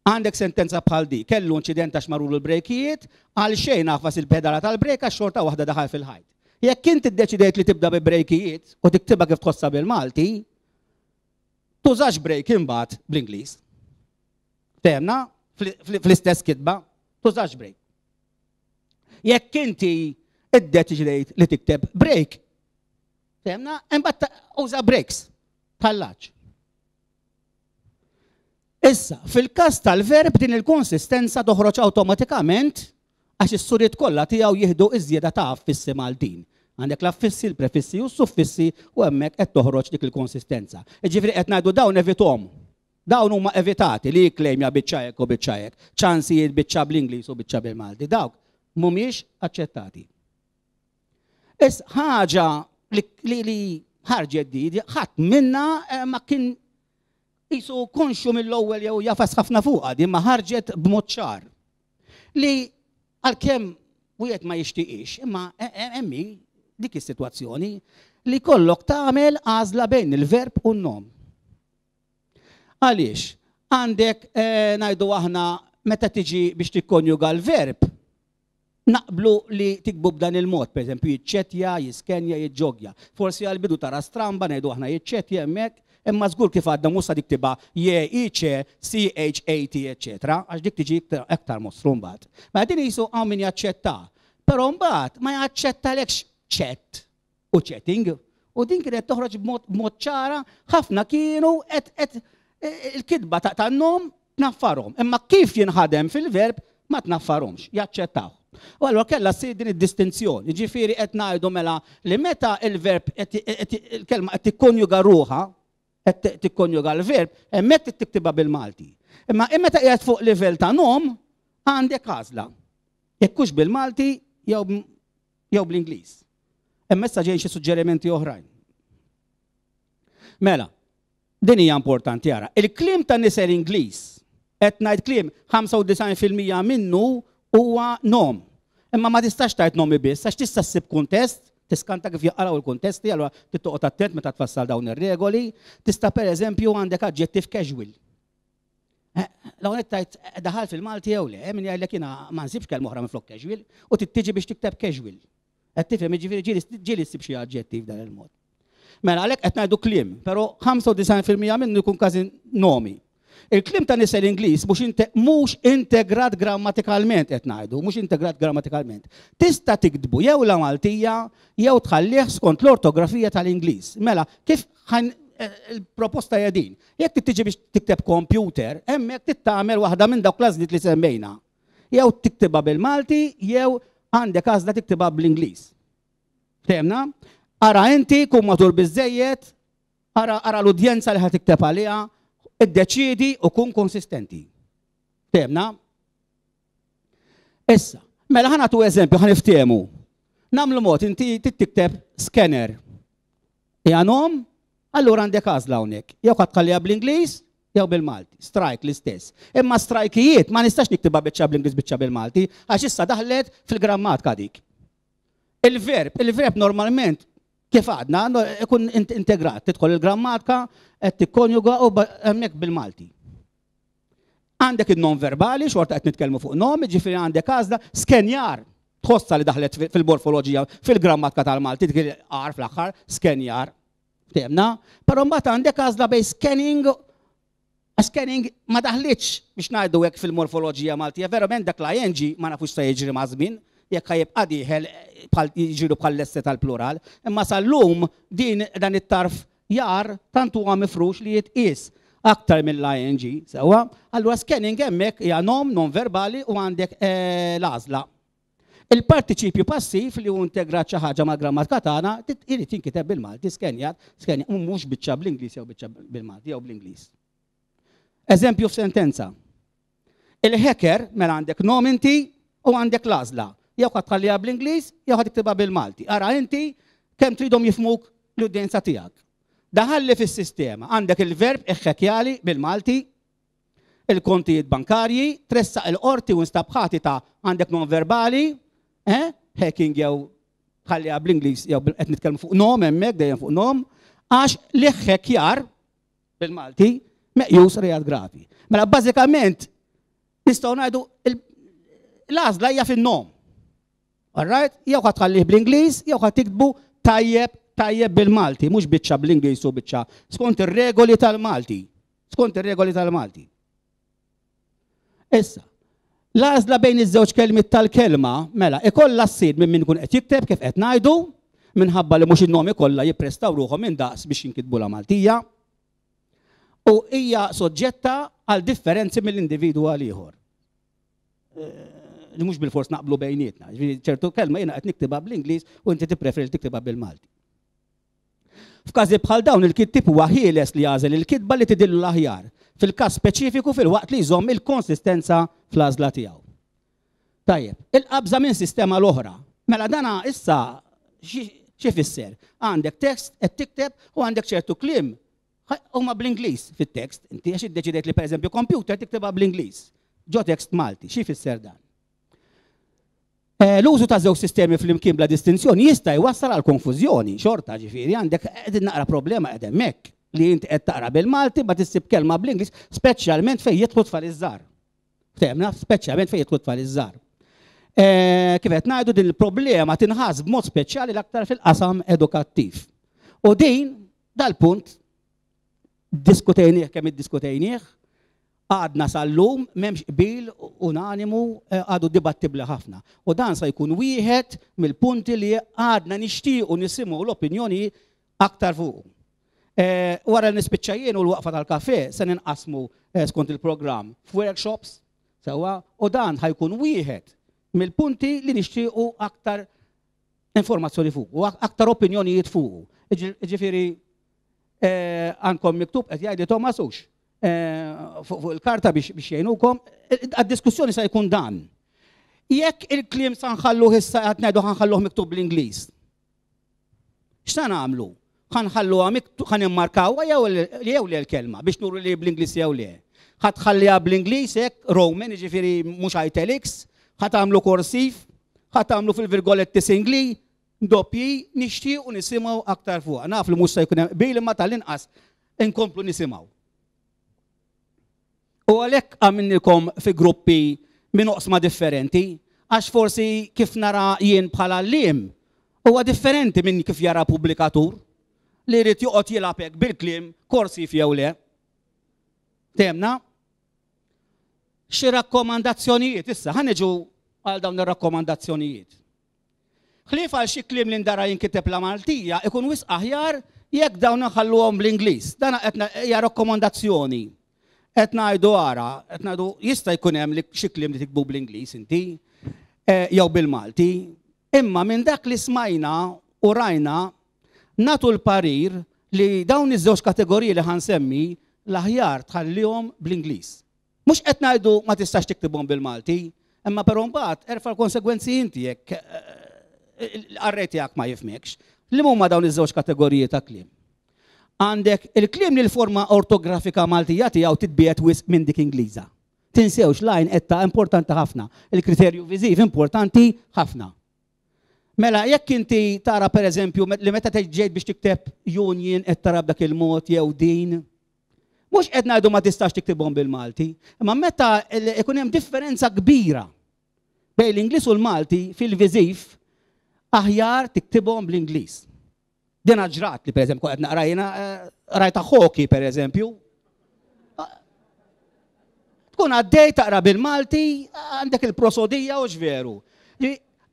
għandek sentenza bħal di, kellu inċident għax marulu l-brejkijiet, għal xejn għafas il-pedala tal-brejk għax xorta waħda daħal fil-ħajt. Jekk inti ddeċidejt li tibda bi brejkijiet u tiktibha kif tħossha bil-Malti, tużax brejk imbagħad bl-Ingliż. Temna, fl-istess kitba, tużax brejk. Jekk inti iddeċidejt li tikteb brejk, temna, imbagħad uża breaks, tħallax. Issa, fil-każ tal-verb din il-konsistenza toħroġ awtomatikament għax is-suriet kollha tiegħu jieħdu iż-żieda ta' affissi Maltin. Għandek l-affissi, l-prefissi u s-suffissi u hemmhekk qed toħroġ dik il-konsistenza. Jiġifieri qed ngħidu dawn evithom. Dawn huma evitati li jikklejmja biċċa hekk u biċċa hekk, ċansijiet biċċa bl-Ingliż u biċċa bil-Malti. Dawk mhumiex aċċettati. Issa ħaġa li ħarġet di, ħadd minna ma kien jisu konxu mill-ewwel jew jafas ħafna fuqha di ma ħarġet b'mod ċar. Li għalkemm wieħed ma jixtieqx, imma hemmi dik is-sitwazzjoni li kollok tagħmel għażla bejn il-verb u n-nom. Għaliex? Għandek ngħidu aħna meta tiġi biex tikkonjuga l-verb, Naqblu li tiktbu b'dan il-mod, per eżempju, jiċċettja, jiskenja, jiġġogja. Forsi għal-bidu tara stramba ngħidu aħna jiċċettja hemmhekk, imma żgur kif għadna mhux sa tiktibha J I C C H A T, eċetera, għax dik tiġi aktar mostru mbagħad. Ma din qisu hawn min jaċċetta, però mbagħad ma jaċċettalekx chat u chatting. U din kienet toħroġ b'mod ċara, ħafna kienu qed il-kitba tan-nom tnaffarhom. Imma kif jinħadem fil-verb ma tnaffarhomx, jaċċettaw. U allura kellha ssir din id-distinzjoni, ġifieri qed ngħidu mela li meta il-verb il-kelma qed tikkonjuga ruħha, qed tikkonjuga l-verb, hemmhekk trid tiktibha bil-Malti. Imma meta qiegħed fuq livell ta' nom għandek għażla. Jekk hux bil-Malti jew bl-Ingliż. Imma issa ġejjin xi suġġerimenti oħrajn. Mela, din hija importanti ara. Il-kliem ta' nisel Ingliż, qed ngħid kliem ħamsa u disgħin fil-mija minnu huwa nom. Imma ma tistax tgħid nomi biss, għax tista' ssib kuntest, tiskanta kif jaqraw il-kuntesti, allura trid toqgħod attent meta tfassal dawn ir-regoli. Tista' pereżempju għandek aġġettiv casual. Law qed tgħid daħal fil-Malti jew le, min jgħidlek jiena ma nsibx kelma oħra minflok casual, u tittiġi biex tikteb casual. Qed tifhem, jiġifieri ġieli ssib xi aġġettiv dan il-mod. Mela għalhekk qed ngħidu kliem, però ħamsa u disgħin fil-mija minnu jkun każi nomi. Il-kliem ta' nisel Ingliż mhux integrat grammatikalment qed ngħidu, mhux integrat grammatikalment. Tista' tiktbu jew la Maltija jew tħallih skont l-ortografija tal-Ingliż. Mela, kif il-proposta hija din? Jekk tiġi biex tikteb computer, hemmhekk trid tagħmel waħda minn dawk l-għażliet li semmejna. Jew tiktibha bil-Malti jew għandek għażla tiktibha bl-Ingliż. Fehmna? Ara inti kun matur biżejjed, ara, ara l-udjenza li ħa tikteb għaliha, iddeċiedi u kun konsistenti. Fehmna? Issa, mela ħa nagħtu eżempju, ħa niftehmu. Nagħmlu mod, inti tikteb scanner. Hija nom, allura għandek għażla hawnhekk. Jew ħa tħalliha bl-Ingliż, jew bil-Malti. Strike l-istess. Imma strajkijiet ma nistax niktibha biċċa bl-Ingliż biċċa bil-Malti, għax issa daħlet fil-grammatika dik. Il-verb, il-verb normalment kif għadna, ikun integrat, tidħol il-grammatika, qed tikkonjuga u hemmhekk bil-Malti. Għandek il-non verbali, xorta qed nitkellmu fuq nom, ġifieri għandek għażla, skenjar, tħossa li daħlet fil-morfoloġija, fil-grammatika tal-Malti, dik il-ar fl-aħħar, skenjar, temna, però mbagħad għandek għażla bej scanning, scanning ma daħlitx biex ngħidu hekk fil-morfoloġija Maltija, verament dak l-I N G ma nafux se jiġri ma' żmien, jekk ħajibqa' dieħel bħal jiġru bħal l-esse tal-plural, imma sal-lum din dan it-tarf jar tant huwa mifrux li jitqies aktar mill-I N G, sewwa. Allura scanning hemmhekk hija nom non verbali u għandek, eh, l-għażla. Il-partiċipju passiv li hu integrat xi ħaġa mal-grammatika tagħna irid jinkiteb bil-Malti, skenjat, skenjat, u mhux biċċa bl-Ingliż jew biċċa bil-Malti jew bl-Ingliż. Eżempju f'sentenza. Il-hacker mela għandek nom inti u għandek l-għażla. Jew ħa tħalliha bl-Ingliż, jew ħa tiktibha bil-Malti. Ara inti kemm tridhom jifhmuk l-udjenza tiegħek. Daħalli fis-sistema, għandek il-verb iħħekjali bil-Malti, il-kontijiet bankarji, tressaq il-qorti u nstab ħati ta' għandek non verbali, eh? Hacking jew tħalliha bl-Ingliż jew qed nitkellmu fuq nom hemmhekk dejjem fuq nom, għax l-iħħekjar bil-Malti meqjus reat gravi. Mela bażikament nistgħu ngħidu l-għażla hija fin-nom. All right? Jew ħa tħallih bl-Ingliż, jew ħa tiktbu tajjeb, tajjeb bil-Malti, mhux biċċa bl-Ingliż u biċċa skont ir-regoli tal-Malti. Skont ir-regoli tal-Malti. Issa, l-għażla bejn iż-żewġ kelmiet tal-kelma, mela, ikollha ssir minn min ikun qed jikteb kif qed ngħidu, minħabba li mhux in-nomi kollha jipprestaw ruħhom minn daqs biex jinkitbu la Maltija, u hija soġġetta għal differenzi mill-individwu għal ieħor. Eh, li mhux bil-fors naqblu bejnietna. Ġifieri ċertu kelma jiena qed niktibha bl-Ingliż u inti tippreferi li tiktibha bil-Malti. F'każi bħal dawn il-kittieb huwa ħieles li jagħżel il-kitba li tidillu l-aħjar fil-każ speċifiku filwaqt li jżomm il-konsistenza fl-għażla tiegħu. Tajjeb, il-qabża minn sistema l-oħra. Mela dana issa xi fisser? Għandek tekst qed tikteb u għandek ċertu kliem huma bl-Ingliż fit-tekst. Inti għax iddeċidejt li pereżempju computer tiktibha bl-Ingliż. Ġo tekst Malti, xi fisser dan? Eh, l-użu ta' żewġ sistemi fl-imkien bla distinzjoni jista' jwassal għal konfużjoni, xorta ġifieri għandek qegħdin naqra problema qed hemmhekk li inti qed taqra bil-Malti ma tissib kelma bl-Ingliż, speċjalment fejn jidħlu tfal iż-żgħar. Fehmna, speċjalment fejn jidħlu tfal iż-żgħar. Kif qed ngħidu, din il-problema tinħass b'mod speċjali l-aktar fil-qasam edukattiv. U din dal-punt diskutejnieh kemm iddiskutejnieh, għadna sal-lum m'hemmx qbil unanimu, għadu dibattibli ħafna. U dan sa jkun wieħed mill-punti li għadna nixtiequ nisimgħu l-opinjoni aktar fuq. Wara li nispiċċa jien u l-waqfa tal-kafe se ninqasmu skont il-programm f'workshops sewwa, u dan ħa jkun wieħed mill-punti li nixtiequ aktar informazzjoni fuq u aktar opinjonijiet fuq. Ġifieri għandkom miktub qed jgħidli Thomas hux fuq il-karta biex jgħinukom, għad-diskussjoni se jkun dan. Jekk il-kliem sa nħalluh issa qed ngħidu ħa nħalluh miktub bl-Ingliż. X'sa nagħmlu? Ħa nħalluha miktub, ħa nimmarkawha jew le l-kelma biex nuru li bl-Ingliż jew le. Ħa tħalliha bl-Ingliż hekk Roman, jiġifieri mhux italics, ħa tagħmlu korsiv, ħa tagħmlu fil-virgoletti singli, doppji, nixtiequ nisimgħu aktar fuq. Naf li mhux se jkun hemm qbil imma tal-inqas inkomplu nisimgħu. U għalhekk għamilnikom fi gruppi minn oqsma differenti, għax forsi kif nara jien bħala għalliem huwa differenti minn kif jara pubblikatur li jrid joqgħod jilgħab hekk bil-kliem korsiv jew le. Temna? Xi rakkomandazzjonijiet issa, ħa niġu għal dawn ir-rakkomandazzjonijiet. Ħlief għal xi kliem li ndara jinkiteb la Maltija, ikun wisq aħjar jekk dawn nħalluhom bl-Ingliż. Dan qed hija rakkomandazzjoni. Qed ngħidu ara, qed ngħidu jista' jkun hemm li xi kliem li tikbu bl-Ingliż inti jew bil-Malti, imma minn dak li smajna u rajna nagħtu l-parir li dawn iż-żewġ kategoriji li ħansemmi l-aħjar tħallihom bl-Ingliż. Mhux qed ngħidu ma tistax tiktibhom bil-Malti, imma però mbagħad erfa' l-konsegwenzi inti jekk l-qarrej tiegħek ma jifhmekx. Li huma dawn iż-żewġ kategoriji ta' kliem? Għandek il-kliem li l-forma ortografika Maltija tiegħu titbiegħed wisq minn dik Ingliża. Tinsewx l-għajn qed ta' importanti ħafna, il-kriterju viżiv importanti ħafna. Mela jekk inti tara pereżempju li meta ġejt biex tikteb union qed tara b'dak il-mod jew din, mhux qed ngħidu ma tistax tiktibhom bil-Malti, imma meta ikun hemm differenza kbira bejn l-Ingliż u l-Malti fil-viżiv, aħjar tiktibhom bl-Ingliż. Din ġrat li pereżempju qed naqra jiena rajta hockey pereżempju. Tkun għaddej taqra bil-Malti, għandek il-prosodija u x'veru.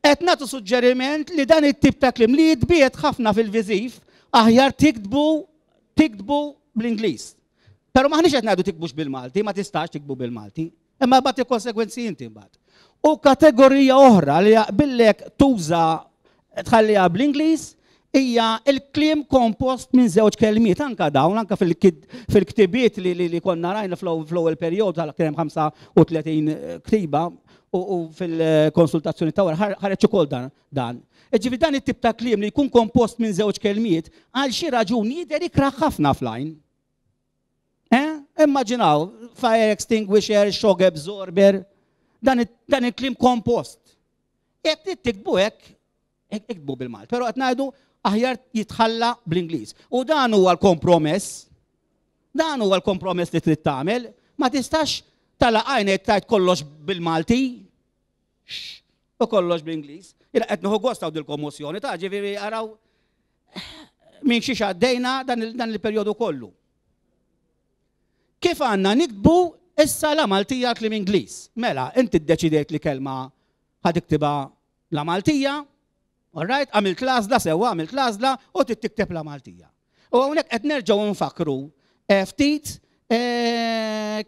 Qed nagħtu suġġeriment li dan it-tip ta' kliem li jitbiegħed ħafna fil-viżiv, aħjar tiktbu tiktbu bl-Ingliż. Però maħniex qed ngħidu tiktbux bil-Malti, ma tistax tiktbu bil-Malti, imma bagħad il-konsegwenzi inti mbagħad. U kategorija oħra li jaqbillek tuża tħalliha bl-Ingliż hija il-kliem kompost minn żewġ kelmiet, anka dawn, anka fil-ktibiet li konna rajna fl-ewwel perjodu tal kien hemm ħamsa u tletin ktiba u fil-konsultazzjoni ta' wara ħareġ ukoll dan. Ġifieri dan it-tip ta' kliem li jkun kompost minn żewġ kelmiet għal xi raġuni jidher ikrah ħafna fl-għajn. Immaġinaw, fire extinguisher, shock absorber, dan il-kliem kompost. Jekk tiktbu hekk, iktbu bil-Malti, però qed ngħidu aħjar jitħalla bl-Ingliż. U dan huwa l-kompromess, dan huwa l-kompromess li trid tagħmel, ma tistax tala għajnek tajt kollox bil-Malti u kollox bl-Ingliż. Jiena qed nieħu gost hawn dil-kommossjoni ta' ġifieri araw minn xiex għaddejna dan il-perjodu kollu. Kif għandna niktbu issa la Maltija kliem Ingliż? Mela, inti ddeċidejt li kelma ħa tiktibha la Maltija, all right, għamilt l-għażla sewwa, għamilt l-għażla u trid tikteb la Maltija. U hawnhekk qed nerġgħu nfakru ftit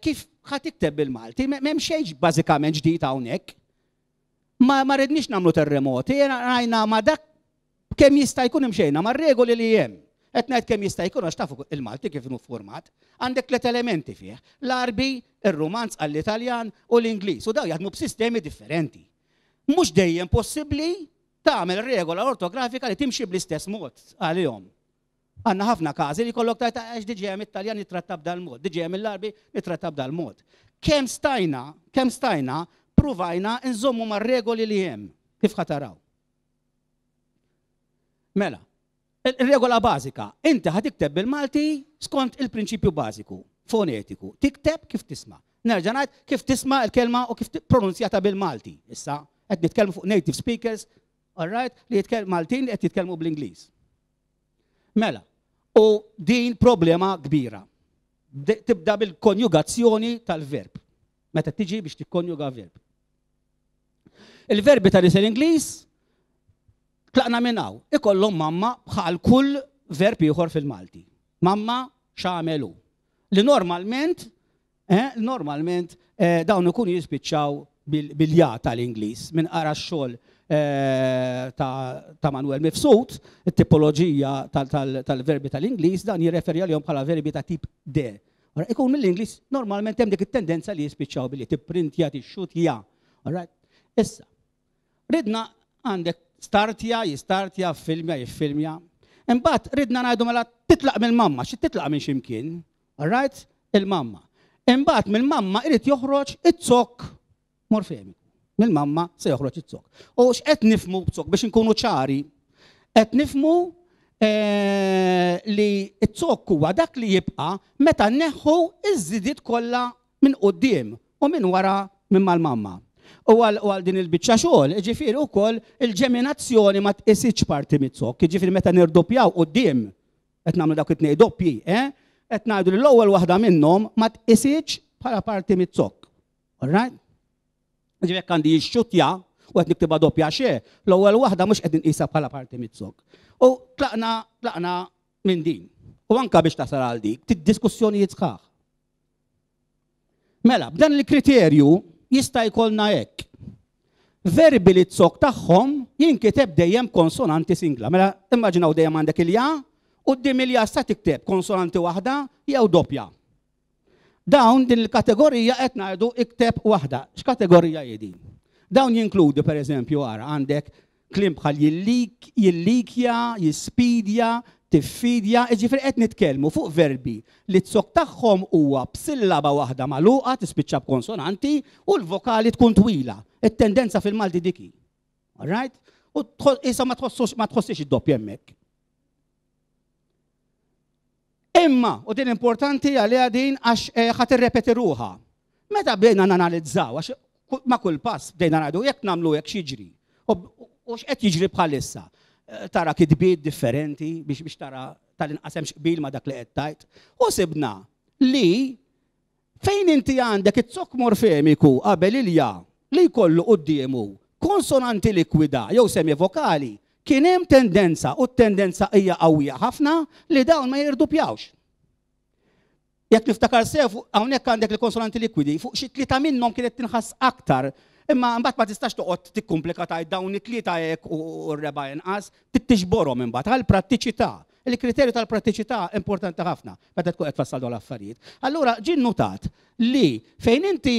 kif ħa tikteb bil-Malti, m'hemm xejn bażikament ġdid hawnhekk. Ma rridniex nagħmlu terremoti, rajna ma dak kemm jista' jkun imxejna mar-regoli li hemm. Qed ngħid kemm jista' jkun għax tafu il-Malti kif inhu format, għandek tliet elementi fih, l-Għarbi, ir-Rumanz għall-Italjan u l-Ingliż, u daw jaħdmu b'sistemi differenti. Mhux dejjem possibbli tagħmel regola ortografika li timxi bl-istess mod għalihom. Għandna ħafna każi li jkollok tajt għax diġà hemm it-Taljan nittratta b'dal-mod, diġà hemm il-Għarbi nittratta b'dal-mod. Kemm stajna, kemm stajna, pruvajna nżommu mar-regoli li hemm, kif ħa taraw. Mela, il-regola bażika, inti ħa tikteb bil-Malti skont il-prinċipju bażiku, fonetiku, tikteb kif tisma'. Nerġa' ngħid kif tisma' l-kelma u kif pronunzjata bil-Malti. Issa, Qed nitkellmu fuq native speakers, all right, li jitkellmu Maltin li qed jitkellmu bl-Ingliż. Mela, u din problema kbira. Tibda bil-konjugazzjoni tal-verb. Meta tiġi biex tikkonjuga verb. Il-verbi ta' l-Ingliż tlaqna minn hawn, ikollhom mamma bħal kull verb ieħor fil-Malti. Mamma x'għamelu. Li normalment, eh, normalment eh, dawn ikunu jispiċċaw bil-ja tal-Ingliż. Minn qara x-xogħol eh, ta' Manuel Mifsud, it-tipoloġija tal-verbi tal-Ingliż, dan jirreferi għalihom bħala verbi ta' tip D. Ikun mill-Ingliż normalment hemm dik it-tendenza li jispiċċaw billi tipprintja, tixxutja. Issa, ridna għandek startja, jistartja, filmja, jiffilmja. Imbagħad ridna ngħidu mela titlaq mill-mamma, xi titlaq minn x'imkien, all right? Il-mamma. Imbagħad mill-mamma irid joħroġ iz-zokk morfemiku. Mill-mamma se joħroġ iz-zokk. U x'qed nifhmu b'zokk biex inkunu ċari? Qed nifhmu eh, li z-zokk huwa dak li jibqa' meta nneħħu iż-żidiet kollha minn quddiem u minn wara minn mal-mamma. U għal din il-biċċa xogħol, ġifieri wkoll il-ġeminazzjoni ma tqisitx parti mit-zokk, ġifieri meta nirdoppjaw quddiem qed nagħmlu dawk it-tnejn doppji, eh? Qed ngħidu li l-ewwel waħda minnhom ma tqisitx bħala parti mit-zokk. All right? Ġifieri jekk għandi jixxutja u qed niktibha doppja xe, l-ewwel waħda mhux qed inqisha bħala parti mit-zokk. U tlaqna tlaqna minn din. U anka biex tasal għal dik, diskussjonijiet sħaħ. Mela, b'dan il-kriterju jista' jkollna hekk. Verbi li z-zokk tagħhom jinkiteb dejjem konsonanti singla. Mela, immaġinaw dejjem għandek il-ja, u quddiem il-ja sa tikteb konsonanti waħda jew doppja. Dawn din il-kategorija qed ngħidu ikteb waħda. X'kategorija hi din? Dawn jinkludu pereżempju ara għandek kliem bħal jillikja, jispidja, tiffidja, jiġifieri qed nitkellmu fuq verbi li z-zokk tagħhom huwa b'sillaba waħda magħluqa tispiċċa b'konsonanti u l-vokali tkun twila. It-tendenza fil-Malti diki. All right? U issa ma tħossux ma tħossix id-doppja hemmhekk. Imma, u din importanti għaliha din għax ħa tirrepeti ruħha. Meta bdejna nanalizzaw, għax ma' kull pass bdejna ngħidu jekk nagħmlu hekk x'jiġri. U x'qed jiġri bħalissa. Tara kitbiet differenti biex biex tara tal-inqas hemmx qbil ma' dak li qed tgħid. U sibna li fejn inti għandek iz-zokk morfemiku qabel il-ja li jkollu quddiemu konsonanti likwida jew semivokali, kien hemm tendenza, u t-tendenza hija qawwija ħafna, li dawn ma jirdupjawx. Jekk niftakar sew, hawnhekk għandek il-konsonanti likwidi, fuq xi tlieta minnhom kienet tinħass aktar, imma mbagħad ma tistax toqgħod tikkumplika tgħid dawn it-tlieta hekk u r-reba' inqas, tixborhom imbagħad għall-prattiċità. Il-kriterju tal-prattiċità importanti ħafna meta tkun qed tfassal dawn l-affarijiet. Allura ġie nnotat li fejn inti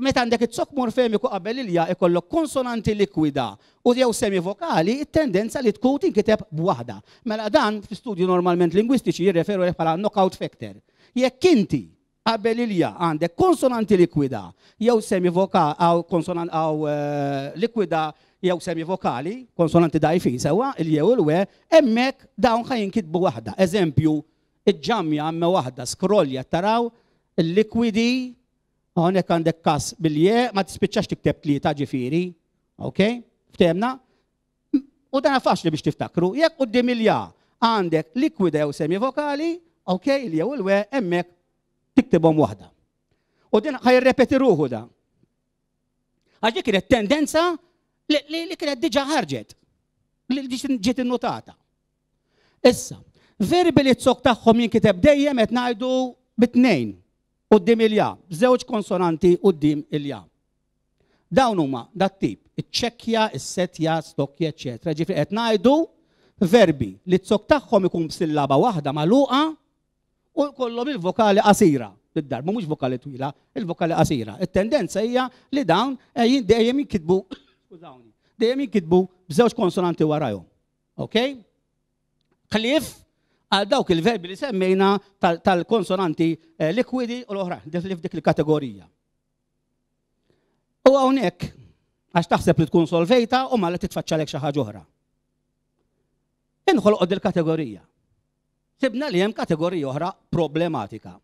meta għandek iz-zokk morfemiku qabel il-ja ikollok konsonanti likwida u jew semivokali, it-tendenza li tkun tinkiteb b'waħda. Mela dan fi studju normalment lingwistiċi jirreferu bħala knockout factor. Jekk inti qabel il-ja għandek konsonanti likwida jew semivokali aw konsonant aw likwida jew semivokali, konsonanti dgħajfin sewwa, il-jew il-we, hemmhekk dawn ħa jinkitbu waħda. Eżempju, iġġamja għamme waħda, skrolja taraw il-likwidi. Hawnhekk għandek kas bil-je, ma tispiċċax tikteb tlieta ġifieri, ok? Ftehmna? U dan faċli biex tiftakru, jekk quddiem il-ja għandek likwida jew semivokali, ok, il-jew il-we, hemmhekk tiktibhom waħda. U din ħa jirrepeti ruħu da. Għax dik kienet tendenza li, li kienet diġà ħarġet, li ġiet innotata. Issa, verbi li z-zokk tagħhom jinkiteb dejjem qed ngħidu bit-tnejn quddiem il-ja, żewġ konsonanti quddiem il-ja. Dawn huma dat-tip, iċ-ċekkja, is-setja, stokja, eċċetera. Ġifieri qed ngħidu verbi li z-zokk tagħhom ikun b'sillaba waħda magħluqa u jkollhom il-vokali qasira. Bid-darba mhux vokali twila, il-vokali qasira. It-tendenza hija li dawn dejjem jinkitbu, skużawni, dejjem jinkitbu b'żewġ konsonanti warajhom. Ok? Ħlief għal dawk il-verbi li semmejna tal-konsonanti likwidi u l-oħra, f'dik il-kategorija. U hawnhekk, għax taħseb li tkun solvejta u ma li titfaċċalek xi ħaġa oħra. Inħolqod il-kategorija. Sibna li hemm kategorija oħra problematika.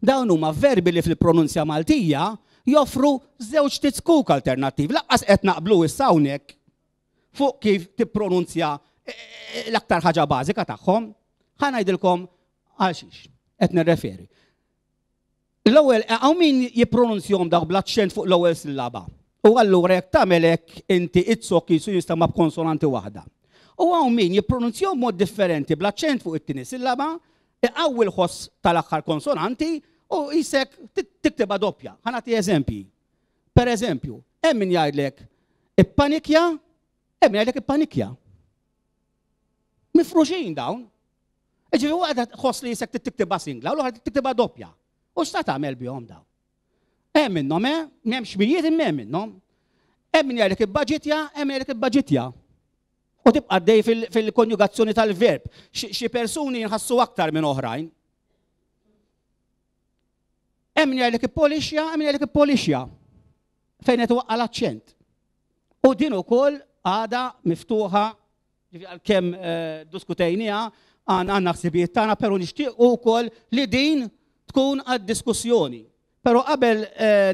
Dawn huma verbi li fil-pronunzja Maltija Joffru żewġ tizkuk alternattivi. Lanqas qed naqblu issa hawnhekk fuq kif tippronunzja l-aktar ħaġa bażika tagħhom. Ħa ngħidilkom għal xiex qed nirreferi. L-ewwel hawn min jippronunzjahom dawk bl-aċċent fuq l-ewwel sillaba. U allura jekk tagħmel hekk inti it-sok jisu jinstema' b'konsonanti waħda. U hawn min jippronunzjahom mod differenti bl-aċċent fuq it-tieni sillaba, iqawwi l-ħoss tal-aħħar konsonanti u jisek tiktibha doppja. Ħa nagħti eżempji. Per eżempju, hemm min jgħidlek ippanikja, hemm min jgħidlek ippanikja. Mifruxin dawn. Ġifieri waħda tħoss li jisek tiktibha singla u l-oħra tiktibha doppja. U x'ta tagħmel bihom dawn? Hemm minnhom, eh? M'hemmx mijiet imma hemm minnhom. Hemm min jgħidlek ibbaġitja, hemm min jgħidlek ibbaġitja. U tibqa' dej fil-konjugazzjoni tal-verb. Xi persuni jinħassu aktar minn oħrajn. Hemm min jgħidlek ippolixja, hemm min jgħidlek ippolixja. Fejn qed iwaqqa' l-aċċent. U din ukoll għada miftuħa, ġifieri għalkemm diskutejniha, għandna ħsibijiet tagħna, però nixtiequ wkoll li din tkun għad-diskussjoni. Però qabel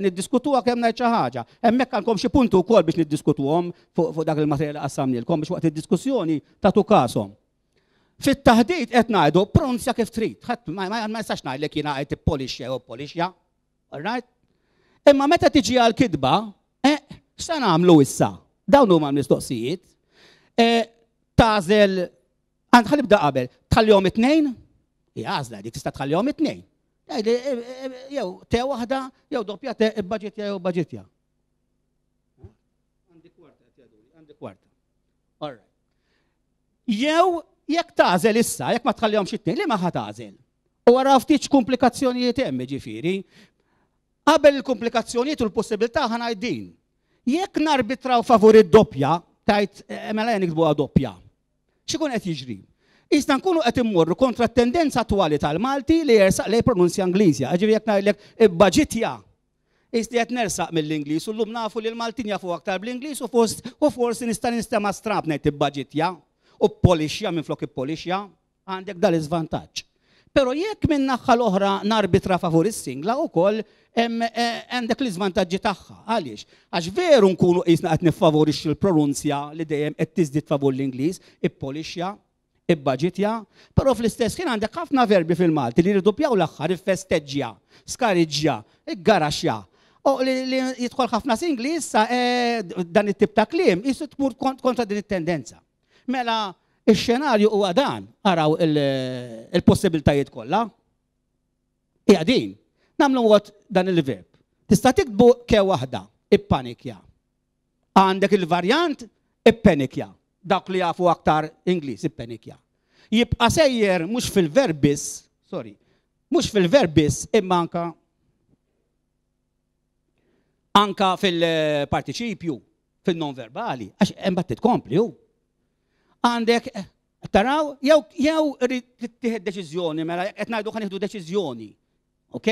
niddiskutuha kemm ngħid xi ħaġa. Hemmhekk għandkom xi punti wkoll biex niddiskutuhom fuq dak il-materjal li qassamnielkom biex waqt id-diskussjoni tagħtu każhom. Fit-taħdit qed ngħidu pronunzja kif trid. Ħadd ma nistax ngħidlek jiena qed ippolixja jew polixja. All right? Imma meta tiġi għall-kitba, eh, x'se nagħmlu issa? Dawn huma l-mistoqsijiet. Tagħżel, ħa nibda qabel, tħallihom it-tnejn? Hija għażla dik, tista' tħallihom it-tnejn. Jew te waħda, jew doppja te, ibbaġitja jew baġitja. Għandi kwarta, għandi kwarta. All right. Jew jekk tagħżel issa, jekk ma tħallihomx it-tnejn, li ma ħa tagħżel? U wara ftit komplikazzjonijiet hemm, ġifieri. Qabel il-komplikazzjonijiet u l-possibilità ħa ngħid din. Jekk narbitraw favur id-doppja, tajt mela nikdbuha doppja. X'ikun qed jiġri? Issa nkunu qed immorru kontra t-tendenza attwali tal-Malti li jersaq lej pronunzja Ingliżja. Ġifieri jekk ngħidlek ibbaġitja, Isti qed nersaq mill-Ingliż u llum nafu li l-Maltin jafu aktar bl-Ingliż u u forsi nista' nistema' strab ngħid ibbaġitja u polixja minflok ippolixja, għandek dal-iżvantaġġ. Però jekk minn naħa l-oħra narbitra favur is-singla wkoll għandek l-iżvantaġġi tagħha. Għaliex? Għax veru nkunu qisna qed niffavorixxu l-pronunzja li dejjem qed tiżdied favur l-Ingliż, ippolixja, ibbaġitja, però fl-istess ħin għandek ħafna verbi fil-Malti li jirdoppjaw l-aħħar, iffesteġġja, skariġġja, iggaraxja. U li jidħol ħafna singli issa dan it-tip ta' kliem jisu tmur kontra din it-tendenza. Mela ix-xenarju huwa dan, araw il-possibiltajiet kollha. Hija din. Nagħmlu mod dan il-verb. Tista' tiktbu ke waħda, ippanikja. Għandek il-varjant ippenikja. Dawk li jafu aktar Ingliż, ippenikja. Jibqa' sejjer mhux fil-verb biss, sorry, mhux fil-verb biss imma anka anka fil-partiċipju, fil-non verbali, għax imbagħad titkompli hu. Għandek, taraw, jew jew irid tittieħed deċiżjoni, mela qed ngħidu ħa nieħdu deċiżjoni. Ok?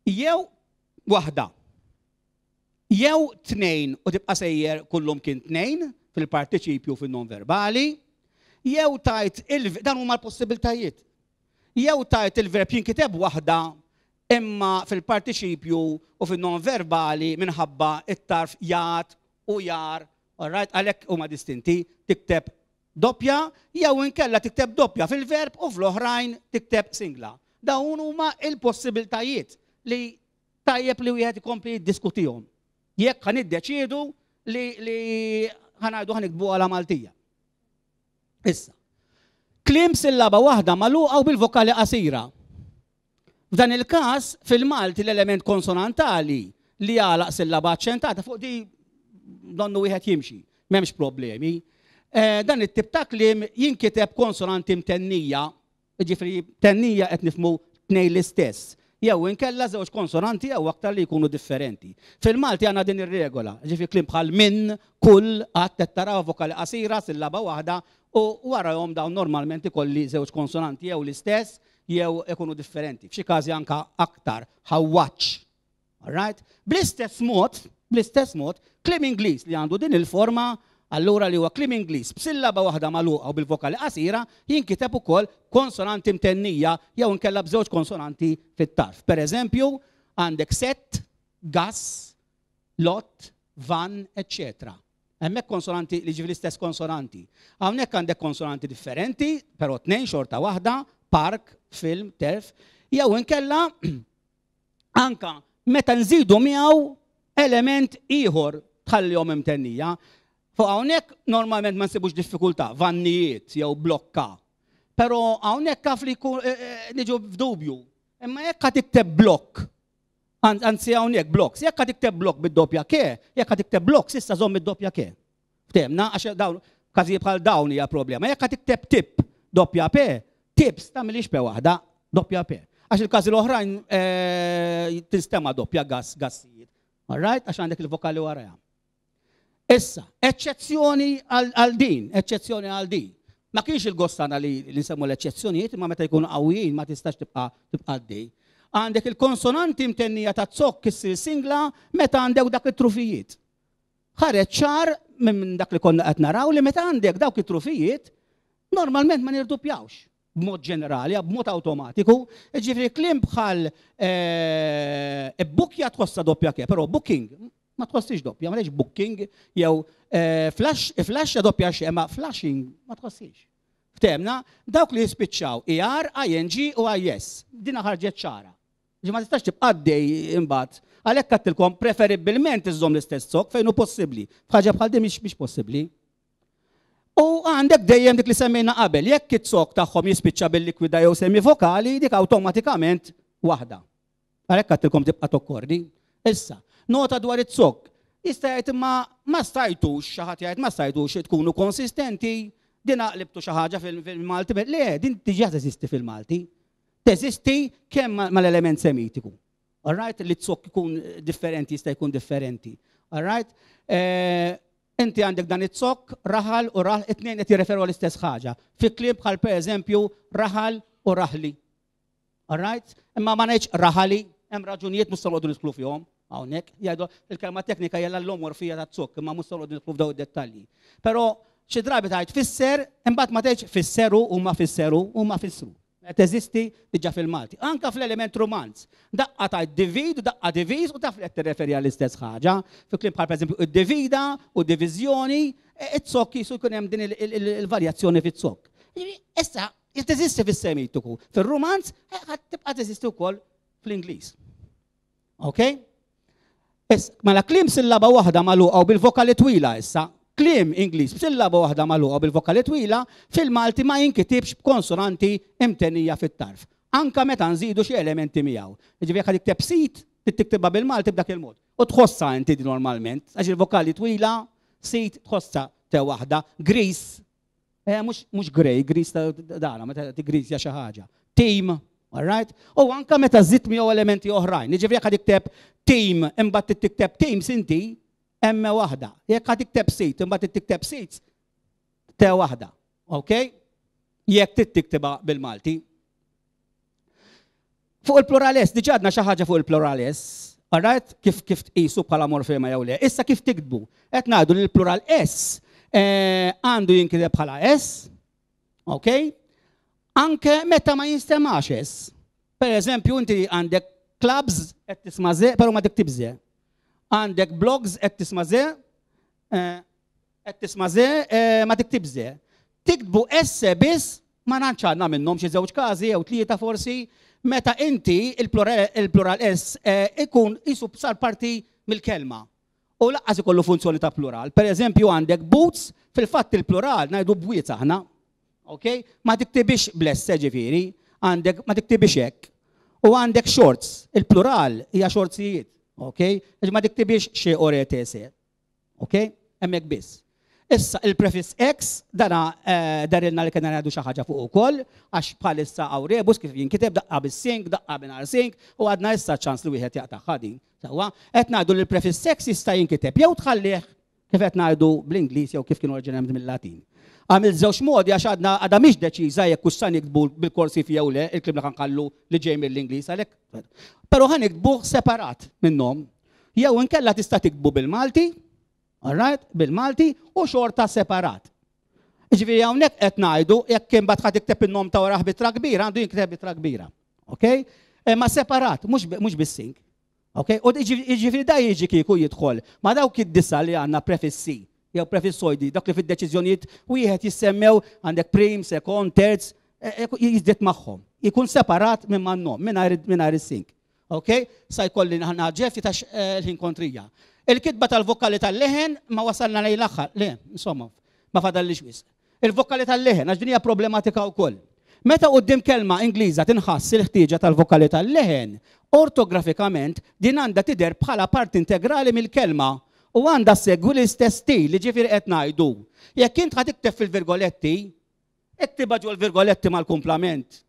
Jew waħda. Jew tnejn u tibqa' sejjer kullum kien tnejn fil-partiċipju fin-non verbali, jew tajt il dan huma l-possibiltajiet. Jew tajt il-verb jinkiteb waħda imma fil-partiċipju u fin-non verbali minħabba it-tarf jat u jar, all right, għalhekk huma distinti, tikteb doppja jew inkella tikteb doppja fil-verb u fl-oħrajn tikteb singla. Dawn huma il-possibiltajiet li tajjeb li wieħed ikompli jiddiskutihom. Jekk ħa niddeċiedu li li ħa ngħidu ħa niktbu għala Maltija. Issa, kliem sillaba waħda magħluqa u bil-vokali qasira. F'dan il-każ, fil-Malti l-element konsonantali li jagħlaq sillaba aċċentata fuq di donnu wieħed jimxi, m'hemmx problemi. Eh, dan it-tip ta' kliem jinkiteb konsonanti mtennija, jiġifieri tennija qed nifhmu tnejn l-istess, jew inkella żewġ konsonanti jew aktar li jkunu differenti. Fil-Malti għandna din ir-regola, ġifieri kliem bħal minn, kull, qatt qed taraw vokali qasira, sillaba waħda, u warahom dawn normalment ikolli żewġ konsonanti jew l-istess jew ikunu differenti. F'xi każi anka aktar ħawwaċ. All right? Bl-istess mod, bl-istess mod, kliem Ingliż li għandu din il-forma, allura li huwa kliem Ingliż b'sillaba waħda magħluqa u bil-vokali qasira, jinkiteb ukoll konsonanti mtennija jew inkella b'żewġ konsonanti fit-tarf. Per eżempju, Għandek set, gas, lot, van, eccetera. Hemmhekk konsonanti li ġifieri l-istess konsonanti. Hawnhekk għandek konsonanti differenti, però tnejn xorta waħda, park, film, terf, jew inkella anka meta nżidu miegħu element ieħor tħallihom imtennija. Fuq hawnhekk normalment ma nsibux diffikultà, vannijiet jew blokka. Però hawnhekk kaf li niġu f'dubju. Imma jekk qed tikteb blokk, anzi hawnhekk blocks, jekk qed tikteb blokk bid-doppja ke, jekk qed tikteb blocks issa żomm id-doppja ke. Ftehmna, għax dawn każijiet bħal dawn hija problema. Jekk qed tikteb tip doppja P, tips tagħmilix P waħda, doppja P. Għax il-każi l-oħrajn tinstema' doppja gas, gassijiet. All right? Għax għandek il-vokali warajha. Issa, eċċezzjoni għal din, eċċezzjoni għal din. Ma kienx il-gost tagħna li nsemmu l-eċċezzjonijiet, imma meta jkunu qawwijin ma tistax tibqa' tibqa' għaddej. Għandek il-konsonanti mtennija ta' zokk issir singla meta għandek dak it-trufijiet. Ħareġ ċar minn dak li konna qed naraw li meta għandek dawk it-trufijiet, normalment ma nirdupjawx b'mod ġenerali, b'mod awtomatiku. Ġifieri kliem bħal bukja tħossha doppja ke, però booking ma tħossix doppja, ma booking jew flash, flash doppja xe, ma flashing ma tħossix. Ftehmna, dawk li jispiċċaw I R, I N G u I S. Dina ħarġet ċara. Ġi ma tistax tibqa' għaddej imbagħad. Għalhekk għedtilkom preferibbilment iżżomm l-istess zokk fejn hu possibbli. F'ħaġa bħal din mhix possibbli. U għandek dejjem dik li semmejna qabel, jekk it-zokk tagħhom jispiċċa bil-likwida jew semivokali, dik awtomatikament waħda. Għalhekk għedtilkom tibqa' tokkordi. Issa, nota dwar it-zokk. Jista' jgħid imma ma stajtux, xi ħadd jgħid ma stajtux tkunu konsistenti, din qlibtu xi ħaġa fil-Malti, le, din diġà teżisti fil-Malti. Teżisti kemm mal-element semitiku. All right, li t-zokk ikun differenti, jista' jkun differenti. All right? Inti għandek dan it-zokk, raħal u raħal, it-tnejn qed jirreferu l-istess ħaġa. Fi kliem bħal pereżempju raħal u raħli. All right? Imma ma ngħidx raħali, hemm raġunijiet mhux se noqogħdu nidħlu fihom hawnhekk. Jgħidu il-kelma teknika hija l-allomorfija ta' zokk, imma mhux se noqogħdu nidħlu f'daw id-dettalji. Però xi drabi tgħid fisser, imbagħad ma tgħidx fisseru u ma fisseru u ma fissru. Teżisti diġà fil-Malti. Anka fl-element romanz. Daqqa ta' divid, daqqa diviż, u taf li qed tirreferi għall-istess ħaġa. Fi kliem bħal pereżempju id-divida u diviżjoni, it-zokk jisu jkun hemm din il-varjazzjoni fit-zokk. Issa, teżisti fis-Semitiku. Fil-Romanz, tibqa' teżisti wkoll fl-Ingliż. Ok? Issa, mela kliem sillaba waħda magħluqa u bil-vokali twila issa, kliem Ingliż b'sillaba waħda magħluqa bil-vokali twila fil-Malti ma jinkitibx b'konsonanti imtenija fit-tarf. Anka meta nżidu xi elementi miegħu. Jiġifieri jekk tikteb sit, tiktibha bil-Malti b'dak il-mod. U tħossha inti normalment, għax il-vokali twila, sit tħossha te waħda, gris, eh, mhux grey, gris dana, meta tigrisja xi ħaġa. Team, all right? U anka meta żidt miegħu elementi oħrajn. Jiġifieri jekk tikteb team imbagħad tikteb teams inti, emme waħda. Jekk ħa tikteb seat, imbagħad tikteb seats, te waħda. Ok? Jekk tiktibha bil-Malti. Fuq il-plural S, diġà għedna xi ħaġa fuq il-plural S, alright? Kif kif tqisu bħala morfema jew le. Issa kif tiktbu? Qed ngħidu li l-plural S eh, għandu jinkiteb bħala S, ok? Anke meta ma jinstemax S. Per eżempju, inti għandek clubs qed tisma' ze, però ma tiktib ze. Għandek blogs qed tisma' ze, eh, qed tisma' ze, eh, ma tiktib ze. Tiktbu S biss ma nantx għandna minnhom xi żewġ każi jew tlieta forsi meta inti il-plural S eh, ikun isu sar parti mill-kelma. U lanqas ikollu funzjoni ta' plural. Per eżempju għandek boots, fil-fatt il-plural ngħidu bwiet aħna. Ok? Ma tiktibix bl-S ġifieri, għandek ma tiktibix hekk. U għandek shorts, il-plural hija shortsijiet. Ok? Ma tiktibix xi O R T S. Ok? Hemmhekk biss. Issa il-prefiss ex, dana eh, darilna li kena ngħidu xi ħaġa fuq ukoll, għax bħalissa hawn rebus kif jinkiteb daqqa bis-sing, daqqa mingħajr sing, u għadna issa ċans li wieħed jaqta' din. Sewwa, qed ngħidu li l-prefiss ex jista' jinkiteb jew tħallih kif qed ngħidu bl-Ingliż jew kif kienu oriġinament mill-Latin. Għamil żewġ modi għax għadna għadha mhix deċiża jekk hux sa niktbu bil-korsiv jew le, il-kliem li ħanħallu li ġej mill-Ingliż għalhekk. Però ħa niktbuh separat minnhom. Jew inkella tista' tiktbu bil-Malti, alright, bil-Malti u xorta separat. Ġifieri hawnhekk qed ngħidu jekk kien bad ħa tikteb in-nom ta' wara b'ittra kbira, għandu jinkiteb b'ittra kbira. Ok? Ma separat, mhux bis-sing. Ok? U jiġifieri da jiġi kieku jidħol ma' dawk id-disa li għandna prefissi jew prefissoidi, dak li fid-deċiżjonijiet wieħed jissemmew għandek prim, sekond, terz, e, e, jiżdied magħhom. Jkun separat minn man-nom, mingħajr is-sing. Ok? Sa jkolli naħġef ta' l-ħin kontrija. Il-kitba tal-vokali tal-leħen ma wasalna lejn l-aħħar. Le, insomma, ma fadallix wisq. Il-vokali tal-leħen, għax din hija problematika wkoll. Meta quddiem kelma Ingliża tinħass il-ħtieġa tal-vokali tal-leħen, ortografikament din għandha tidher bħala parti integrali mill-kelma u għandha segwi l-istess stil li ġifieri qed ngħidu. Jekk int ħa tikteb fil-virgoletti, iktibha ġol virgoletti mal-kumplament.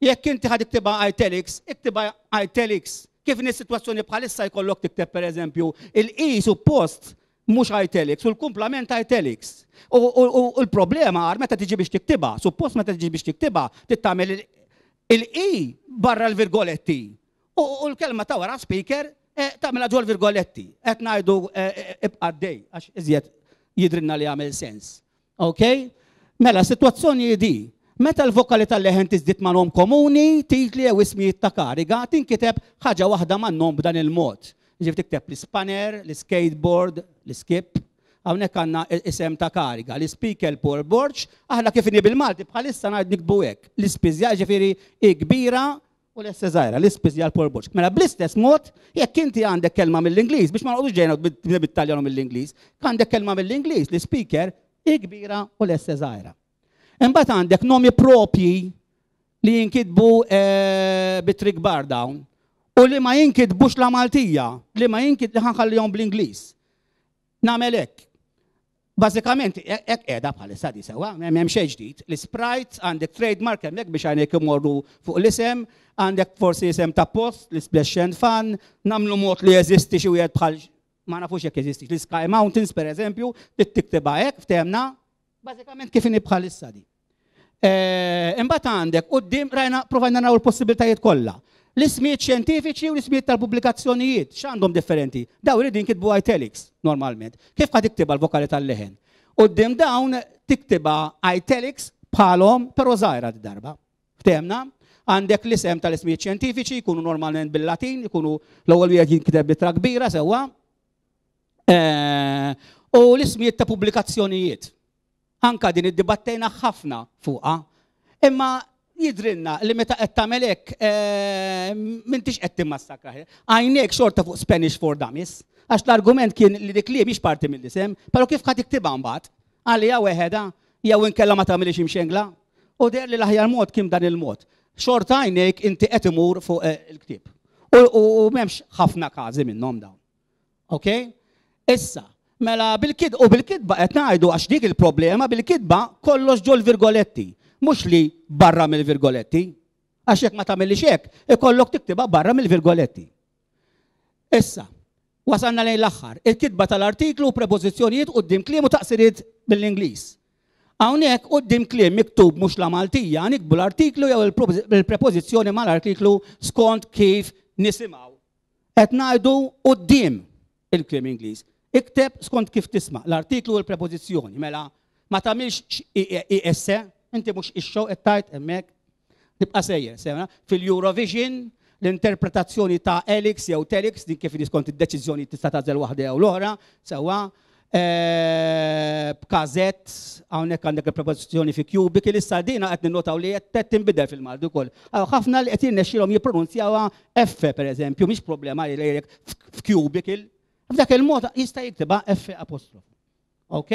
Jekk inti ħa tiktibha italics, iktibha italics. Kif in sitwazzjoni bħalissa jkollok tikteb, pereżempju, il-i suppost mhux italics u l-kumplament italics. U l-problema għar meta tiġi biex tiktibha, suppost meta tiġi biex tiktibha, tittamel il-i barra l-virgoletti. U l-kelma ta' wara speaker tagħmilha ġol virgoletti. Qed ngħidu ibqa' dej għax iżjed jidrinna li għamel sens. Ok? Mela, situazzjoni di, meta l-vokali tal-leħen tiżdied ma' nom komuni, titli jew ismijiet ta' kariga, tinkiteb ħaġa waħda ma' nom b'dan il-mod. Ġif tikteb l-spanner, l-skateboard, l-skip, hawnhekk għandna isem ta' kariga, l-speaker Paul Borg, aħna kif inhi bil-Malti bħalissa ngħid nikbu hekk. L-ispiżja ġifieri i kbira u l-esse żgħira, l-ispiżja l-Paul Borg. Mela bl-istess mod, jekk inti għandek kelma mill-Ingliż, biex ma noqgħodux ġejna bit-Taljan u mill-Ingliż, għandek kelma mill-Ingliż, l-speaker i kbira u l-esse żgħira. Imbagħad għandek nomi propji li jinkitbu bit-tri kbar dawn u li ma jinkitbux la Maltija, li ma jinkitbu li ħanħallihom bl-Ingliż. Nagħmel hekk. Bażikament hekk qiegħda bħalissa di sewwa, m'hemm xejn ġdid. L-Sprite għandek trademark hemmhekk biex għajnek imorru fuq l-isem, għandek forsi isem ta' post, l-Splash and Fun, nagħmlu mod li jeżisti xi wieħed bħal ma nafux jekk jeżisti, l-Sky Mountains pereżempju, tiktibha hekk ftehemna, bażikament kif inhi bħalissa di. Imbagħad għandek quddiem rajna provajna naraw il-possibiltajiet kollha. L-ismijiet xjentifiċi u l-ismijiet tal-pubblikazzjonijiet, x'għandhom differenti? Dawn iridu jinkitbu italics normalment. Kif ħa tiktibha l-vokali tal-leħen? Quddiem dawn tiktibha italics bħalhom però żgħira darba. Ftehemna? Għandek l-isem tal-ismijiet xjentifiċi jkunu normalment bil-Latin, jkunu l-ewwel wieħed jinkiteb b'ittra kbira sewwa. U l-ismijiet ta' pubblikazzjonijiet. Anka din iddibattejna ħafna fuqha. Imma jidrinna li meta qed tagħmel hekk m'intix qed timmassakra. Għajnejk xorta fuq Spanish for Dummies, għax l-argument kien li dik li mhix parti mill-isem, però kif ħa tiktibha mbagħad? Għalija weħeda jew inkella ma tagħmilix imxengla. U deher li l-aħjar mod kien dan il-mod. Xorta għajnejk inti qed imur fuq il-ktieb. U m'hemmx ħafna każi minnhom dawn. Ok? Issa, mela bil-kid u bil-kidba qed ngħidu għax dik il-problema bil-kidba kollox ġol virgoletti, mhux li barra mill-virgoletti. Għax jekk ma tagħmilix hekk, ikollok tiktibha barra mill-virgoletti. Issa, wasalna lejn l-aħħar, il-kitba tal-artiklu u prepożizzjonijiet quddiem kliem u taqsiriet mill-Ingliż. Hawnhekk quddiem kliem miktub mhux la Maltija, nikbu l-artiklu jew il-prepożizzjoni mal-artiklu skont kif nisimgħu. Qed ngħidu quddiem il-kliem Ingliż. Ikteb skont kif tisma' l-artiklu u l-prepożizzjoni, mela ma tagħmilx I S, inti mhux ix-show qed tgħid hemmhekk, tibqa' sejjer, sewwa. Fil-Eurovision l-interpretazzjoni ta' Elix jew Telix, din kif skont id-deċiżjoni tista' tagħżel waħda jew l-oħra, sewwa. B'kazett, hawnhekk għandek il-prepożizzjoni fi cubic, issa dina qed ninnotaw li qed tinbidel fil-Malti wkoll. Ħafna li qed jirnexxielhom jippronunzjawha F pereżempju, mhix problema li jgħidlek f'cubicle. F'dak il-mod jista' jiktibha F apostrof. Ok?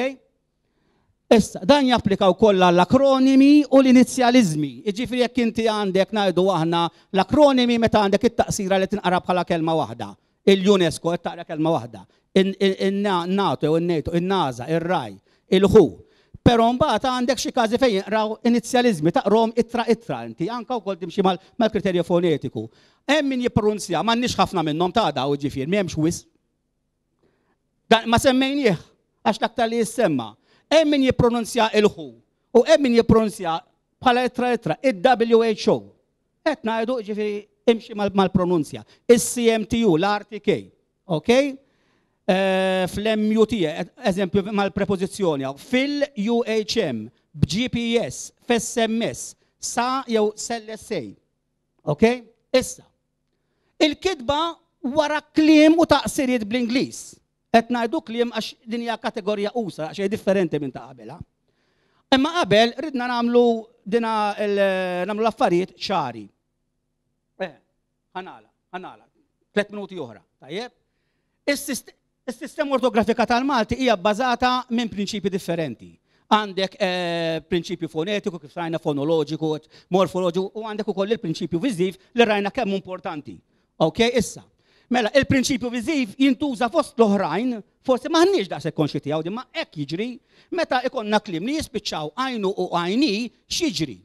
Issa, dan japplika wkoll għall-akronimi u l-inizjaliżmi. Jiġifieri jekk inti għandek ngħidu aħna l-akronimi meta għandek it-taqsira li tinqara bħala kelma waħda. Il-UNESCO qed taqra kelma waħda. In-NATO jew in-NATO, in-NASA, ir-RAI, il-W H O. Però mbagħad għandek xi każi fejn jinqraw inizjaliżmi taqrom ittra ittra inti anke wkoll timxi mal-kriterju fonetiku. Hemm min jippronunzja, m'għandniex ħafna minnhom ta' daw ġifier, m'hemmx wisq. Dan ma semmejnieh għax l-aktar li jissemma. Hemm min jippronunzja il-W H O u hemm min jippronunzja bħala ittra ittra il-W H O. Qed ngħidu ġifieri imxi mal-pronunzja. Is-C M T U, l-R T K, ok? Fl-M U T, eżempju mal-prepożizzjoni, fil-U H M, b'G P S, f'S M S, sa jew S L S A. Ok? Issa, il-kitba wara kliem u taqsiriet bl-Ingliż. Qed ngħidu kliem għax din hija kategorija usa, għax hija differenti minn ta' qabelha. Imma qabel ridna nagħmlu dina nagħmlu l-affarijiet ċari. Eh, ħanala, ħanala. Tliet minuti oħra, tajjeb? Is-sistema ortografika tal-Malti hija bbażata minn prinċipji differenti. Għandek eh, prinċipju fonetiku, kif rajna fonoloġiku, morfoloġiku, u għandek ukoll il-prinċipju viżiv li rajna kemm importanti. Ok, issa. Mela, il-prinċipju viżiv jintuża fost l-oħrajn, forsi m'aħniex daqshekk konxji tiegħu, di ma hekk jiġri, meta ikonna kliem li jispiċċaw għajnu u għajni, x'jiġri?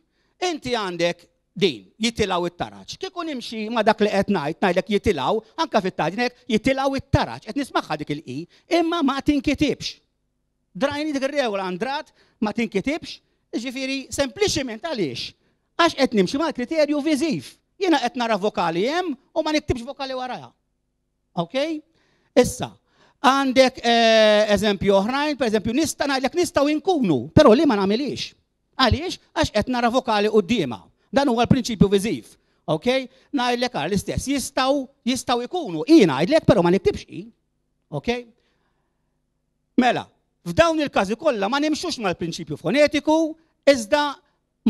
Inti għandek din, jitilgħu it-taraġ. Kieku nimxi ma dak li qed ngħid, ngħidlek jitilgħu, anka fit-taġnek, jitilgħu it-taraġ, qed nismagħha dik il-i, imma ma tinkitibx. Drajni dik ir-regola andrat ma tinkitibx, ġifieri sempliċiment għaliex? Għax qed nimxi mal-kriterju viżiv. Jiena qed nara vokali hemm u ma niktibx vokali warajha. Ok? Issa, għandek eh, eżempju oħrajn, per eżempju, nista' ngħidlek nistgħu nkunu, però li ma nagħmilix. Għaliex? Għax qed nara vokali quddiemha. Dan huwa l-prinċipju viżiv. Ok? Ngħidlek għal l-istess, jistgħu jistgħu jkunu. Jien ngħidlek, però ma niktibx i. Ok? Mela, f'dawn il-każi kollha ma nimxux mal-prinċipju fonetiku, iżda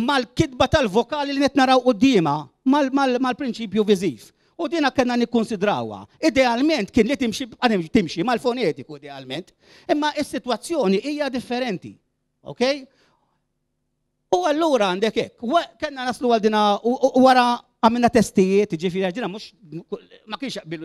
mal-kitba tal-vokali li qed naraw quddiemha, mal-prinċipju viżiv. U dina kellna nikkonsidrawha. Idealment kien li timxi timxi mal-fonetiku idealment, imma is-sitwazzjoni hija differenti. Ok? U allura għandek hekk, kellna naslu għal dina u wara għamilna testijiet, ġifieri dina mhux ma kienx jaqbil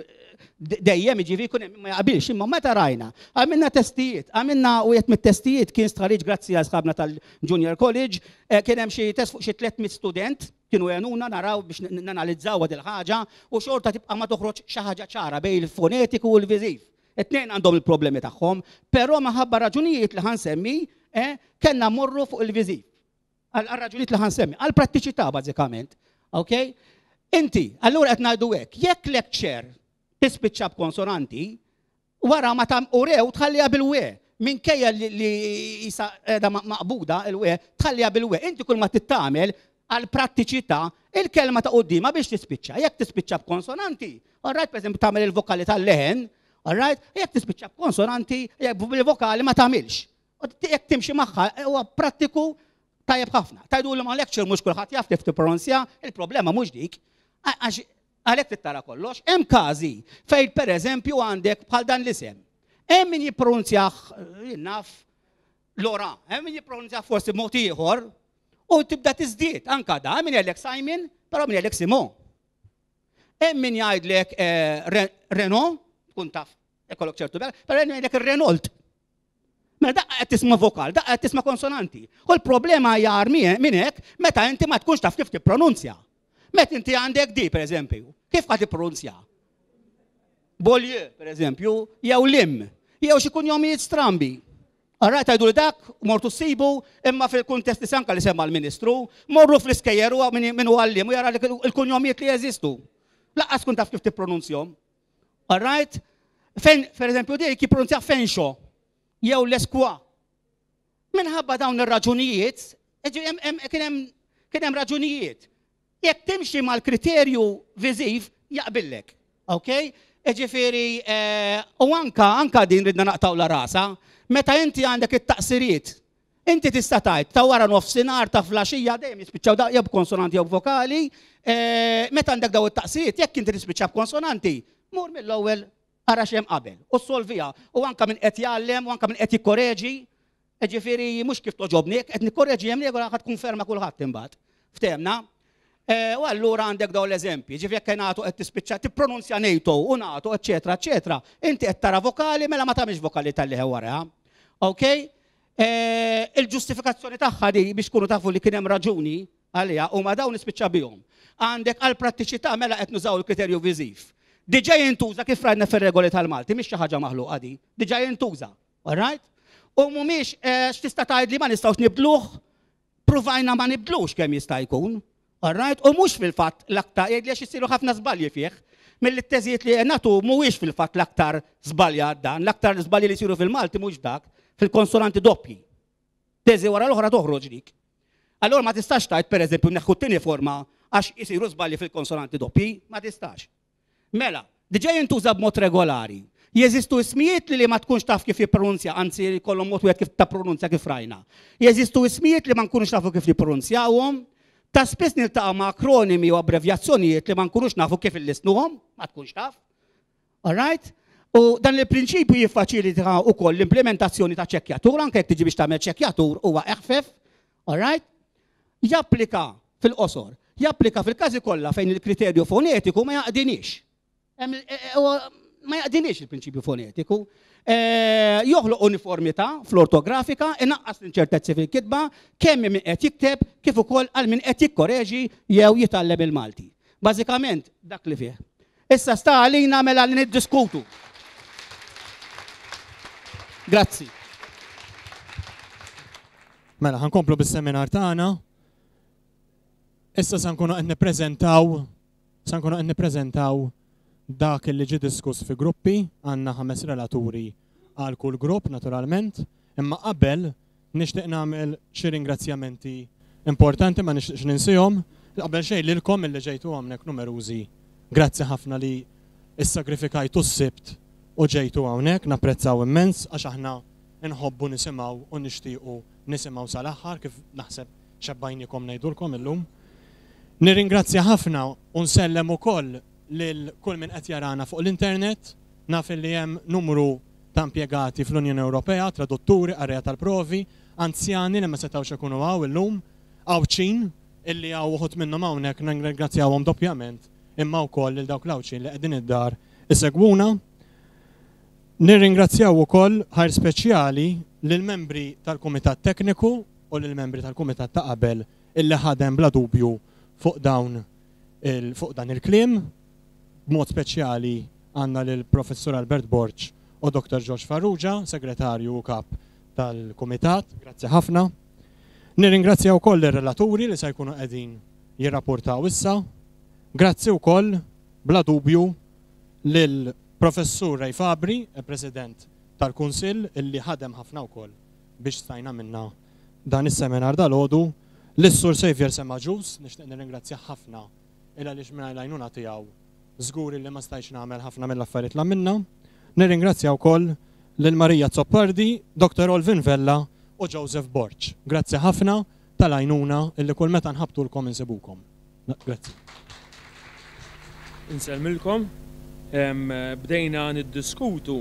dejjem, ġifieri kun ma jaqbilx, imma meta rajna, għamilna testijiet, għamilna u jett mit-testijiet kien stħarriġ grazzi għal sħabna tal-Junior College, eh, kien hemm xi test fuq xi tliet mitt student, kienu għenuna naraw biex nanalizzaw għad il-ħaġa u xorta tibqa' ma toħroġ xi ħaġa ċara bejn il-fonetiku u l-viżiv. It-tnejn għandhom il-problemi tagħhom, però minħabba raġunijiet li ħansemmi, eh, kellna morru fuq il-viżiv. Għal raġunijiet li ħansemmi, għal prattiċità bażikament. Ok? Inti, allura qed ngħidu hekk, jekk lecture tispiċċa b'konsonanti, wara ma tam urew tħalliha bil-we, minkejja li, li jisa qiegħda maqbuda il-we, tħalliha bil-we. Inti kull ma tittamel għal prattiċità il-kelma ta' quddiemha biex tispiċċa. Jekk tispiċċa b'konsonanti, all right, per eżempju tagħmel il-vokali tal-leħen, all right, jekk tispiċċa b'konsonanti, jekk bil-vokali ma tagħmilx. U jekk timxi magħha huwa prattiku tajjeb ħafna. Tajdu li ma lecture mhux kulħadd jaf kif tippronunzja, il-problema mhux dik. Għax għalhekk tittara kollox. Hemm każi fejn pereżempju għandek bħal dan l-isem. Hemm min jippronunzjah naf Lora, hemm min jippronunzjah forsi mod ieħor u tibda tiżdied anka da, hemm min jgħidlek Simon, però min jgħidlek Simon. Hemm min jgħidlek eh, Renault, tkun taf, ikollok ċertu bel, però hemm jgħidlek ir-Renault. Mela daqqa qed tisma' vokal, daqqa qed tisma' konsonanti. U l-problema hija minn hekk meta inti ma tkunx taf kif tippronunzja. Meta inti għandek di, per eżempju, kif qed tippronunzja? Bolje, per eżempju, jew lim, jew xi kunjomijiet strambi. All right, tgħidu li dak, mortu ssibu, imma fil-kuntest li sanka li semma l-Ministru, morru fl-iskejjer u min hu għalliem u jara il-kunjomijiet li jeżistu. Laqqas tkun taf kif tippronunzjahom. All right? Fejn, per eżempju, dik jippronunzja Fenxo, jew l-eskwa. Minħabba dawn ir-raġunijiet, kien hemm raġunijiet. Jekk timxi mal-kriterju viżiv, jaqbillek. Ok? Ġifieri, eh, u anka, anka din ridna naqtaw la rasa, meta inti għandek it-taqsiriet, inti tista' tgħid ta' wara nofsinhar ta' flaxija dejjem jispiċċaw da jew b'konsonanti jew b'vokali, eh, meta għandek daw it-taqsiriet, jekk inti tispiċċa b'konsonanti, mur mill-ewwel ara x'hemm qabel u solvija u anka minn qed jgħallem u anka minn qed jikkoreġi, ġifieri mhux kif toġobni, qed nikkoreġi hemm regola ħadd tkun kulħadd imbagħad. Ftehmna? Eh, u allura għandek dawn l-eżempji, ġifieri jekk nagħtu qed tispiċċa tippronunzja NATO u nagħtu, eċetera, eċetera. Inti qed tara vokali mela ma tagħmilx vokali tal-liħe wara. Ok? Eh, il-ġustifikazzjoni tagħha di biex kunu tafu li kien hemm raġuni għaliha u ma dawn nispiċċa bihom. Għandek għal prattiċità mela qed nużaw il-kriterju viżiv. Diġà jintuża kif rajna fir-regoli tal-Malti, mhix xi ħaġa maħluqa di. Diġà jintuża. All right? U mhumiex eh, x'tista' tgħid li ma nistgħux nibdluh, pruvajna ma nibdlux kemm jista' jkun. All right? U mhux fil-fatt l-aktar, jgħid li għax isiru ħafna żbalji fih, mill-teżijiet li nagħtu mhuwiex fil-fatt l-aktar żbaljat dan, l-aktar żbalji li jsiru fil-Malti mhux dak, fil-konsonanti doppji. Teżi wara l-oħra toħroġ dik. Allora ma tistax tgħid pereżempju neħħu t-tieni forma għax isiru żbalji fil-konsonanti doppji, ma tistax. Mela, Diġà jintuża b'mod regolari. Jeżistu ismijiet li ma tkunx taf kif jippronunzja, anzi jkollhom mod wieħed kif ta' pronunzja kif rajna. Jeżistu ismijiet li ma nkunux nafu kif jippronunzjawhom. Ta' spiss niltaqa' ma' akronimi u abbrevjazzjonijiet li ma nkunux nafu kif illissnuhom, ma tkunx taf. All right? U dan il-prinċipju jiffaċilita wkoll l-implementazzjoni ta' ċekkjatur, anke jekk tiġi biex tagħmel ċekkjatur huwa eħfef. All right? Japplika fil-qosor, japplika fil-każi kollha fejn il-kriterju fonetiku ma jaqdinix. Ma jaqdinix il-prinċipju fonetiku. Joħloq uniformità fl-ortografika, inaqqas l-inċertezzi fil-kitba, kemm min qed jikteb kif ukoll għal min qed jikkoreġi jew jitgħallem il-Malti. Bażikament dak li fih. Issa sta għalina mela li niddiskutu. Grazzi. Mela, ħa nkomplu bis-seminar tagħna. Issa sa nkunu qed nippreżentaw, sa nkunu qed nippreżentaw dak li ġie diskuss fi gruppi, għandna ħames relaturi għal kull grupp naturalment, imma qabel nixtieq nagħmel xi ringrazzjamenti importanti ma nixtieqx ninsihom. Qabel xejn lilkom illi ġejtu hawnhekk numerużi. Grazzi ħafna li issagrifikajtu s-Sibt u ġejtu hawnhekk, napprezzaw immens għax aħna nħobbu nisimgħu u nixtiequ nisimgħu sal-aħħar kif naħseb xebbajnikom ngħidulkom illum. Nirringrazzja ħafna u nsellem ukoll lil kull min qed jarana fuq l-internet, naf li hemm numru ta' impjegati fl-Unjoni Ewropea, tradutturi, qarrejja tal-provi, anzjani li ma setgħux ikunu hawn illum, Għawdxin illi hawn uħud minnhom hawnhekk nirringrazzjawhom doppjament, imma wkoll lil dawk l-Għawdxin li qegħdin id-dar isegwuna. Nirringrazzjaw ukoll ħajr speċjali lill-membri tal-Kumitat Tekniku u lill-membri tal-Kumitat ta' qabel illi ħadem bla dubju fuq dawn fuq dan il-kliem. B'mod speċjali għandna lill-Professur Albert Borg u Doktor George Farrugia, segretarju u kap tal-Kumitat. Grazzi ħafna. Nirringrazzja wkoll ir-relaturi li se jkunu qegħdin jirrapportaw issa. Grazzi wkoll bla dubju lill-Professur Ray Fabri, il-President tal-Kunsill, illi ħadem ħafna wkoll biex stajna minna dan is-seminar dal-għodu. Lis-Sur Xavier Semaġus, nixtieq nirringrazzja ħafna illa għaliex mingħajr l-għajnuna tiegħu żgur li ma stajtx nagħmel ħafna mill-affarijiet li għamilna. Nirringrazzja wkoll lil Marija Zoppardi, Doktor Olvin Vella u Joseph Borg. Grazzi ħafna tal-għajnuna illi kull meta nħabtulkom insibukom. Grazzi. Insellmilkom. Bdejna niddiskutu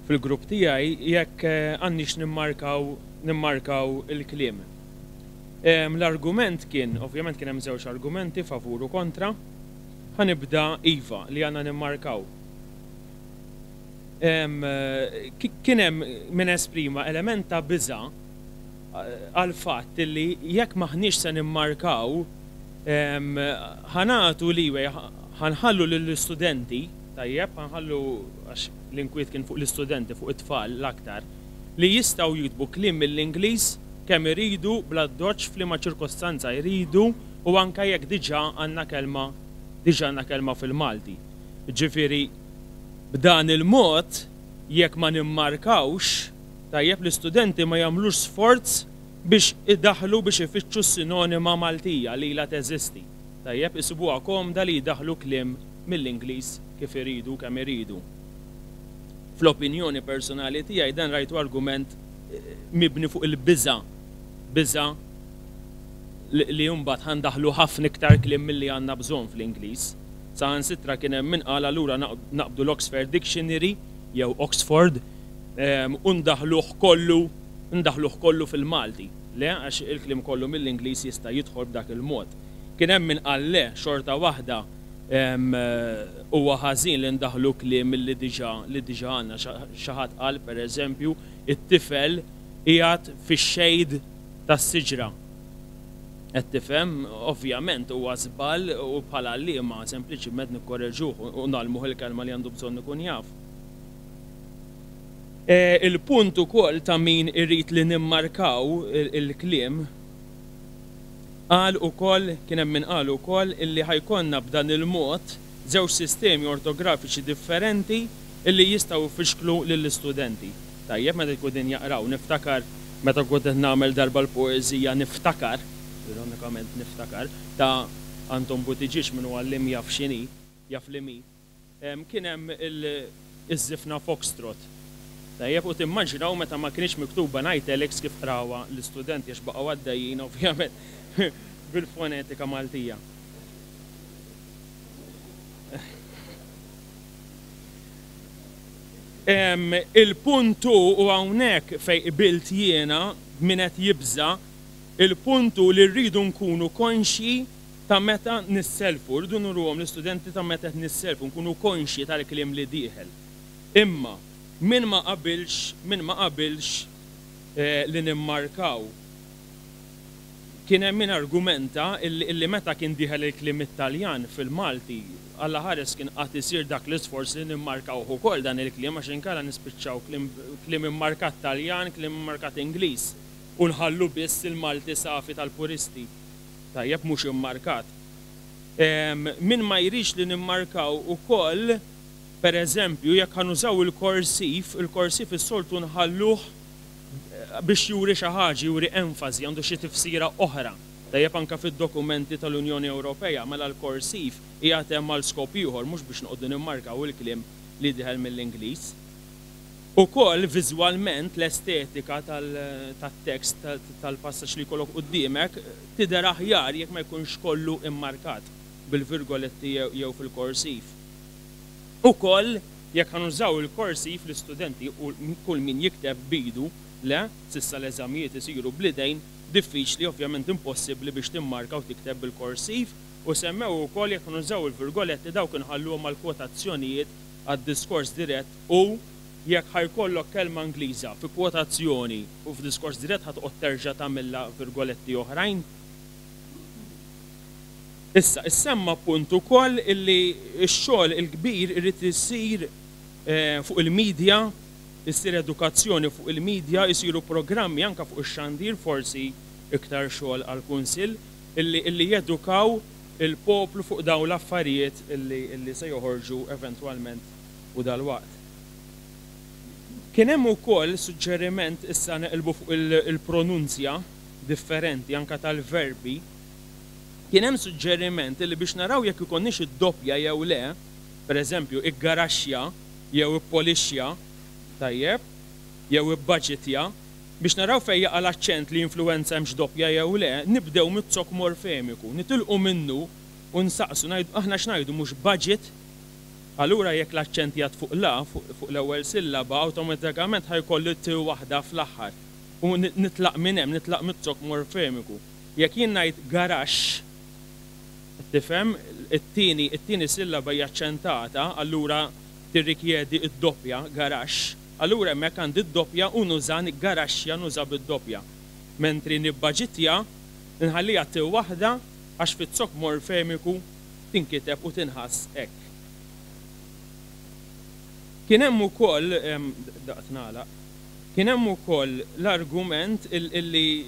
fil-grupp tiegħi jekk għandniex nimmarkaw nimmarkaw il-kliem. L-argument kien, ovvjament kien hemm żewġ argumenti favur u kontra. Ħa nibda iva li għandna nimmarkaw. Kien hemm min esprima element ta' biża' għal fatt li jekk maħniex se nimmarkaw ħanatu liwej, ħanħallu lill-istudenti, tajjeb, ħanħallu għax l-inkwiet kien fuq l-istudenti, fuq it-tfal l-aktar, li jistgħu jiktbu kliem mill-Ingliż kemm iridu bla doċ f'liema ċirkostanza jridu u anke jekk diġà għandna kelma diġà għandna kelma fil-Malti. Ġifieri b'dan il-mod jekk ma nimmarkawx, tajjeb l-istudenti ma jagħmlux sforz biex idaħlu biex ifittxu sinonima Maltija li la teżisti. Tajjeb isibuha komda li jdaħlu kliem mill-Ingliż kif iridu kemm iridu. Fl-opinjoni personali tiegħi dan rajtu argument mibni fuq il-biża', biża' li mbagħad ħandaħlu ħafna iktar kliem milli għandna bżonn fl-Ingliż. Saħansitra kien hemm min qal allura naqbdu l-Oxford Dictionary jew Oxford u ndaħluh kollu, ndaħluh kollu fil-Malti. Le, għax il-kliem kollu mill-Ingliż jista' jidħol b'dak il-mod. Kien hemm min qal le, xorta waħda huwa ħażin li ndaħlu kliem li diġà li diġà għandna. Xi ħadd qal pereżempju it-tifel qiegħed fix-xejd tas-siġra. Qed tifhem, ovvjament huwa żball u bħala għalliema sempliċiment nikkoreġuh u nagħlmuh il-kelma li għandu bżonn ikun jaf. Il-punt ukoll ta' min irid li nimmarkaw il-kliem qal ukoll, kien hemm min qal ukoll illi ħajkonna b'dan il-mod żewġ sistemi ortografiċi differenti illi jistgħu jfixklu lill-istudenti. Tajjeb meta jkun din jaqraw, niftakar meta kont qed nagħmel darba l-poeżija niftakar, ironikament niftakar, ta' Anton Buttigieg min huwa għalliem jaf x'inhi, jaf li mi. Kien hemm iż-żifna Foxtrot. Tajjeb, u timmaġinaw meta ma kienx miktuba italics kif qrawha l-istudenti għax baqgħu għaddejjin ovvjament bil-fonetika Maltija. Il-puntu u hawnhekk fejn qbilt jiena min qed jibża', il-puntu li rridu nkunu konxji ta' meta nisselfu, rridu nuruhom l-istudenti ta' meta qed nisselfu, nkunu konxji tal-kliem li dieħel. Imma min ma qabilx, min ma qabilx li nimmarkaw. Kien hemm min argumenta illi meta kien dieħel il-kliem Italjan fil-Malti, Alla ħares kien qatt isir dak l-isforz li nimmarkawh ukoll dan il-kliem għax inkella nispiċċaw kliem immarkat Taljan, kliem immarkat Ingliż u nħallu biss il-Malti safi tal-puristi. Tajjeb mhux immarkat. Min ma jridx li nimmarkaw ukoll, per eżempju, jekk ħanużaw il-korsiv, il-korsiv is-soltu nħalluh biex juri xi ħaġa, juri enfasi, għandu xi tifsira oħra. Tajjeb anke fid-dokumenti tal-Unjoni Ewropea, mela l-korsiv qiegħed hemm għal skop ieħor mhux biex noqogħdu nimmarkaw il-kliem li dieħel mill-Ingliż. Ukoll viżwalment l-estetika tat-tekst tal-passaġġ li jkollok quddiemek tidher aħjar jekk ma jkunx kollu immarkat bil-virgoletti jew fil-korsiv. Ukoll jekk ħanużaw il-korsiv l-istudenti u kull min jikteb bidu, le, sissa l-eżamijiet isiru bl-idejn, diffiċli ovvjament impossibbli biex timmarka u tikteb bil-korsiv, u semmew ukoll jekk nużaw il-virgoletti dawk inħalluhom għall-kwotazzjonijiet għad-diskors dirett u jekk ħajkollok kelma Ingliża fi kwotazzjoni u f'diskors dirett ħa toqgħod terġa' tagħmilha virgoletti oħrajn. Issa, issemma punt ukoll illi x-xogħol il-kbir irid isir fuq il-medja, issir edukazzjoni fuq il-medja, isiru programmi anke fuq ix-xandir, forsi iktar xogħol għall-Kunsill, illi jedukaw il-poplu fuq dawn l-affarijiet illi se joħorġu eventwalment u dalwaqt. Kien hemm ukoll suġġeriment issa neqilbu fuq il-pronunzja differenti anke tal-verbi. Kien hemm suġġeriment illi biex naraw jekk ikonniex id-doppja jew le, pereżempju iggaraxxja jew ippolixxja, tajjeb, jew ibbaġitja, biex naraw fejn jaqa' l-aċċent li influenza hemmx doppja jew le, nibdew mit-zokk morfemiku, nitilqu minnu u nsaqsu, aħna x'ngħidu mhux budget, allura jekk l-aċċent jgħad fuq la, fuq l-ewwel sillaba, awtomatikament ħajkollu t waħda fl-aħħar. U nitlaq minn hemm, nitlaq mit-zokk morfemiku. Jekk jien ngħid garaxx, tifhem, it-tieni it-tieni sillaba hija aċċentata, allura tirrikjedi d-doppja garaxx, allura hemmhekk għandi d-doppja u nuża garaxxja nuża bid-doppja. Mentri nibbaġitja nħalliha t waħda għax fit-zokk morfemiku tinkiteb u tinħass hekk. Kien hemm ukoll, daqt nagħlaq, kien hemm ukoll l-argument illi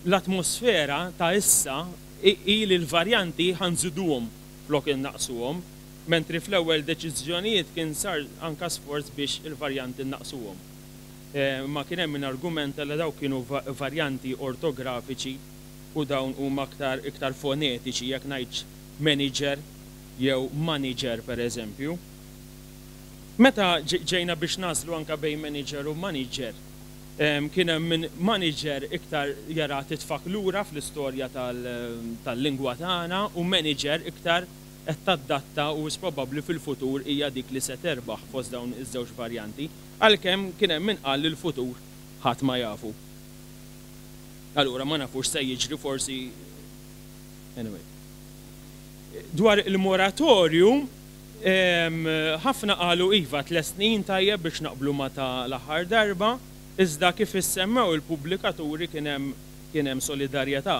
l-atmosfera ta' issa hi li l-varjanti ħanżiduhom flok innaqsuhom, mentri fl-ewwel deċiżjonijiet kien sar anka sforz biex il-varjanti nnaqsuhom. Ma kien hemm min argumenta li dawk kienu varjanti ortografiċi u dawn huma aktar iktar fonetiċi jekk ngħidx manager jew manager pereżempju. Meta ġejna biex naslu anka bejn manager u manager, kien hemm min manager iktar jara titfak lura fl-istorja tal-lingwa tagħna u manager iktar qed tadatta u probabbli fil-futur hija dik li se terbaħ fost dawn iż-żewġ varjanti, għalkemm kien hemm min qal li l-futur ħadd ma jafu. Allura ma nafux se jiġri forsi anyway. Dwar il-moratorju, ħafna qalu iva tliet snin tajjeb biex naqblu ma ta' l-aħħar darba, iżda kif issemmew il-pubblikaturi kien hemm kien hemm solidarjetà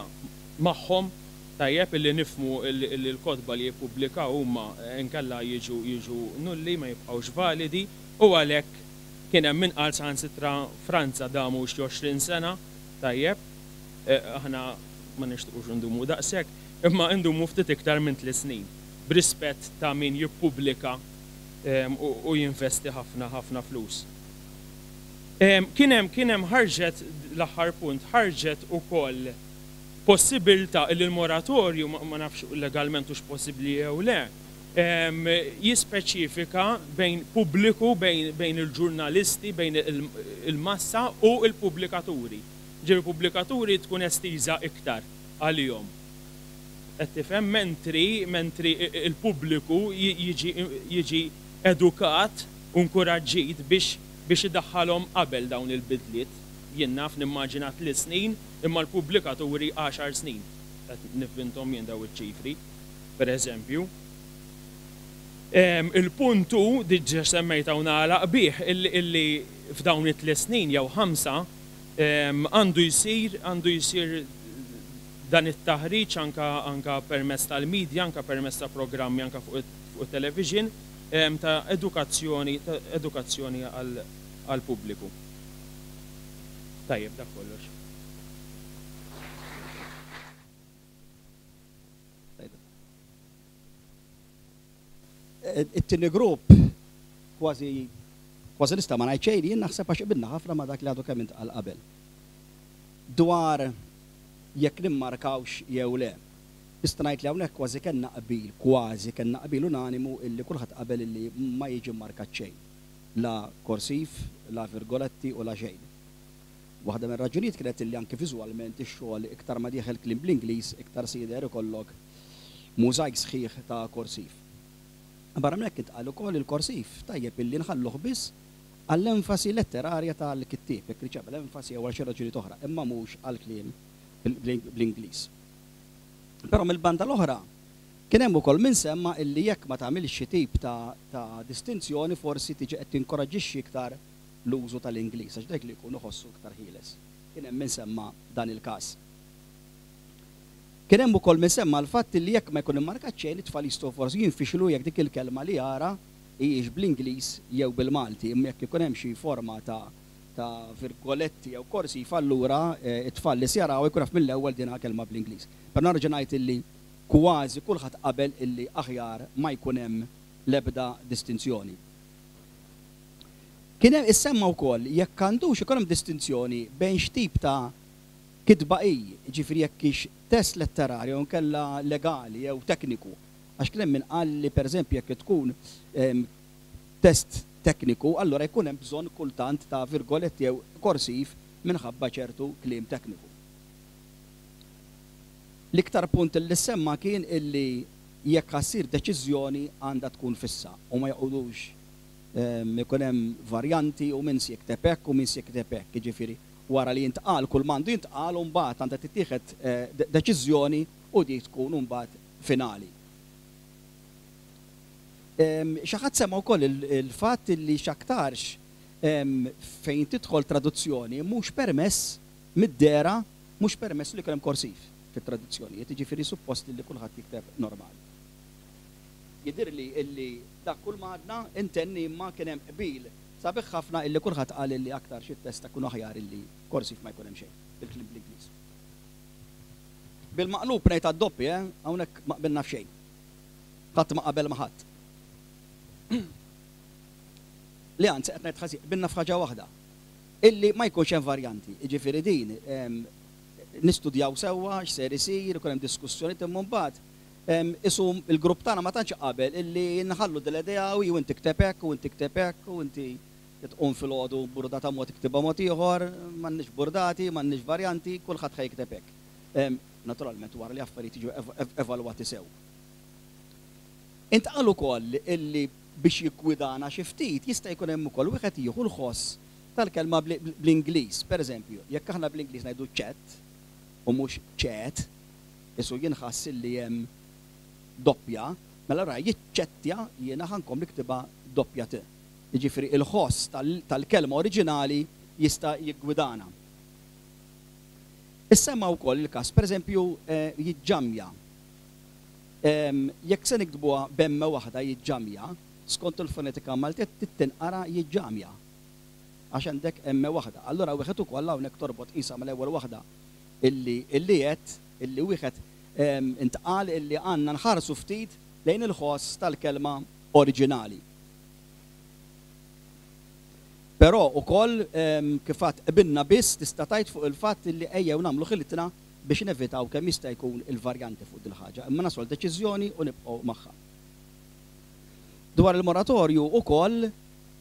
magħhom, tajjeb illi nifhmu illi l-kotba li jippubblikaw huma inkella jiġu jiġu nulli ma jibqgħux validi, u għalhekk kien hemm min qal saħansitra Franza damu xi għoxrin sena, tajjeb, aħna ma nixtiequx ndumu daqshekk, imma ndumu ftit iktar minn tliet snin, b'rispett ta' min jippubblika u jinvesti ħafna ħafna flus. Kien hemm kien hemm ħarġet l-aħħar punt, ħarġet ukoll possibilità li l-moratorju ma nafx legalment hux possibbli jew le, jispeċifika bejn pubbliku, bejn il-ġurnalisti, bejn il-massa u il-pubblikaturi. Ġifieri pubblikaturi tkun estiża iktar għalihom. Qed tifhem, mentri mentri il-pubbliku jiġi edukat u nkuraġġit biex biex idaħħalhom qabel dawn il-bidliet. Jien naf nimmaġina tliet snin, imma l-pubblikaturi għaxar snin. Qed nivvinthom jien daw iċ-ċifri, per eżempju. Il-punt hu, diġà semmejta u nagħlaq bih, illi f'dawn it-tliet snin jew ħamsa għandu jsir għandu jsir dan it-taħriġ anka anka permezz tal-medja, anka permezz ta' programmi anka fuq it-television ta' edukazzjoni ta' edukazzjoni għall-pubbliku. Tajjeb, dak kollox. It-tieni grupp kważi kważi nista' ma ngħid xejn, jien naħseb għax qbilna ħafna ma' dak li għadu kemm intqal qabel. Dwar jekk nimmarkawx jew le. Nista' ngħid li hawnhekk kważi kellna qbil, kważi kellna qbil unanimu illi kulħadd qabel illi ma jiġi mmarkat xejn. La korsiv, la virgoletti u la xejn. Waħda mir-raġunijiet kienet illi anke viżwalment ix-xogħol iktar ma dieħel kliem bl-Ingliż iktar se jidher ikollok mużajk sħiħ ta' korsiv. Barra minn hekk intqal ukoll il-korsiv tajjeb illi nħalluh biss għall-enfasi letterarja tal-kittieb, jekk riċeb l-enfasi jew għal xi raġunijiet oħra, imma mhux għall-kliem bl-Ingliż. Però mill-banda l-oħra kien hemm ukoll min semma illi jekk ma tagħmilx xi tip ta' distinzjoni forsi tiġi qed tinkoraġġixxi iktar l-użu tal-Ingliż għax dak li jkun iħossu iktar ħieles. Kien hemm min semma dan il-każ. Kien hemm ukoll min semma l-fatt li jekk ma jkun immarkat xejn it-tfal jistgħu forsi jinfixlu jekk dik il-kelma li jara hijiex bl-Ingliż jew bil-Malti, imma jekk ikun hemm xi forma ta' ta' virgoletti jew korsiv allura it-tfal li se jaraw jkun jaf mill-ewwel dinha kelma bl-Ingliż. Però nerġa' ngħid illi kważi kulħadd qabel illi aħjar ma jkun hemm l-ebda distinzjoni. Kien hemm issemma wkoll jekk għandux ikun hemm distinzjoni bejn x'tip ta' kitba hi, jiġifieri jekk hix test letterarju jew inkella legali jew tekniku. Għax kien hemm min qal li pereżempju jekk tkun test tekniku, allura jkun hemm bżonn kultant ta' virgoletti jew korsiv minħabba ċertu kliem tekniku. L-iktar punt li semma kien illi jekk ħassir deċiżjoni għandha tkun fissa u ma jqogħdux ikun hemm varjanti u min se jikteb hekk u min se jikteb hekk, jiġifieri wara li jintqal kull m'għandu jintqal u mbagħad għandha tittieħed deċiżjoni u dik tkun mbagħad finali. Xi ħadd semma wkoll il-fatt li x'aktarx fejn tidħol traduzzjoni mhux permess mid-dera, mhux permess li jkun hemm korsiv fit-traduzzjonijiet, jiġifieri suppost li kulħadd jikteb normali. Jidhirli illi dak kull ma għadna intenni imma kien hemm qbil sabiħ ħafna illi kulħadd qal illi aktar xi test tkun aħjar illi korsiv ma jkun hemm xejn bil-kliem bl-Ingliż. Bil-maqlub ngħid għad-doppi, eh, hawnhekk ma qbilna f'xejn. Ħadd ma qabel ma ħadd. Li anzi qed ngħid ħażin, qbilna f'ħaġa waħda. Illi ma jkunx hemm varjanti, jiġifieri din nistudjaw sewwa x'ser isir, ikun hemm diskussjoni imma mbagħad isum il-grupp tagħna ma tantx qabel illi nħallu dil-idea u jew inti kteb hekk u inti kteb hekk u inti tqum filgħodu burdata mod iktibha mod ieħor, m'għandniex burdati, m'għandniex varjanti, kulħadd ħa jikteb hekk. Naturalment wara li affarijiet jiġu evalwati sew. Intqal ukoll illi biex jiggwidana xi ftit jista' jkun hemm ukoll wieħed jieħu l-ħoss tal-kelma bl-Ingliż. Pereżempju, jekk aħna bl-Ingliż ngħidu chat u mhux chat, isu jinħass illi hemm doppja, mela ra jiċċettja jiena ħankom niktibha doppja t. Jiġifieri il-ħoss tal-kelma oriġinali jista' jiggwidana. Issemma wkoll il-każ, pereżempju, jiġġamja. Jekk se niktbuha b'emme waħda jiġġamja, skont il-fonetika Maltija tinqara jiġġamja. Għax għandek emme waħda. Allura wieħed ukoll hawnhekk torbot qisha mal-ewwel waħda illi illi qed illi wieħed intqal illi għandna nħarsu ftit lejn il-ħoss tal-kelma oriġinali. Però ukoll kif għad qbilna biss tista' tgħid fuq il-fatt illi ejjew nagħmlu ħilitna biex nevitaw kemm jista' jkun il-varjanti fuq dil-ħaġa, imma naslu deċiżjoni u nibqgħu magħha. Dwar il-moratorju ukoll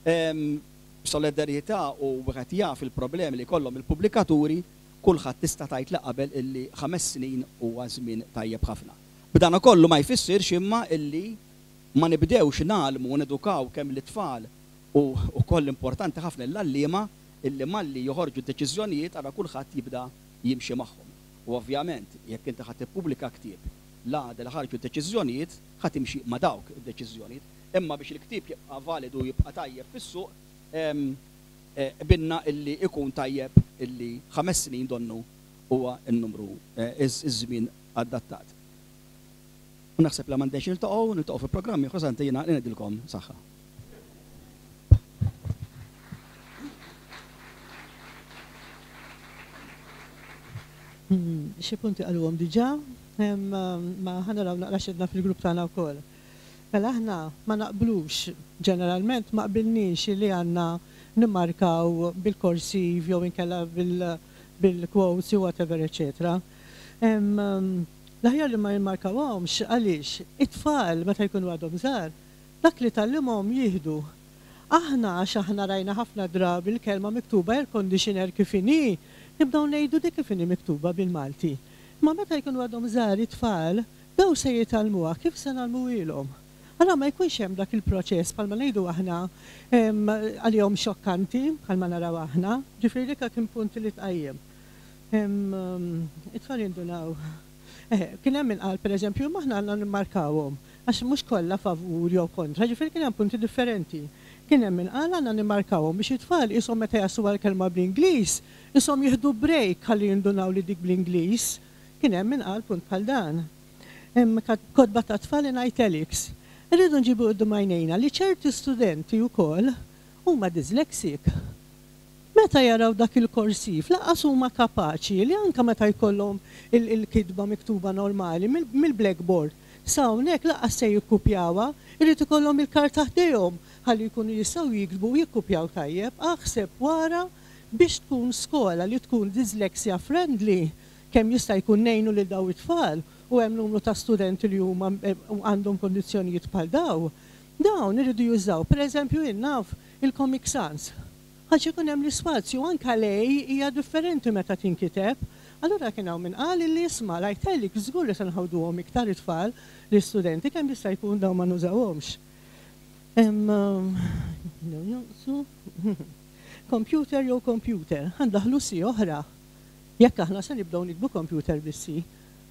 b'solidarjetà u wieħed jaf il-problemi li kollhom il-pubblikaturi, kulħadd tista' tgħid li qabel illi ħames snin huwa żmien tajjeb ħafna. B'dan kollu ma jfissirx imma illi ma nibdewx nagħlmu u nedukaw kemm l-itfal u wkoll importanti ħafna l-għalliema illi malli joħorġu deċiżjonijiet ara kulħadd jibda jimxi magħhom. U ovvjament jekk inti ħadd tippubblika ktieb l-għada li ħarġu deċiżjonijiet ħa timxi ma' dawk id-deċiżjonijiet. Imma biex il-ktieb jibqa' validu jibqa' tajjeb fis-suq binna illi ikun tajjeb illi ħames snin donnu huwa n-numru iż-żmien adattat. U naħseb li m'għandniex niltaqgħu, niltaqgħu fi programmi ieħor santi jiena ngħidilkom saħħa. Xi punti qaluhom diġà, ma ħanaraw naqra x'għedna fil-grupp tagħna wkoll. Mela aħna ma naqblux, ġeneralment ma qbilniex li għandna nimmarkaw bil-korsiv jew inkella bil-quotes jew whatever, eċetera. L-aħjar li ma jimmarkawhomx għaliex it-tfal meta jkunu għadhom żgħar, dak li tgħallimhom jieħdu. Aħna għax aħna rajna ħafna drabi l-kelma miktuba air conditioner kif inhi, nibdew ngħidu dik kif inhi miktuba bil-Malti. Ma meta jkunu għadhom żgħar it-tfal, daw se jitgħallmuha kif se nagħlmuhielhom. Allora ma jkunx hemm dak il-proċess bħalma ngħidu aħna għalihom xokkanti bħalma naraw aħna, ġifieri dik kien punt li tqajjem. It-tfal jindunaw. Kien hemm min qal pereżempju ma aħna għandna nimmarkawhom għax mhux kollha favur jew kontra, ġifieri kien hemm punti differenti. Kien hemm min qal għandna nimmarkawhom biex it-tfal ishom meta jaslu għall-kelma bl-Ingliż, ishom jieħdu break ħalli jindunaw li dik bl-Ingliż. Kien hemm min qal punt bħal dan. Hemm kotba ta' tfal in italics. Irridu nġibu quddiem għajnejna li ċerti studenti wkoll huma dyslexic. Meta jaraw dak il-korsiv, lanqas huma kapaċi li anke meta jkollhom il-kitba miktuba normali mill-blackboard, sa hawnhekk lanqas se jikkupjawha, irid ikollhom il-karta ħdejhom ħalli jkunu jistgħu jiktbu u jikkupjaw tajjeb. Aħseb wara biex tkun skola li tkun dyslexia friendly, kemm jista' jkun ngħinu lil daw it-tfal u hemm numru ta' studenti li huma għandhom kondizzjonijiet bħal daw. Dawn iridu jużaw, pereżempju jien naf il-Comic Sans. Għax ikun hemm l-ispazju anke lej hija differenti meta tinkiteb. Allura kien hawn min qal li isma' l-italics żgur li se nħawduhom iktar it-tfal l-istudenti kemm jista' jkun dawn ma nużawhomx. Computer jew computer, ħandaħlu si oħra. Jekk aħna se nibdew nikbu computer bis-si,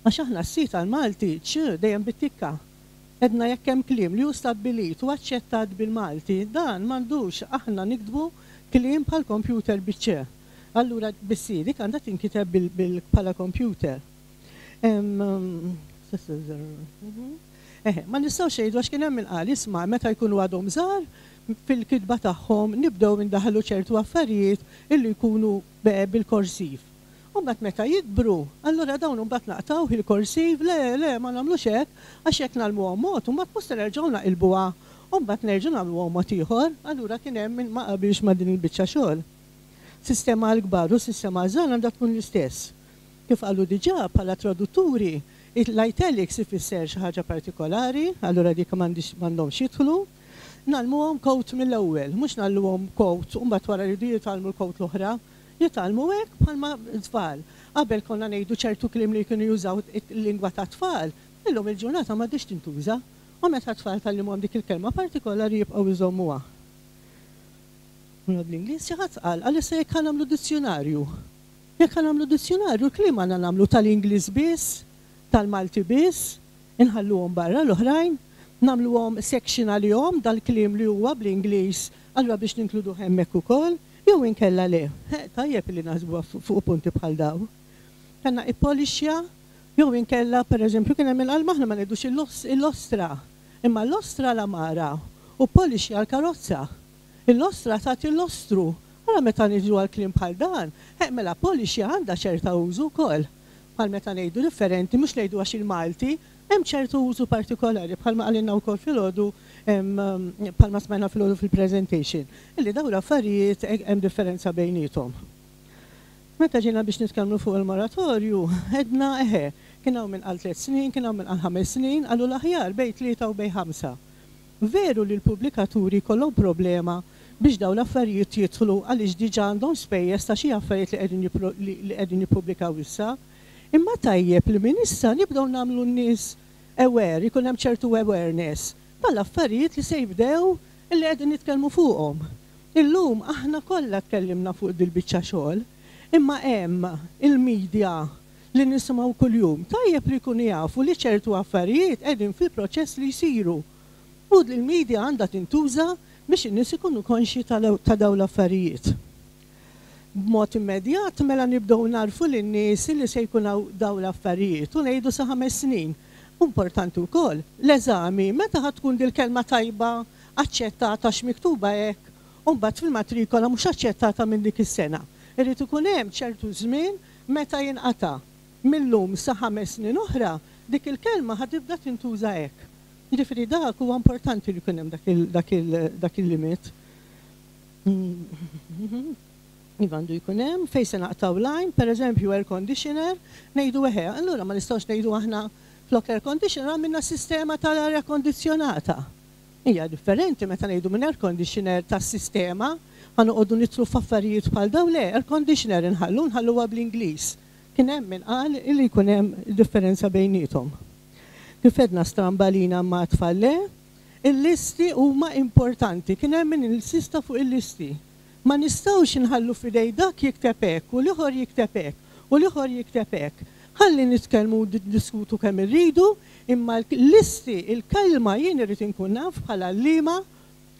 għax aħna s-si tal-Malti ċ dejjem bit-tikka. Edna jekk hemm kliem li hu stabbilit u aċċettat bil-Malti, dan m'għandux aħna nikdbu kliem bħal computer biċ-ċ. Allura bis-si dik għandha tinkiteb bħala computer. Ma nistgħux ngħidu għax kien hemm min qal isma' meta jkunu għadhom żgħar fil-kitba tagħhom nibdew indaħlu ċertu affarijiet illi jkunu bil-korsiv. U mbagħad meta jikbru, allura dawn imbagħad naqtaw il-korsiv, le, le, ma nagħmlux hekk, għax hekk nagħlmuhom mod, u mbagħad mhux se nerġgħu naqilbuha, u mbagħad nerġgħu nagħmluhom mod ieħor, allura kien hemm min ma qabilx ma' din il-biċċa xogħol. Sistema għall-kbar u sistema għaż-żgħar għandha tkun l-istess. Kif qalu diġà bħala tradutturi, l-italics ifisser xi ħaġa partikolari, allura dik m'għandhomx jidħlu. Nagħlmuhom quote mill-ewwel, mhux nagħlmuhom quote u mbagħad wara jridu jitgħallmu l-quote l-oħra. Jitgħallmu hekk bħalma tfal. Qabel konna ngħidu ċertu kliem li kienu jużaw il-lingwa ta' tfal, illum il-ġurnata m'għadix tintuża. U meta tfal tgħallimhom dik il-kelma partikolari jibqgħu jżommuha. Mela bl-Ingliż xi ħadd qal, għal issa jekk nagħmlu dizzjonarju. Jekk nagħmlu dizzjonarju, l-kliem għandna nagħmlu tal-Ingliż biss, tal-Malti biss, inħalluhom barra l-oħrajn, nagħmluhom section għalihom dal-kliem li huwa bl-Ingliż, allura biex ninkluduh hemmhekk ukoll, jew inkella le. Tajjeb li naħsbuha fuq punti bħal daw. Kellna ippolixja, jew inkella pereżempju kien hemm il-qalma aħna ma ngħidux il-ostra, imma l-ostra l-amara u polixja l-karozza. Il-ostra tagħti l-ostru. Allura meta niġu għal kliem bħal dan, mela polixja għandha ċerta użu wkoll. Bħal meta ngħidu differenti, mhux ngħidu għax il-Malti, hemm ċertu użu partikolari bħalma qalilna wkoll filgħodu, bħalma smajna filgħodu fil-presentation, illi dawn l-affarijiet hemm differenza bejniethom. Meta ġejna biex nitkellmu fuq il-moratorju, għedna eħe, kien hawn min qal tliet snin, kien hawn min qal ħames snin, qalu l-aħjar bejn tlieta u bejn ħamsa. Veru li l-pubblikaturi jkollhom problema biex dawn l-affarijiet jidħlu għaliex diġà għandhom spejjeż ta' xi affarijiet li qegħdin jippubblikaw issa. Imma tajjeb li minn issa nibdew nagħmlu n-nies aware, ikun hemm ċertu awareness tal-affarijiet li se jibdew li qegħdin nitkellmu fuqhom. Illum aħna kollha tkellimna fuq dil-biċċa xogħol, imma hemm il-media li nisimgħu kuljum. Tajjeb li jkunu jafu li ċertu affarijiet qegħdin fil-proċess li jsiru. U l-media għandha tintuża biex in-nies ikunu konxji ta' dawn l-affarijiet. B'mod immedjat mela nibdew narfu lin-nies li se jkun dawn l-affarijiet u ngħidu sa ħames snin. Importanti wkoll l-eżami meta ħa tkun dil-kelma tajba aċċettata x'miktuba hekk u mbagħad fil-matrikola mhux aċċettata minn dik is-sena. Irid ikun hemm ċertu żmien meta jinqata' millum sa ħames snin oħra dik il-kelma ħa tibda tintuża hekk. Jiġifieri dak huwa importanti li jkun hemm dak il-limit. Iva għandu jkun hemm fejn se naqtaw line, pereżempju air conditioner, ngħidu eħe, allura ma nistgħux ngħidu aħna flok air conditioner għamilna sistema tal-arja kondizzjonata. Hija differenti meta ngħidu minn air conditioner tas-sistema, ħa noqogħdu nitlu f'affarijiet bħal dawn, le, air conditioner inħallu nħalluha bl-Ingliż. Kien hemm min qal illi jkun hemm differenza bejniethom. Kif għedna strambalina ma tfal le, il-listi huma importanti, kien hemm min insista fuq il-listi. Ma nistgħux inħallu f'idej dak jikteb hekk u l-ieħor jikteb hekk u l-ieħor jikteb hekk. Ħalli nitkellmu u niddiskutu kemm irridu, imma l-listi, il-kelma jien irrid inkun naf bħala għalliema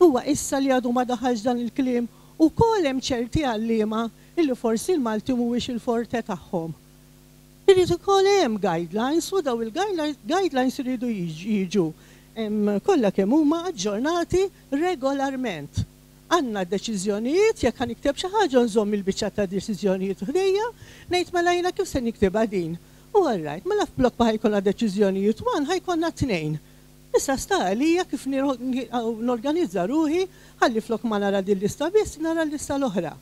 huwa issa li għadu ma daħalx dan il-kliem ukoll hemm ċerti għalliema illi forsi l-Malti mhuwiex il-forte tagħhom. Irid ukoll hemm guidelines u daw il-guidelines iridu jiġu kollha kemm huma aġġornati regolarment. Għandna deċiżjonijiet, jekk ħa nikteb xi ħaġa nżomm il-biċċa ta' deċiżjonijiet ħdejja, ngħid mela jiena kif se niktibha din. U all right, mela f'blok ma ħajkollna deċiżjonijiet one ħajkollna tnejn. Issa sta għalija kif norganizza ruħi ħalli flok ma nara din lista biss nara l-lista l-oħra.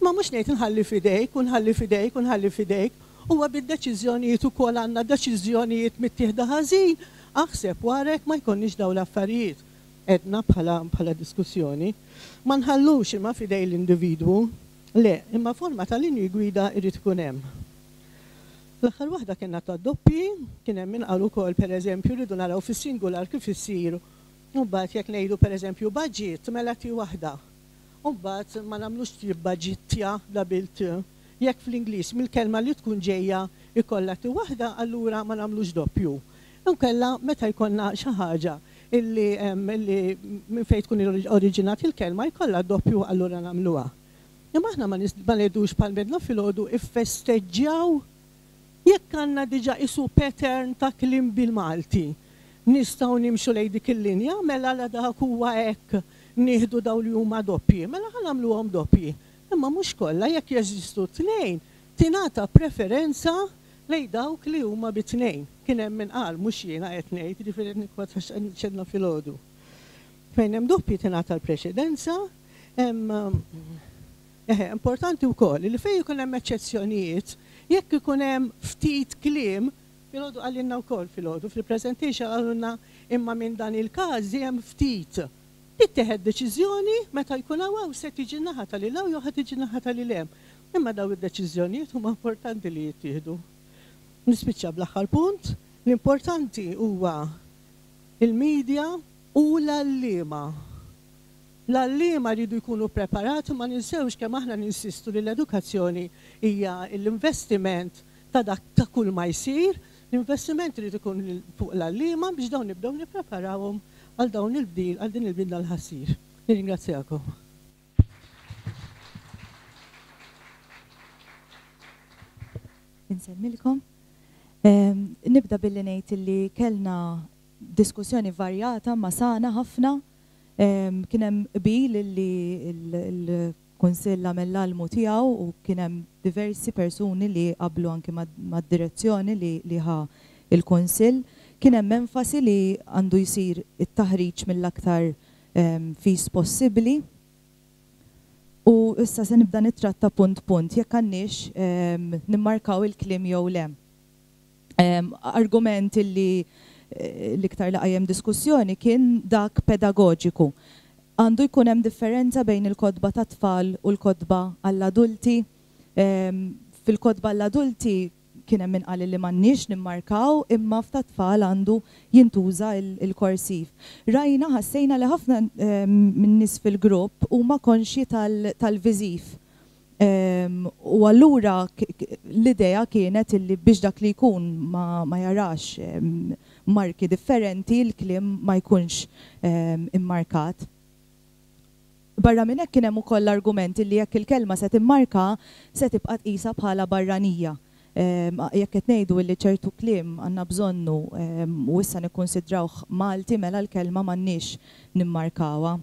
Ma mhux ngħid nħalli f'idejk u nħalli f'idejk u nħalli f'idejk, huwa bid-deċiżjonijiet ukoll għandna deċiżjonijiet mittieħda ħażin, aħseb warek ma jkollniex dawn l-affarijiet. Edna bħala, bħala diskussjoni. Ma nħallux imma f'idej l-individwu, le, imma forma ta' linji gwida jrid ikun hemm. L-aħħar waħda kienna ta' doppi, kien hemm min qal ukoll pereżempju rridu naraw fis-singular kif issir. U mbagħad jekk ngħidu pereżempju budget mela ti waħda. U mbagħad ma nagħmlux ti budgetja double T. Jekk fl-Ingliż mill-kelma li tkun ġejja ikollha ti waħda, allura ma nagħmlux doppju. Inkella meta jkollna xi ħaġa illi, illi minn fejn tkun oriġinat il-kelma jkollha doppju allura nagħmluha. Imma aħna ma ngħidux bħal medna filgħodu iffesteġġjaw jekk għandna diġà isu pattern ta' kliem bil-Malti. Nistgħu nimxu lejn dik il-linja, mela la dak huwa hekk nieħdu dawn li huma doppji, mela ħa nagħmluhom doppji. Imma mhux kollha jekk jeżistu tnejn, tingħata preferenza lejn dawk li huma bi tnejn. Kien hemm min qal mhux jiena qed ngħid, jiġifieri qed nikkwota x'għedna filgħodu. Fejn hemm doppji tingħata l-preċedenza, eħe, importanti wkoll li fejn ikun hemm eċċezzjonijiet, jekk ikun hemm ftit kliem, filgħodu qalilna wkoll filgħodu fil-presentation qalulna imma minn dan il-każ hemm ftit. Tittieħed deċiżjoni meta jkun hawn se tiġi naħa tal hawn jew ħa tiġi naħa tal hemm. Imma daw id-deċiżjonijiet huma importanti li jittieħdu. Nispiċċa bl-aħħar punt, l-importanti huwa il-media u l-għalliema. L-għalliema rridu jkunu preparati, ma ninsewx kemm aħna ninsistu li l-edukazzjoni hija l-investiment ta' dak ta' kull ma jsir, l-investiment irid ikun fuq l-għalliema biex dawn nibdew nippreparawhom għal dawn il-bdil, għal din il-bidla l-ħassir. Nirringrazzjakom. Insellmilkom. Nibda billi ngħid li kellna diskussjoni varjata ma sana ħafna. Kien hemm qbil li l-Kunsill għamel l-almu tiegħu u kien hemm diversi persuni li qablu anki mad-direzzjoni li ħa il-Kunsill. Kien hemm enfasi li għandu jsir it-taħriġ mill-aktar fis possibbli. U issa se nibda nittratta punt punt jekk għandniex nimmarkaw il-kliem jew le. Argument illi l-iktar li qajjem diskussjoni kien dak pedagoġiku. Għandu jkun hemm differenza bejn il-kotba ta' tfal u l-kotba għall-adulti. Fil-kotba għall-adulti kien hemm min qal li m'għandniex nimmarkaw, imma f'ta' tfal għandu jintuża il-korsiv. Rajna, ħassejna li ħafna minn nies fil-grupp huma konxji tal-viżiv. U allura l-idea kienet illi biex dak li jkun ma jarax marki differenti, l-kliem ma jkunx immarkat. Barra minn hekk kien hemm ukoll l-argument li jekk il-kelma se timmarka se tibqa' tqisha bħala barranija. Jekk qed ngħidu li ċertu kliem għandna bżonnu u issa nikkonsidrawh Malti, mela l-kelma m'għandniex nimmarkawha.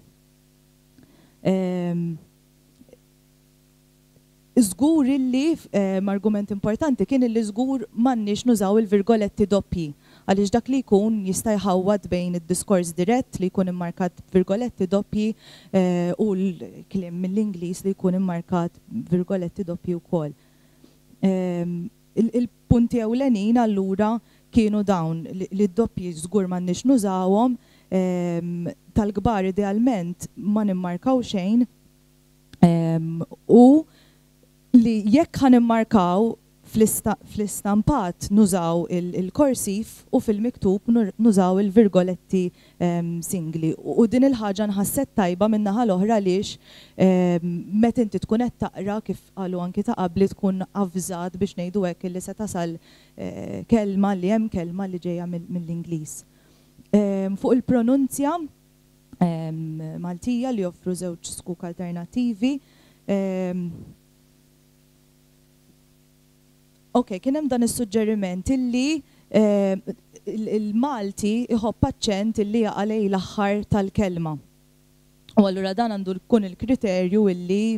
Żgur illi argument importanti kien illi żgur m'għandniex nużaw il-virgoletti doppji, għaliex dak li jkun jista' jħawwad bejn id-diskors dirett li jkun immarkat virgoletti doppji u l-kliem mill-Ingliż li jkun immarkat virgoletti doppji wkoll. Il-punti ewlenin allura kienu dawn li d-doppji żgur m'għandniex nużawhom, tal-kbar idealment ma nimmarkaw xejn, u li jekk ħa nimmarkaw fl-istampat nużaw il-korsiv u fil-miktub nużaw il-virgoletti singli. U din il-ħaġa nħasset tajba min-naħa l-oħra għaliex meta inti tkun qed taqra, kif qalu anki ta' qabli, tkun avżat biex ngħidu hekk illi se tasal kelma li hemm kelma li ġejja mill-Ingliż. Fuq il-pronunzja Maltija li joffru żewġ skuk alternattivi. Ok, kien hemm dan is-suġġeriment illi il-Malti iħobb aċċent illi jaqa' lejn l-aħħar tal-kelma. U allura dan għandu jkun il-kriterju illi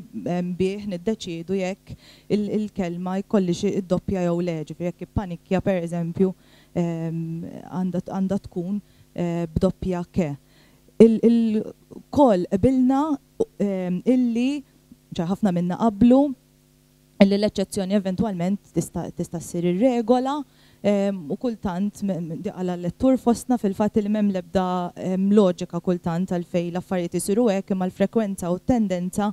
bih niddeċiedu jekk il-kelma jkollix id-doppja jew le, ġifieri jekk ippanikja pereżempju għandha tkun b'doppja ke. Il-koll qbilna illi, ċe ħafna minna qablu, illi l-eċċezzjoni eventwalment tista' ssir ir-regola, u kultant għala lettur fostna fil-fatt li m'hemm l-ebda loġika kultant għalfejn l-affarijiet isiru hekk, imma l-frekwenza u t-tendenza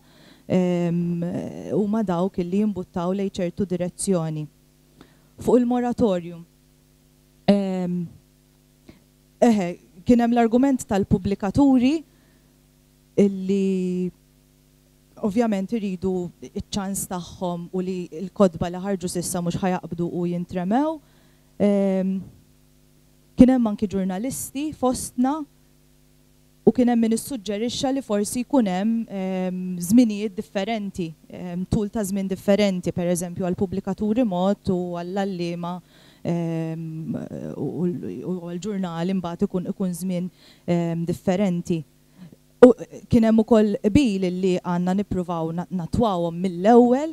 huma dawk illi jimbuttaw lejn ċertu direzzjoni. Fuq il-moratorju. Eħe, kien hemm l-argument tal-pubblikaturi illi ovvjament iridu iċ-ċans tagħhom u li l-kotba li ħarġu s'issa mhux ħajaqbdu u jintremew. Kien hemm anki ġurnalisti fostna u kien hemm min issuġġerixxa li forsi jkun hemm żminijiet differenti, tul ta' żmien differenti, pereżempju għall-pubblikaturi mod u għall-għalliema u għall-ġurnali mbagħad ikun żmien differenti. U kien hemm ukoll qbil li għandna nippruvaw natwawhom mill-ewwel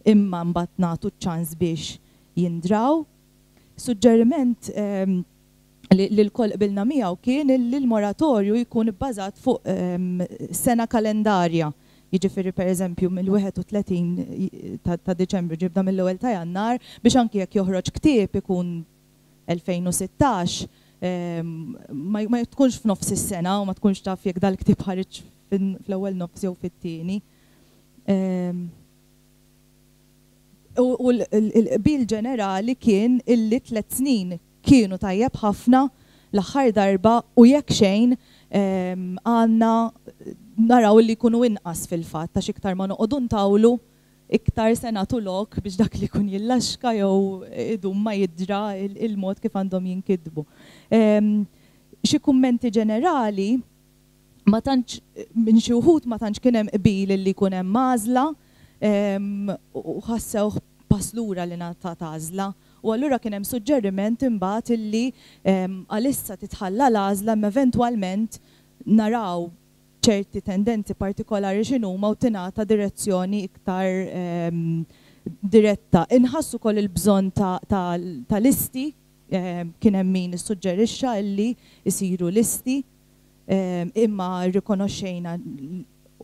imma mbagħad nagħtu ċ-ċans biex jindraw. Suġġeriment li l-koll qbilna miegħu kien li l-moratorju jkun ibbażat fuq sena kalendarja. Jiġifieri pereżempju mill-wieħed u tletin ta' Diċembru ġibda mill-ewwel ta' Jannar biex anki jekk joħroġ ktieb ikun elfejn u sittax, ma tkunx f'nofs is-sena u ma tkunx taf jekk dal-ktieb ħareġ fl-ewwel nofs jew fit-tieni. U l-qbil ġenerali kien illi tliet snin kienu tajjeb ħafna l-aħħar darba u jekk xejn għandna naraw li jkunu inqas fil-fatt, għax iktar ma noqogħdu ntawlu iktar se nagħtu lok biex dak li jkun jillaxka jew idum ma jidra il-mod kif għandhom jinkitbu. Xi kummenti ġenerali, ma tantx minn xi wħud ma tantx kien hemm qbil li jkun hemm għażla, u ħassewh pass lura li ngħatat għażla. U allura kien hemm suġġeriment imbagħad illi għalissa titħalla l-għażla imma eventwalment naraw ċerti tendenzi partikolari x'inhuma u tingħata direzzjoni iktar diretta. Inħassu wkoll il-bżonn ta' listi, kien hemm min issuġġerixxa illi jsiru listi, imma rrikonoxxejna,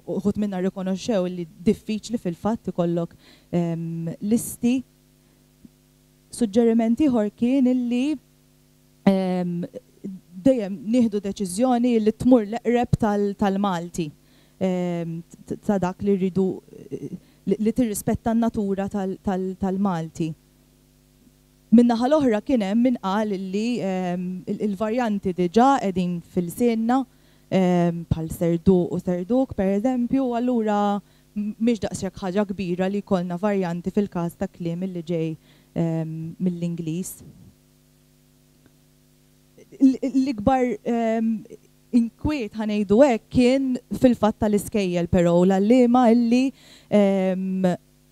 uħud minna rrikonoxxew li diffiċli fil-fatt ikollok listi. Suġġeriment ieħor kien illi dejjem nieħdu deċiżjoni li tmur l-eqreb tal-Malti, ta' dak li rridu li tirrispetta n-natura tal-Malti. Min-naħa l-oħra kien hemm min qal li il-varjanti diġà qegħdin fil-sinna bħal serduq u serduk pereżempju, allura mhix daqshekk ħaġa kbira li jkollna varjanti fil-każ ta' kliem li ġej mill-Ingliż. L-ikbar inkwiet ħanejdu hekk kien fil-fatt tal-iskejjel però l-għalliema illi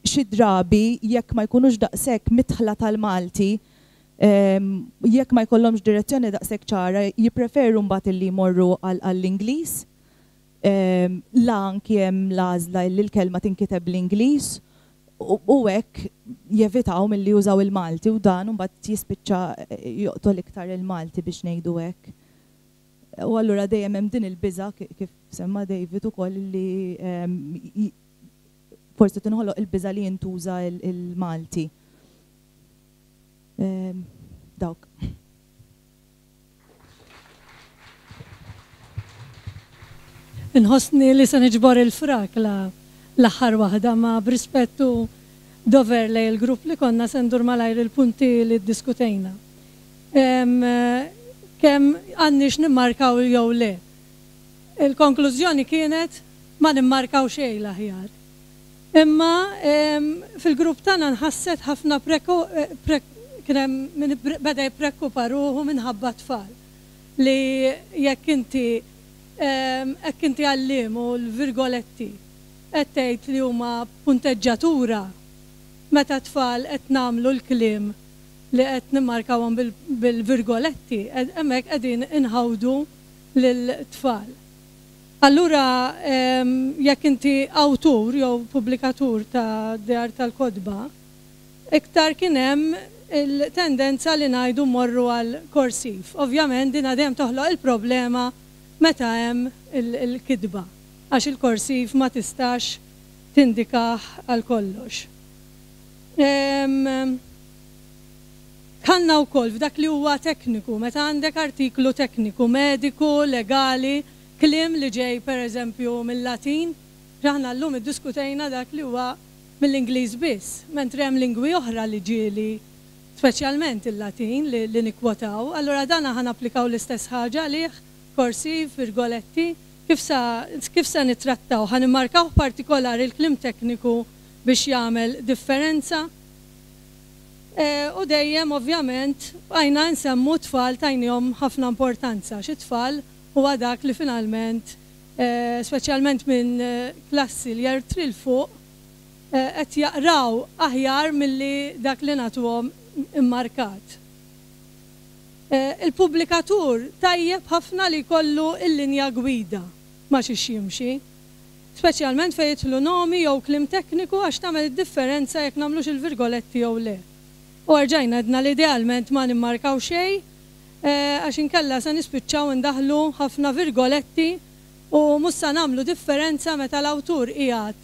xi drabi jekk ma jkunux daqshekk mitħla tal-Malti, jekk ma jkollhomx direzzjoni daqshekk ċara, jippreferu mbagħad illi jmorru għall-Ingliż. La anki hemm l-għażla li l-kelma tinkiteb bl-Ingliż u hekk jevitaw milli jużaw il-Malti u dan mbagħad jispiċċa joqtol iktar il-Malti biex ngħidu hekk. U allura dejjem hemm din il-biża' kif semma David ukoll li forsi tinħoloq il-biża' li jintuża il-Malti. Dawk. Inħossni li se niġbor il-frak l-aħħar waħda ma b'rispettu dover lej il-grupp li konna se ndur malajr il-punti li ddiskutejna. Kemm għandniex nimmarkaw jew le. Il-konklużjoni kienet ma nimmarkaw xejn l-aħjar. Imma fil-grupp tagħna nħasset ħafna kien hemm min beda jippreokkupa ruħu minħabba tfal li jekk inti hekk inti għalliem u l-virgoletti qed tgħid li huma punteġġatura meta tfal qed nagħmlu l-kliem li qed nimmarkawhom bil-virgoletti hemmhekk qegħdin inħawdu lil-tfal. Allura jekk inti awtur jew pubblikatur ta' dar tal-kotba, iktar kien hemm il-tendenza li ngħidu morru għal korsiv. Ovvjament din dejjem toħloq il-problema meta hemm il-kitba, għax il-korsiv ma tistax tindikah għal kollox. Tħallna wkoll f'dak li huwa tekniku, meta għandek artiklu tekniku, mediku, legali, kliem li ġej pereżempju mill-Latin, aħna llum iddiskutejna dak li huwa mill-Ingliż biss, mentri hemm lingwi oħra li ġieli, speċjalment il-Latin li, li nikkwotaw, allura dan aħna applikaw l-istess ħaġa għalih, korsiv, virgoletti, kif sa, kif sa nittrattaw, ħa nimmarkaw partikolari l-kliem tekniku biex jagħmel differenza. E, u dejjem ovvjament bqajna nsemmu tfal tajnihom ħafna importanza, xi tfal huwa dak li finalment, e, speċjalment minn klassi li jertri l fuq, qed jaqraw aħjar milli dak li nagħtuhom immarkat. Il-pubblikatur tajjeb ħafna li jkollu l-linja gwida ma xiex jimxi, speċjalment fejn jidħlu nomi jew kliem tekniku għax tagħmel id-differenza jekk nagħmlux il-virgoletti jew le. U rġajna għedna li idealment ma nimmarkaw xejn għax inkella se nispiċċaw indaħlu ħafna virgoletti u mhux se nagħmlu differenza meta l-awtur qiegħed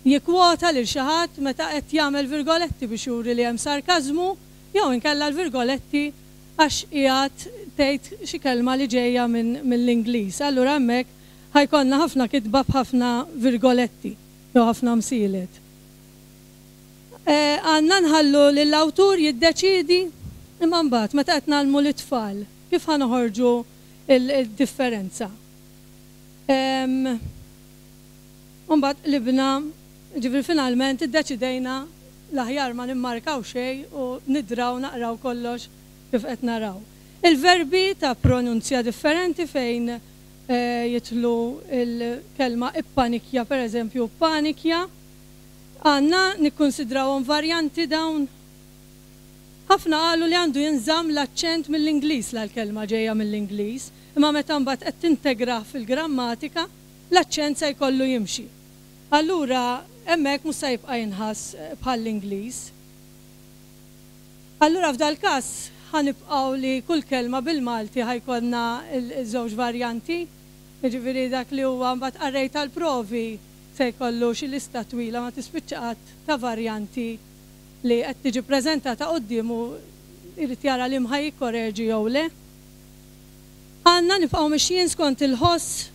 jikkwota lil xi ħadd meta qed jagħmel virgoletti biex juri li hemm sarkażmu jew inkella l-virgoletti għax qiegħed tgħid xi kelma li ġejja mill-Ingliż. Allura hemmhekk ħajkonna ħafna kitba b'ħafna virgoletti jew ħafna msielet. Għandna nħallu lill-awtur jiddeċiedi imma mbagħad meta qed nagħlmu lit-tfal kif ħa noħorġu il-differenza. Mbagħad qlibna, ġifieri finalment iddeċidejna l-aħjar ma nimmarkaw xejn u nidraw naqraw kollox kif qed naraw. Il-verbi ta' pronunzja differenti fejn jitlu il-kelma ippanikja, per eżempju, panikja, għandna nikkonsidrawhom varjanti dawn. Ħafna qalu li għandu jinżamm l-aċċent mill-Ingliż l-kelma ġejja mill-Ingliż, imma meta mbagħad qed tintegra fil-grammatika, l-aċċent se jkollu jimxi. Allura hemmhekk mhux se jibqa' jinħass bħall-Ingliż. Allura f'dal każ ħanibqgħu li kull kelma bil-Malti ħajkollna l-żewġ varjanti, jiġifieri dak li huwa mbagħad qarrej tal-provi se jkollu xi lista twila ma tispiċċa qatt ta' varjanti li qed tiġi preżentata quddiemu jrid jara li mħaj jikkoreġi jew le. Għandna nibqgħu mixjin skont il-ħoss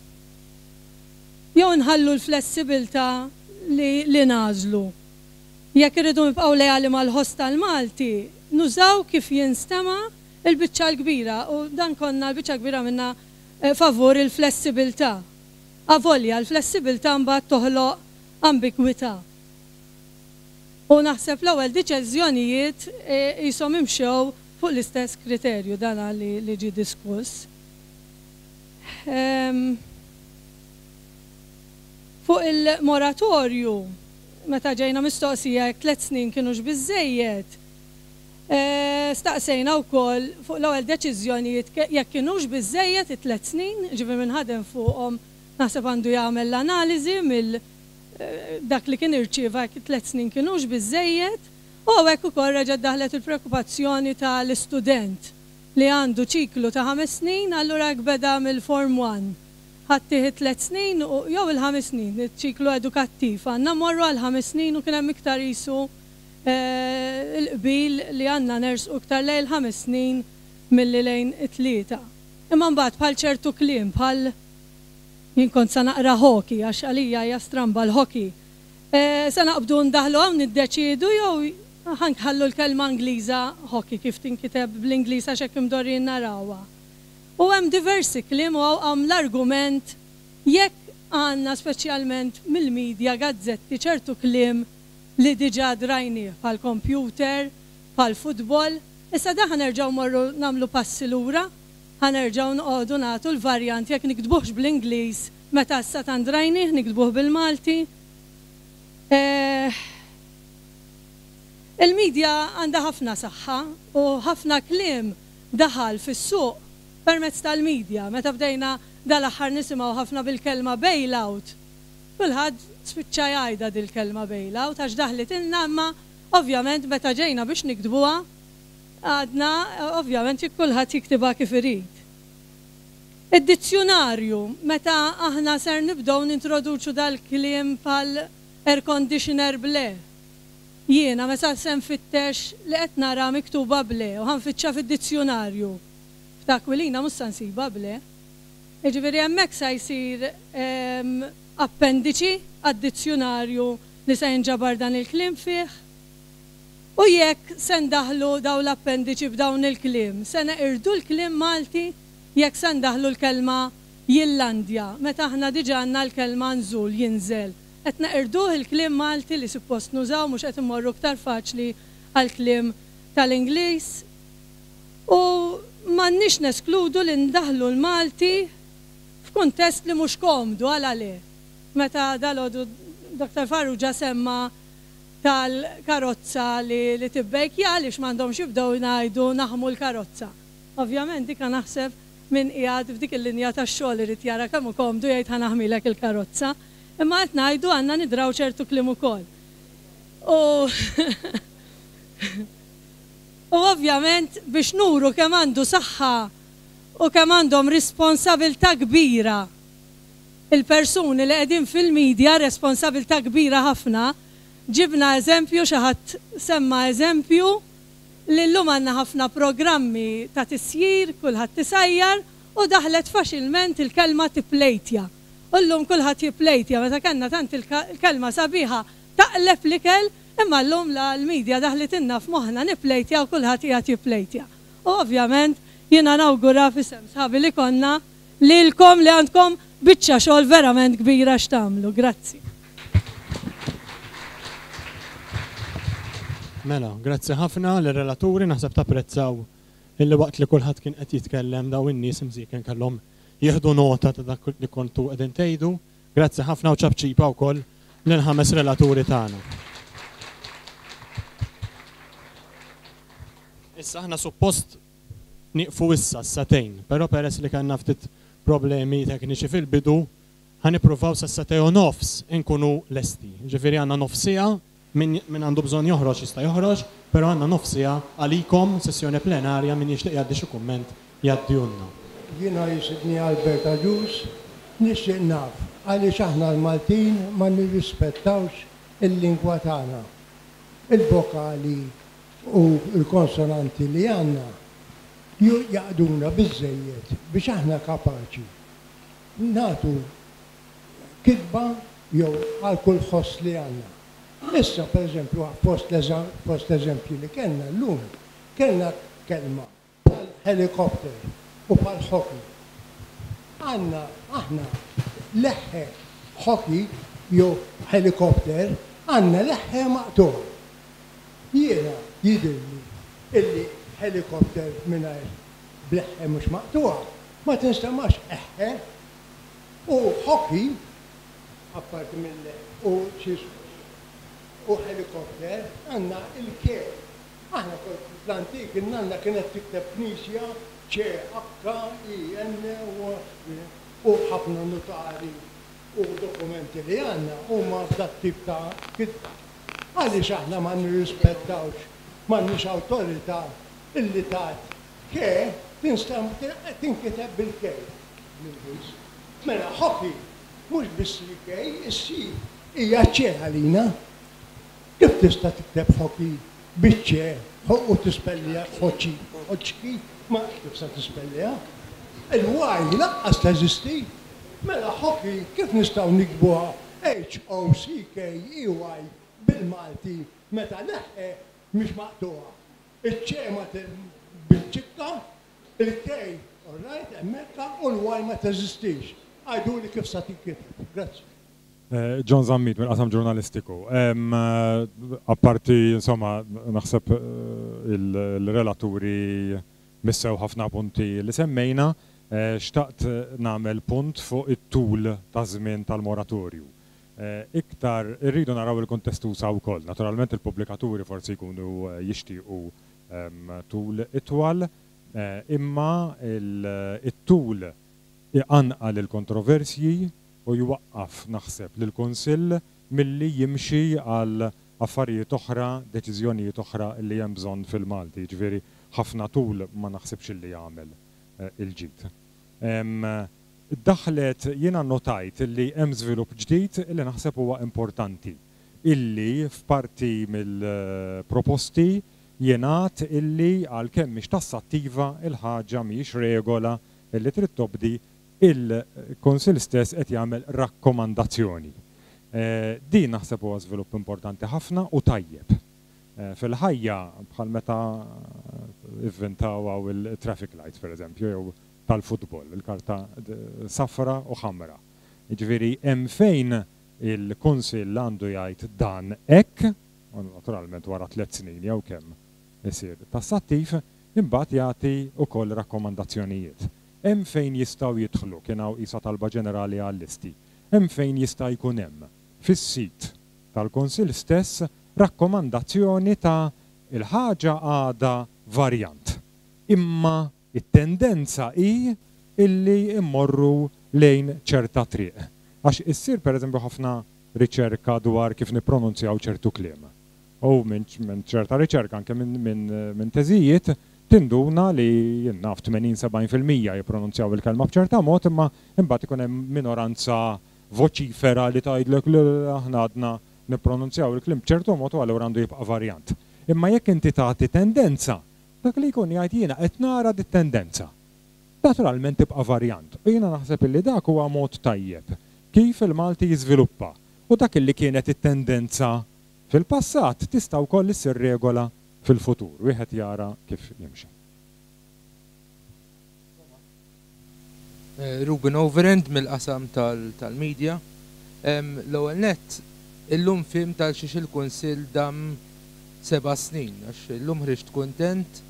jew nħallu l-flessibilità li, li nagħżlu. Jekk irridu nibqgħu leali mal-ħoss tal-Malti, nużaw kif jinstema' il-biċċa l-kbira u dan konna l-biċċa kbira minna favur il-flessibilità. Avolja, l-flessibilità mbagħad toħloq ambigwità. U naħseb l-ewwel deċiżjonijiet qishom imxew fuq l-istess kriterju dan li, li ġie diskuss. Um, fuq il-moratorju, meta ġejna mistoqsija jekk tliet snin kienux biżżejjed, e, staqsejna wkoll fuq l-ewwel deċiżjonijiet jekk kienux biżżejjed it-tliet snin, ġifieri min ħadem fuqhom naħseb għandu jagħmel l-analiżi mill dak li kien irċieva jekk tliet snin kienux biżżejjed, u hawnhekk ukoll reġgħet daħlet il-preokkupazzjoni tal-istudent li għandu ċiklu ta' ħames snin, allura jekk beda mill-Form one ħadd tliet snin u jew il-ħames snin, iċ-ċiklu edukattiv, għandna mmorru għal ħames snin u kien hemm iktar qisu il-qbil li għandna nersqu iktar lejn il-ħames snin milli lejn it-tlieta. Imma mbagħad bħal ċertu kliem, bħal jien kont sa naqra hockey, għax għalija hija stramba l-hockey. E, sa naqbdu ndaħlu hawn niddeċiedu jew ħanħallu l-kelma Ingliża hockey kif tinkiteb bl-Ingliż għax hekk imdorrin narawha. U hemm diversi kliem u hawn l-argument jekk għandna speċjalment mill-medja gazzetti ċertu kliem li diġà drajnieh bħal computer, bħal futbol, issa da ħanerġgħu morru nagħmlu passi lura, ħanerġgħu noqogħdu nagħtu l-varjant jekk nikdbuhx bl-Ingliż meta issa tant drajnieh nikdbuh bil-Malti. Eh, il-medja għandha ħafna saħħa u ħafna kliem daħal fis-suq permezz tal-medja. Meta bdejna dal-aħħar nisimgħu ħafna bil-kelma bailout, kulħadd spiċċa jgħidha dil-kelma bailout għax daħlet ilna, imma ovvjament meta ġejna biex nikdbuha għadna ovvjament jekk kulħadd jiktibha kif irid. Id-dizzjonarju, meta aħna ser nibdew nintroduċu dal-kliem bħal air conditioner ble. Jiena meta se nfittex li qed nara miktuba ble u ħanfittxa fid-dizzjonarju. F'Akwilina mhux se nsibha ble. Jiġifieri hemmhekk se jsir appendiċi għad-dizzjonarju li se jinġabar dan il-kliem fih. U jekk se ndaħlu dawn l-appendiċi b'dawn il-kliem, se neqirdu l-kliem Malti jekk se ndaħlu l-kelma Jillandja, meta aħna diġà għandna l-kelma nżul, jinżel. Qed neqirduh il-kliem Malti li suppost nużaw, mhux qed immorru iktar faċli għall-kliem tal-Ingliż. U m'għandniex neskludu li ndaħlu l-Malti f'kuntest li mhux komdu għal għalih. Meta dalgħodu Doktor Farrugia semma tal-karozza li, li tibbejkja għaliex m'għandhomx jibdew ngħidu naħmu l-karozza. Ovvjament dika naħseb min qiegħed f'dik il-linja tax-xogħol irid jara kemm hu komdu jgħid ħa naħmilek il-karozza. Imma qed ngħidu għandna nidraw ċertu kliem ukoll. U u ovvjament biex nuru kemm għandu saħħa u kemm għandhom responsabilità kbira il-persuni li qegħdin fil-medja, responsabilità kbira ħafna, ġibna eżempju, xi ħadd semma eżempju li llum għandna ħafna programmi ta' tisjir, kulħadd tisajjar u daħlet faċilment il-kelma tipplejtja. U llum kulħadd jipplejtja, meta kellna tant il-kelma sabiħa taqleb l-ikel, imma llum la l-medja daħlet inna f'moħħna nipplejtja u kulħadd qiegħed jipplejtja. U ovvjament jiena nawgura f'isem sħabi li konna lilkom li għandkom biċċa xogħol verament kbira x'tagħmlu. Grazzi. Mela, grazzi ħafna lir-relaturi, naħseb tapprezzaw illi waqt li kulħadd kien qed jitkellem daw in-nies imżieken kellhom jieħdu nota ta' dak li kontu qegħdin tgħidu. Grazzi ħafna u ċabċipa wkoll lill-ħames relaturi tagħna. Issa aħna suppost nieqfu issa s-satejn, però peress li kellna ftit problemi tekniċi fil-bidu, ħanippruvaw sa satej u nofs inkunu lesti. Ġifieri għandna nofsija, min għandu bżonn joħroġ jista' joħroġ, però għandna nofsija għalikom sessjoni plenarja min jixtieq jgħaddi xi kumment jgħaddihulna. Jiena jisibni Albert Agius, nixtieq naf għaliex aħna l-Maltin ma nirrispettawx il-lingwa tagħna. Il-vokali u l-konsonanti li għandna Jaqduna biżżejjed biex aħna kapaċi nagħtu kitba jew għal kull ħoss li għandna. Issa, per eżempju, fost l-eżempji li kellna llum, kellna kelma bħal helikopter u bħal hockey. Għandna aħna leħħe hockey jew helikopter, għandna leħħe maqtugħ. Jiena jidhirli illi helikopter mingħajr bleħħe mhux maqtugħa ma tinstamax eħħe, u hockey apparti mill u u helikopter għandna il-K. Aħna fl-antik in-nanna kienet tikteb knisja C H I N u ħafna notari u dokumenti li għandna huma f'dat tip ta' kitba. Għaliex aħna ma nirrispettawx, m'għandniex awtorità illi tat ke tinkiteb bil-K bl-Ingliż. Mela hockey mhux biss il-K, is-C hija C għalina. Kif tista' tikteb hockey biċ-C u tispellija hockey, hockey, ma kif sa tispellija? Il-Y lanqas teżisti. Mela hockey kif nistgħu nikbuha H O C K E Y bil-Malti meta leħħe mhix maqtugħa. Iċ-C ma bil-ċikka, il-K, all right, hemmhekk, u l-Y ma teżistix. Għajduli kif sa tinkiteb. Grazzi. John Zammit mill-qasam ġurnalistiku. Apparti, insomma, naħseb il-relaturi missew ħafna punti li semmejna, xtaqt nagħmel punt fuq it-tul ta' żmien tal-moratorju. Iktar irridu naraw il-kuntest usa wkoll. Naturalment il-pubblikaturi forsi jkunu jixtiequ tul itwal, imma it-tul iqanqal il-kontroversji u jwaqqaf naħseb lill-Kunsill milli jimxi għal affarijiet oħra, deċiżjonijiet oħra li hemm bżonn fil-Malti. Ġifieri ħafna tul ma naħsibx li jagħmel il-ġid. Daħlet jiena notajt li hemm żvilupp ġdid li naħseb huwa importanti, illi f'parti mill-proposti jingħad illi għalkemm mhix tassattiva il-ħaġa mhijiex regola illi trid tobdi, il-Kunsill stess qed jagħmel rakkomandazzjoni. Din naħseb huwa żvilupp importanti ħafna u tajjeb. Fil-ħajja bħal meta ivvintaw hawn il-traffic lights pereżempju jew tal-futbol, il-karta safra u ħamra. Jiġifieri hemm fejn il-Kunsill għandu jgħid dan hekk, u naturalment wara tliet snin jew kemm isir tassattiv, imbagħad jagħti wkoll rakkomandazzjonijiet. Hemm fejn jistgħu jidħlu, kien hawn qisha talba ġenerali għal-listi, hemm fejn jista' jkun hemm fis-sit tal-Kunsill stess rakkomandazzjoni ta' il-ħaġa għadha varjant. Imma it-tendenza hi illi immorru lejn ċerta triq. Għax issir pereżempju ħafna riċerka dwar kif nippronunzjaw ċertu kliem. U minn ċerta riċerka anke minn teżijiet tinduna li jien naf tmenin sebgħin fil-mija jippronunzjaw il-kelma b'ċerta mod, imma imbagħad ikun hemm minoranza voċifera li tgħidlek li aħna għadna nippronunzjaw il-kliem b'ċertu mod u allura għandu jibqa' varjant. Imma jekk inti tagħti tendenza, dak li jkun jgħid jiena qed nara dit-tendenza. Naturalment tibqa' varjant. U jiena naħseb illi dak huwa mod tajjeb kif il-Malti jiżviluppa. U dak illi kienet it-tendenza fil-passat tista' wkoll issir regola fil-futur. Wieħed jara kif jimxi. Ruben Overend mill-qasam tal-media. L-ewwel nett illum fim tal-xiex il-Kunsill dam seba' snin, għax illum ħriġt kuntent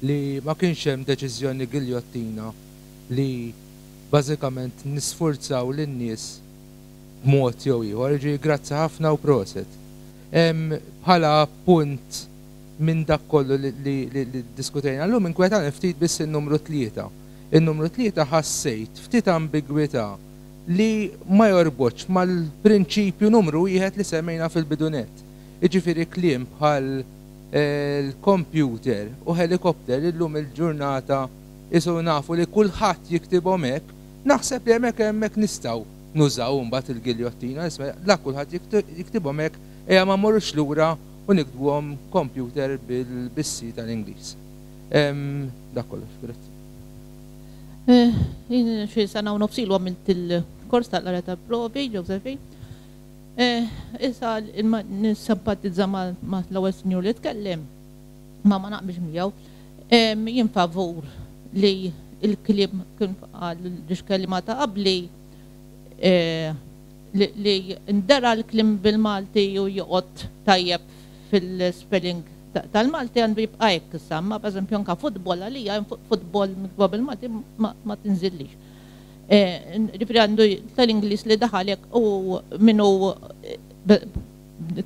li ma kienx hemm deċiżjoni giljottina li bażikament nisfurzaw lin-nies b'mod jew ieħor. Jiġifieri grazzi ħafna u proset. Bħala punt minn dak kollu li diskutejna llum inkwetani ftit biss in-numru tlieta. In-numru tlieta ħassejt ftit ambigwità li ma jorbotx mal-prinċipju numru wieħed li semmejna fil-bidunet. Jiġifieri kliem bħal l-computer u helikopter illum il-ġurnata isu nafu li kulħadd jiktibhom hekk, naħseb li hemmhekk hemmhekk nistgħu nużaw imbagħad il-giljottina, la kulħadd jiktibhom hekk, ejja ma mmorrux lura u niktbuhom computer bil-C tal-Ingliż. Dak kollox, grazzi. Jien xi sena u nofs ilu għamilt il-kors tal-qara tal-provi, Josephine. Issa nissimpatizza ma' l-ewwel sinjur li tkellem, ma ma naqbilx miegħu. Jien favur li il-kliem kien qal ġiex kelliema ta' qabli li ndera l-kliem bil-Malti u joqgħod tajjeb fil-spelling tal-Malti għandu jibqa' hekk issa, ma pereżempju anke futbol għalija futbol miktuba bil-Malti ma tinżillix. Ġifieri għandu tal-Ingliż li daħal hekk u minnu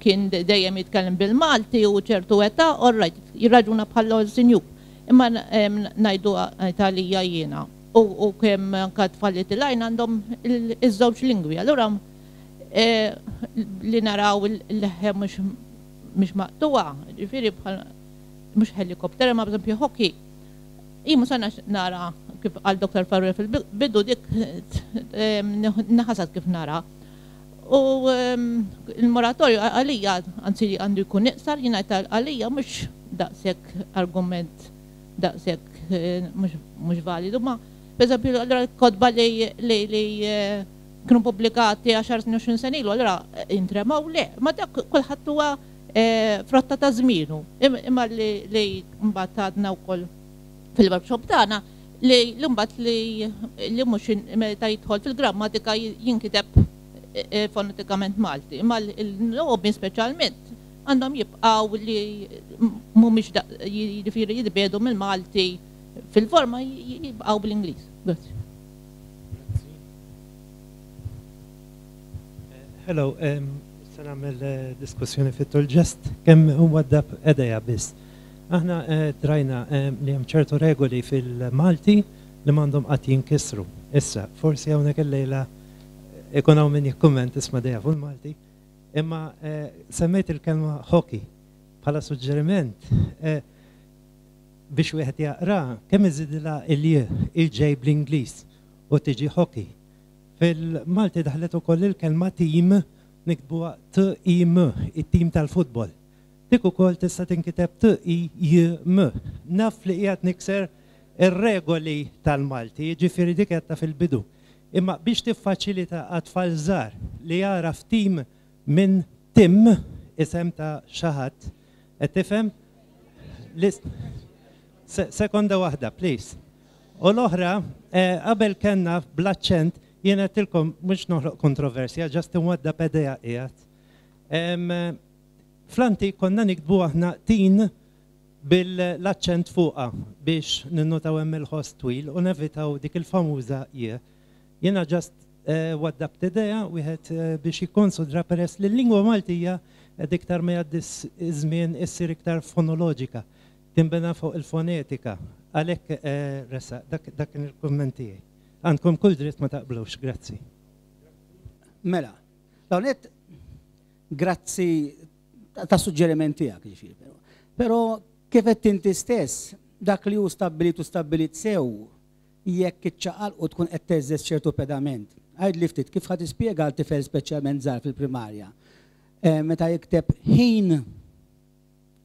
kien dejjem jitkellem bil-Malti u ċertu età, all right, jirraġuna bħal sinjur. Imma ngħidu għalija jiena u kemm anke tfal li tilgħin għandhom iż-żewġ lingwi. Allura li naraw il-leħe mhux mhux maqtuwa, ġifieri bħal mhux helikopter, ma b'eżempju hockey. Jien mhux nara kif qal Doktor Farrugia fil-bidu dik naħasat kif nara. U il-moratorju għalija, anzi għandu jkun iqsar, jien ngħid għalija mhux daqshekk argument daqshekk mhux validu, ma pereżempju allura l-kotba li kienu pubblikati għaxar snin u għoxrin sena ilu, allura intremaw le, ma dak kulħadd huwa frotta ta' żmienu. Imma li mbagħad għadna wkoll fil-workshop tagħna li mbagħad li mhux meta jidħol fil-grammatika jinkiteb fonetikament Malti. Imma l-logħbi speċjalment għandhom jibqgħu li mhumiex jiġifieri jitbiedu mill-Malti fil-forma jibqgħu bl-Ingliż. Grazzi. Hello, se nagħmel diskussjoni fit-tul ġest kemm huwa dab edeja biss. Aħna drajna li hemm ċertu regoli fil-Malti li m'għandhom qatt jinkisru. Issa, forsi hawnhekk illejla ikun hawn min jikkumment isma' dejja fuq il-Malti, imma semmejt il-kelma hockey bħala suġġeriment biex wieħed jaqra kemm iżidilha il-j il-ġej bl-Ingliż u tiġi hockey. Fil-Malti daħlet ukoll il-kelma team niktbuha T I M, it-tim tal-futbol. Dik ukoll tista' tinkiteb T I J M. Naf li qiegħed nikser ir-regoli tal-Malti, jiġifieri dik qed ta' fil-bidu. Imma biex tiffaċilita għat-tfal żgħar li jaraf tim minn tim isem ta' xi ħadd, qed tifhem? Sekonda waħda, please. U l-oħra, qabel kellna bl-aċċent, jien għedtilkom mhux noħloq kontroversja, ġast inwadda pedea qiegħed. Fl-antik konna niktbu aħna tin bil-aċċent fuqha biex ninnotaw hemm il-ħoss twil u nevitaw dik il-famuża j. Jiena ġast waddabt idea wieħed biex jikkonsidra peress li l-lingwa Maltija qed iktar ma jgħaddi żmien issir iktar fonoloġika, tinbena fuq il-fonetika. Għalhekk resa, dak kien il-kumment tiegħi. Għandkom kull dritt ma taqblux, grazzi. Mela, l-għonet, grazzi ta' suġġeriment tiegħek, ġifieri, però. Però kif qed inti stess, dak li hu stabbilit u stabbilit sew, jekk iċċaqal u tkun qed teżżeż ċertu pedament. Għid li ftit kif ħad tispjega għal tifel speċjalment żgħar fil-primarja. Meta jikteb ħin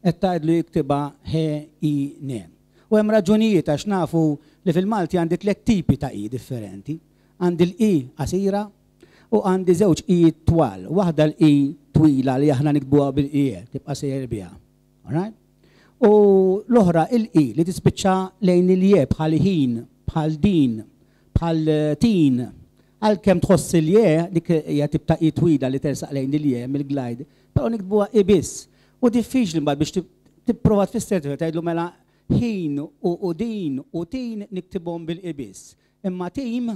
qed tgħidlu jiktibha H I N. U hemm raġunijiet għax nafu li fil-Malti għandi tliet tipi ta' i differenti. Għandi l-i qasira u għandi żewġ i twal. Waħda l-i twila li aħna nikbuha bil-i, tibqa' sejjer biha. All right? U l-oħra il-i li tispiċċa lejn il-je bħal ħin, bħal din, bħal tin. Għalkemm tħoss il-je, dik hija tip ta' i twila li tersaq lejn il-je mill-glide, però nikbuha i biss. U diffiċli mbagħad biex tipprova tfisser tgħidlu mela ħin u din u tin niktibhom bil-ibis. Imma tim,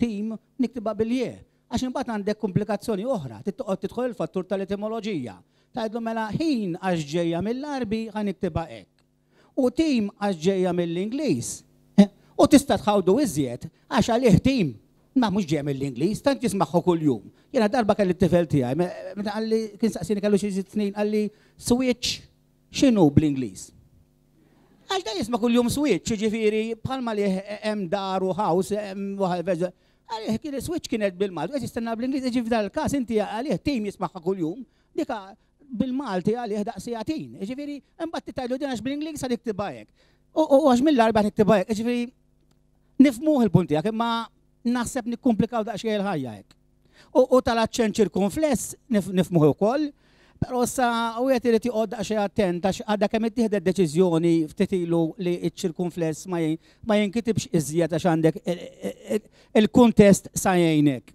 tim niktibha bil-je. Għax imbagħad għandek komplikazzjoni oħra, tittoqgħod tidħol il-fattur tal-etimoloġija. Tgħidlu mela ħin għax ġejja mill-Arbi ħa niktibha hekk. U tim għax ġejja mill-Ingliż. U tista' tħawdu iżjed għax għalih tim ma mhux ġejja mill-Ingliż, tant jismagħhu kuljum. Jiena darba kelli t-tifel tiegħi, meta qalli kien saqsini kellu xi sitt snin, qalli switch x'inhu bl-Ingliż? Għax dan jisma' kuljum switch, jiġifieri bħalma li hemm dar u house, hemm waħda għalih kien switch kienet bil-Malti, qed jistenna bl-Ingliż, jiġifieri f'dan il-każ inti għalih tim jismagħha kuljum, dik bil-Malti għalih daqsijatin. Jiġifieri imbagħad tgħidlu din għax bl-Ingliż sa niktibha hekk. U għax mill-Għarbi qed niktibha hekk, jiġifieri nifhmuh il-punt tiegħek, imma naħseb nikkumplikaw daqsxejn il-ħajja hekk. U tal-aċċent ċirkunfless nifhmuh ukoll, però issa wieħed irid joqgħod daqsxejn attent għax għadha kemm ittieħdet deċiżjoni ftit ilu li ċ-ċirkunfless ma jinkitibx iżjed għax għandek il-kuntest sa jgħinek.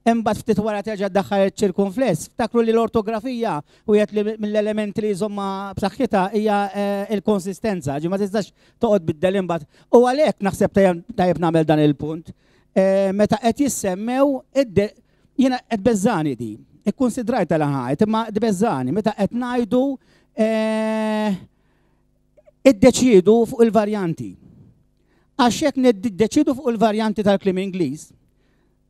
Imbagħad ftit wara terġa' ddaħħal iċ-ċirkunfless. Ftakru li l-ortografija wieħed mill-elementi li jżommha b'saħħitha hija l-konsistenza, ġi ma tistax toqgħod biddel imbagħad. U għalhekk naħseb tajjeb nagħmel dan il-punt. Meta qed jissemmew jiena qed beżżani di. Ikkunsidrajta l-ħajt, imma tbeżżani meta qed ngħidu iddeċiedu fuq il-varjanti. Għax jekk niddeċiedu fuq il-varjanti tal-kliem Ingliż,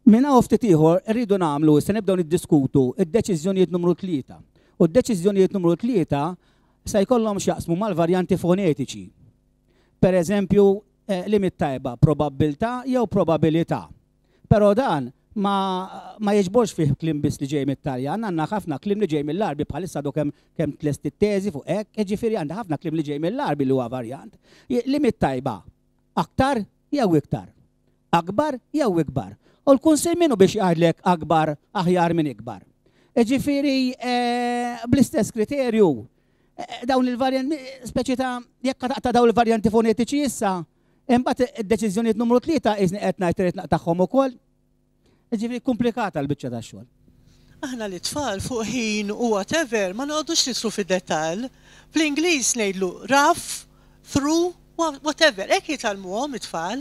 minn hawn ftit ieħor irridu nagħmlu issa nibdew niddiskutu id-deċiżjonijiet numru tlieta. U d-deċiżjonijiet numru tlieta se jkollhom x'jaqsmu mal-varjanti fonetiċi. Per eżempju, limit tajba, probabbiltà jew probabilità. Però dan ma, ma jiġborx fih kliem biss li ġej mit-Taljan, għandna ħafna kliem li ġej mill-Għarbi bħalissa għadu kemm kemm tlest it-teżi fuq hekk, jiġifieri għandha ħafna kliem li ġej mill-Għarbi li huwa varjant. Limit tajba, aktar jew iktar, akbar jew ikbar. U l-Kunsill minnu biex jgħidlek akbar aħjar minn ikbar. Jiġifieri bl-istess kriterju, dawn il-varjanti, speċi ta' jekk taqta' dawn il-varjanti fonetiċi issa, imbagħad id-deċiżjonijiet numru tlieta qisni qed ngħid irid naqtagħhom ukoll. Jiġifieri komplikata l-biċċa tax-xogħol. Aħna li tfal fuq ħin u whatever ma noqogħdux nidħlu fid-dettall. Fl-Ingliż ngħidlu rough, through, whatever, hekk jitgħallmuhom it-tfal.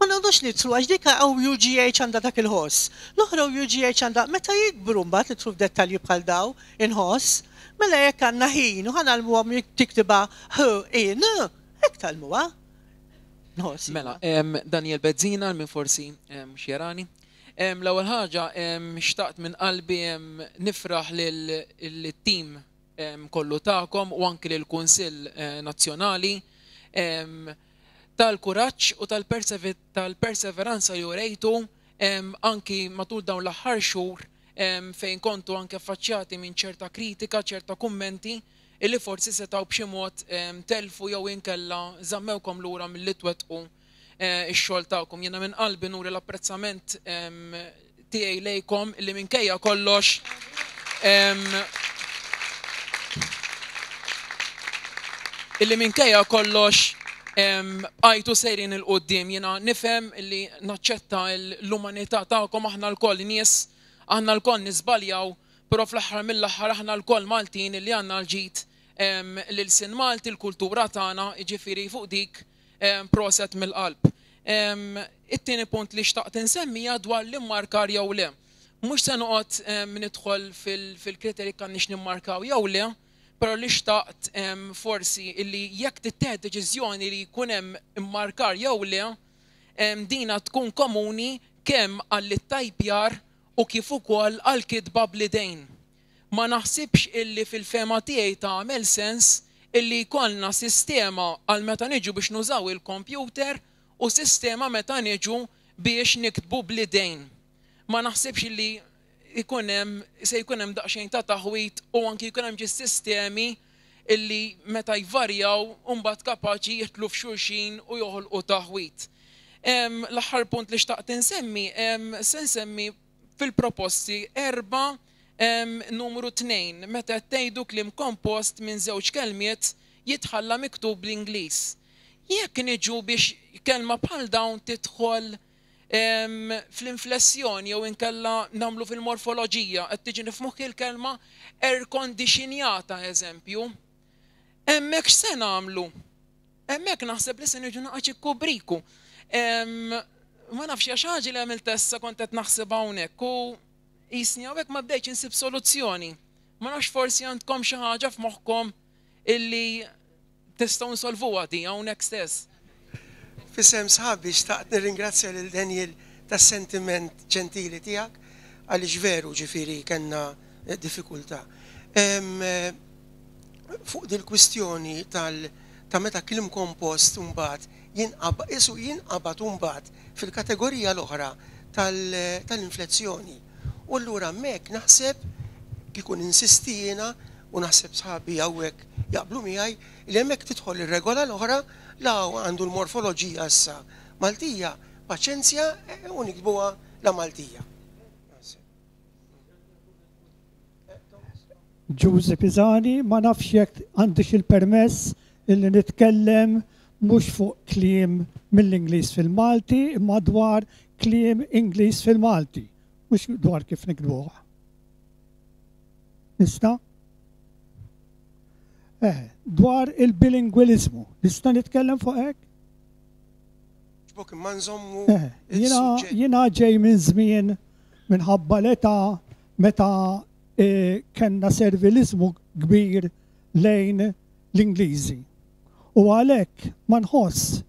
Ma noqogħdux nidħlu għax dik O U G H għandha dak il-ħoss. L-oħra O U G H għandha meta jikbru mbagħad nidħlu f'dettalji bħal daw inħoss, mela jekk għandna ħin u ħanalmuhom tiktibha H I N, hekk tgħallmuha. Nħoss. Mela, Daniel Bezzina minn forsi mhux jarani. L-ewwel ħaġa xtaqt minn qalbi nifraħ lill-tim kollu tagħkom u anki lill-Kunsill Nazzjonali tal-kuraġġ u tal-perseveranza li urejtu anki matul dawn l-aħħar xhur fejn kontu anke affaċċjati minn ċerta kritika, ċerta kummenti illi forsi setgħu b'xi mod telfu jew inkella żammewkom lura milli twettqu ix-xogħol tagħkom. Jiena minn qalbi nuri l-apprezzament tiegħi lejkom illi minkejja kollox illi minkejja kollox bqajtu sejrin il quddiem. Jiena nifhem illi naċċetta l-umanità tagħkom, aħna lkoll nies, aħna lkoll niżbaljaw, però fl-aħħar mill-aħħar aħna lkoll Maltin illi għandna l-ġid lil-sin Malti, l-kultura tagħna, jiġifieri fuq dik proset mill-qalb. It-tieni punt li xtaqt insemmija dwar l-immarkar jew le. Mhux se noqgħod nidħol fil-kriterji kan nix nimmarkaw jew le, però li xtaqt forsi illi jekk tittieħed deċiżjoni li jkun hemm immarkar jew le, dina tkun komuni kemm għall-ittajpjar u kif ukoll għall-kitba bl-idejn. Ma naħsibx illi fil-fema tiegħi tagħmel sens illi jkollna sistema għal meta niġu biex nużaw il-kompjuter u sistema meta niġu biex niktbu bl-idejn. Ma naħsibx illi jkun hemm, se jkun hemm daqsxejn ta' taħwit u anki jkun hemm ġis sistemi illi meta jvarjaw u mbagħad kapaċi jidħlu f'xulxin u joħolqu taħwit. L-aħħar punt li xtaqt insemmi, se nsemmi fil-proposti erba' numru tnejn, meta tgħidu kliem kompost minn żewġ kelmiet jitħalla miktub bl-Ingliż. Jekk niġu biex kelma bħal dawn tidħol fl-inflessjoni jew inkella nagħmlu fil-morfoloġija, qed tiġi nifhmuh il-kelma air-conditionjata eżempju. Hemmhekk x'se nagħmlu? Hemmhekk naħseb li se niġu naqgħod ikkubriku. Ma nafx xi ħaġa li għamilt issa kont qed naħseb hawnhekk u jisni hawnhekk ma bdejtx insib soluzzjoni. Ma nafx forsi għandkom xi ħaġa f'moħħkom illi tistgħu nsolvuha di hawnhekk stess. Fisem sħabi xtaqt nirringrazzja lil Daniel tas-sentiment ġentili tiegħek għaliex veru ġifieri kellna diffikultà. Fuq dil-kwistjoni tal ta' meta kliem kompost imbagħad jinqab-, isu jinqabad imbagħad fil-kategorija l-oħra tal-inflezzjoni. U allura hemmhekk naħseb kieku ninsisti jiena u naħseb sħabi hawnhekk jaqblu miegħi li hemmhekk tidħol ir-regola l-oħra La għandu l-morfoloġija issa Maltija, paċenzja u niktbuha la Maltija. Ġużi Pisani, ma nafx jekk għandix il-permess illi nitkellem mhux fuq kliem mill-Ingliż fil-Malti, imma dwar kliem Ingliż fil-Malti, mhux dwar kif niktbuh. Nista'? Eh, dwar il-bilingwiliżmu, nista' nitkellem fuq hekk? Ġbok imma nżommu eh, jiena ġej minn żmien minħabba l-età meta E, kellna servilizmu kbir lejn l-Ingliżi. U għalhekk ma nħoss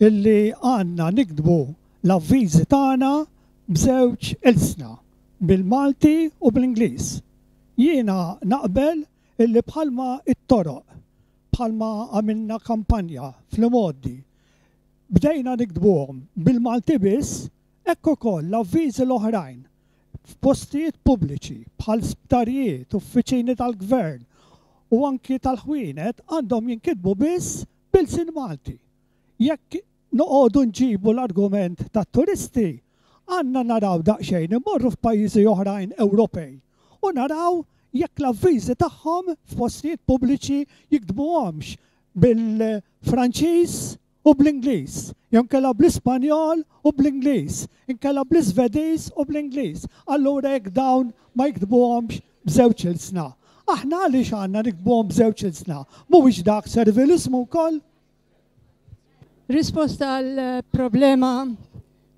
illi għandna niktbu l-avviżi tagħna b'żewġ ilsna, bil-Malti u bl-Ingliż. Jiena naqbel illi bħalma it-toroq, bħalma għamilna kampanja fl-modi, bdejna niktbuhom bil-Malti biss, hekk ukoll l-avviżi l-oħrajn f'postijiet pubbliċi bħal sptarijiet, uffiċini tal-gvern u anki tal-ħwienet għandhom jinkitbu biss bil-sin Malti. Jekk noqogħdu nġibu l-argument tat-turisti, għandna naraw daqsxejn imorru f'pajjiżi oħrajn Ewropej u naraw jekk l-avviżi tagħhom f'postijiet pubbliċi jiktbuhomx bil-Franċiż u bl-Ingliż, jew inkella bl-Ispanjol u bl-Ingliż, inkella bl-Iżvediż u bl-Ingliż. Allura jekk dawn ma jiktbuhomx b'żewġ ilsna. Aħna għaliex għandna niktbuhom b'żewġ ilsna? Mhuwiex dak servilizmu wkoll? Risposta għal problema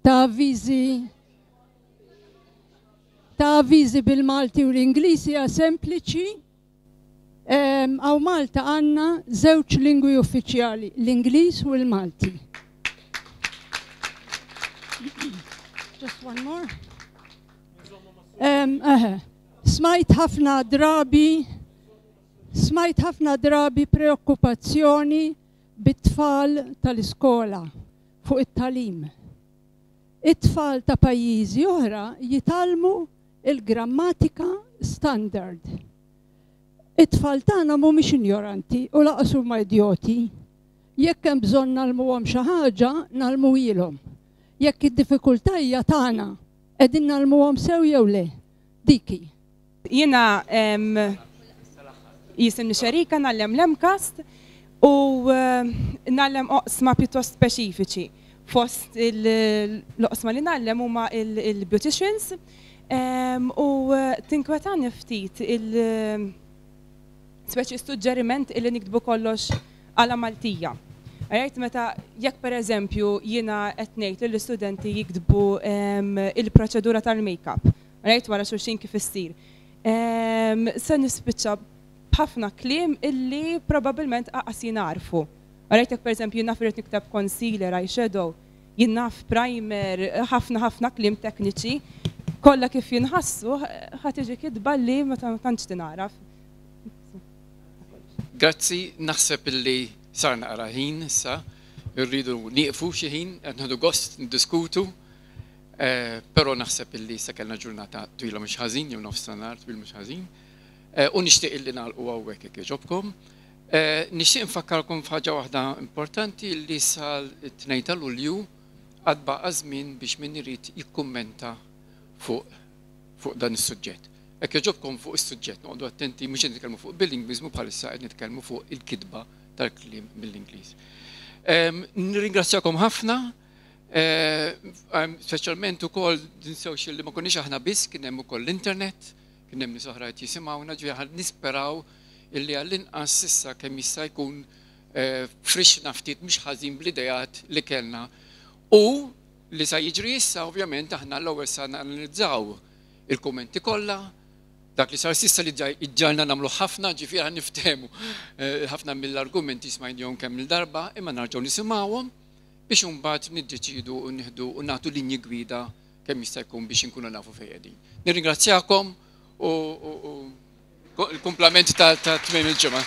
ta' avviżi ta' avviżi bil-Malti u l-Ingliż hija sempliċi. Għaw Malta għanna żewġ lingwi uffiċjali, l-Ingliż u l-Malti. Just one more. Um, uh, smajt ħafna drabi, smajt ħafna drabi preokkupazzjoni bit-tfal tal-iskola fuq it-talim. It-tfal ta' pajjiżi oħra jitgħallmu il-grammatika standard. It-tfal tagħna mhumiex injoranti u laqas huma idjoti. Jekk hemm bżonn nagħlmuhom xi ħaġa, nagħlmuhilhom. Jekk id-diffikultà hija tagħna, qegħdin nagħlmuhom sew jew le. Diki. Jiena jisimni Xerika, nagħllem l-MCAST u nagħllem oqsma pjuttost speċifiċi. Fost l-oqsma li nagħllem huma il-beauticians u tinkwetani ftit il- speċi suġġeriment illi niktbu kollox għala Maltija. Għajt meta jekk per eżempju jiena qed ngħid li l-istudenti jiktbu il-proċedura tal-make-up, għajt wara xulxin kif issir. Se nispiċċa b'ħafna kliem illi probabbilment aqas jingħarfu. Għajt jekk per eżempju jien naf irid nikteb concealer, eyeshadow, jien naf primer, ħafna ħafna kliem tekniċi, kollha kif jinħassu ħa tiġi kitba li ma tantx tingħaraf. Grazzi, naħseb illi sar naqra ħin issa, irridu nieqfu xi ħin, qed nieħdu gost niddiskutu, però naħseb illi issa kellna ġurnata twila mhux ħażin, jew nofs nhar twil mhux ħażin, u nixtieq illi nagħlqu hawnhekk jekk jogħġobkom. Nixtieq nfakkarkom f'ħaġa waħda importanti li sal-tnejn ta' Lulju għad baqa' żmien biex min irid jikkummenta fuq dan is-suġġett. Hekk jogħġobkom fuq is-suġġett, noqogħdu attenti, mhux qed nitkellmu fuq bilingwiżmu bħalissa qed nitkellmu fuq il-kitba tal-kliem mill-Ingliż. Nirringrazzjakom ħafna, speċjalment ukoll tinsewx li ma konniex aħna biss, kien hemm ukoll l-internet, kien hemm nies oħra qed jisimgħuna, ġifieri nisperaw illi għall-inqas issa kemm jista' jkun frixna ftit mhux ħażin bl-idejat li kellna. U li sa jiġri issa ovvjament aħna l-ewwel sa nanalizzaw il-kummenti kollha, dak li sar sissa li ġalna nagħmlu ħafna, ġifieri niftehmu ħafna mill-argumenti smajnihom kemm il-darba, imma narġgħu nisimgħuhom biex imbagħad niddeċidu u nieħdu u nagħtu linji gwida kemm jista' jkun biex inkunu nafu fejn qegħdin. Nirringrazzjakom u l-kumplament ta' tmiem il-ġimgħa.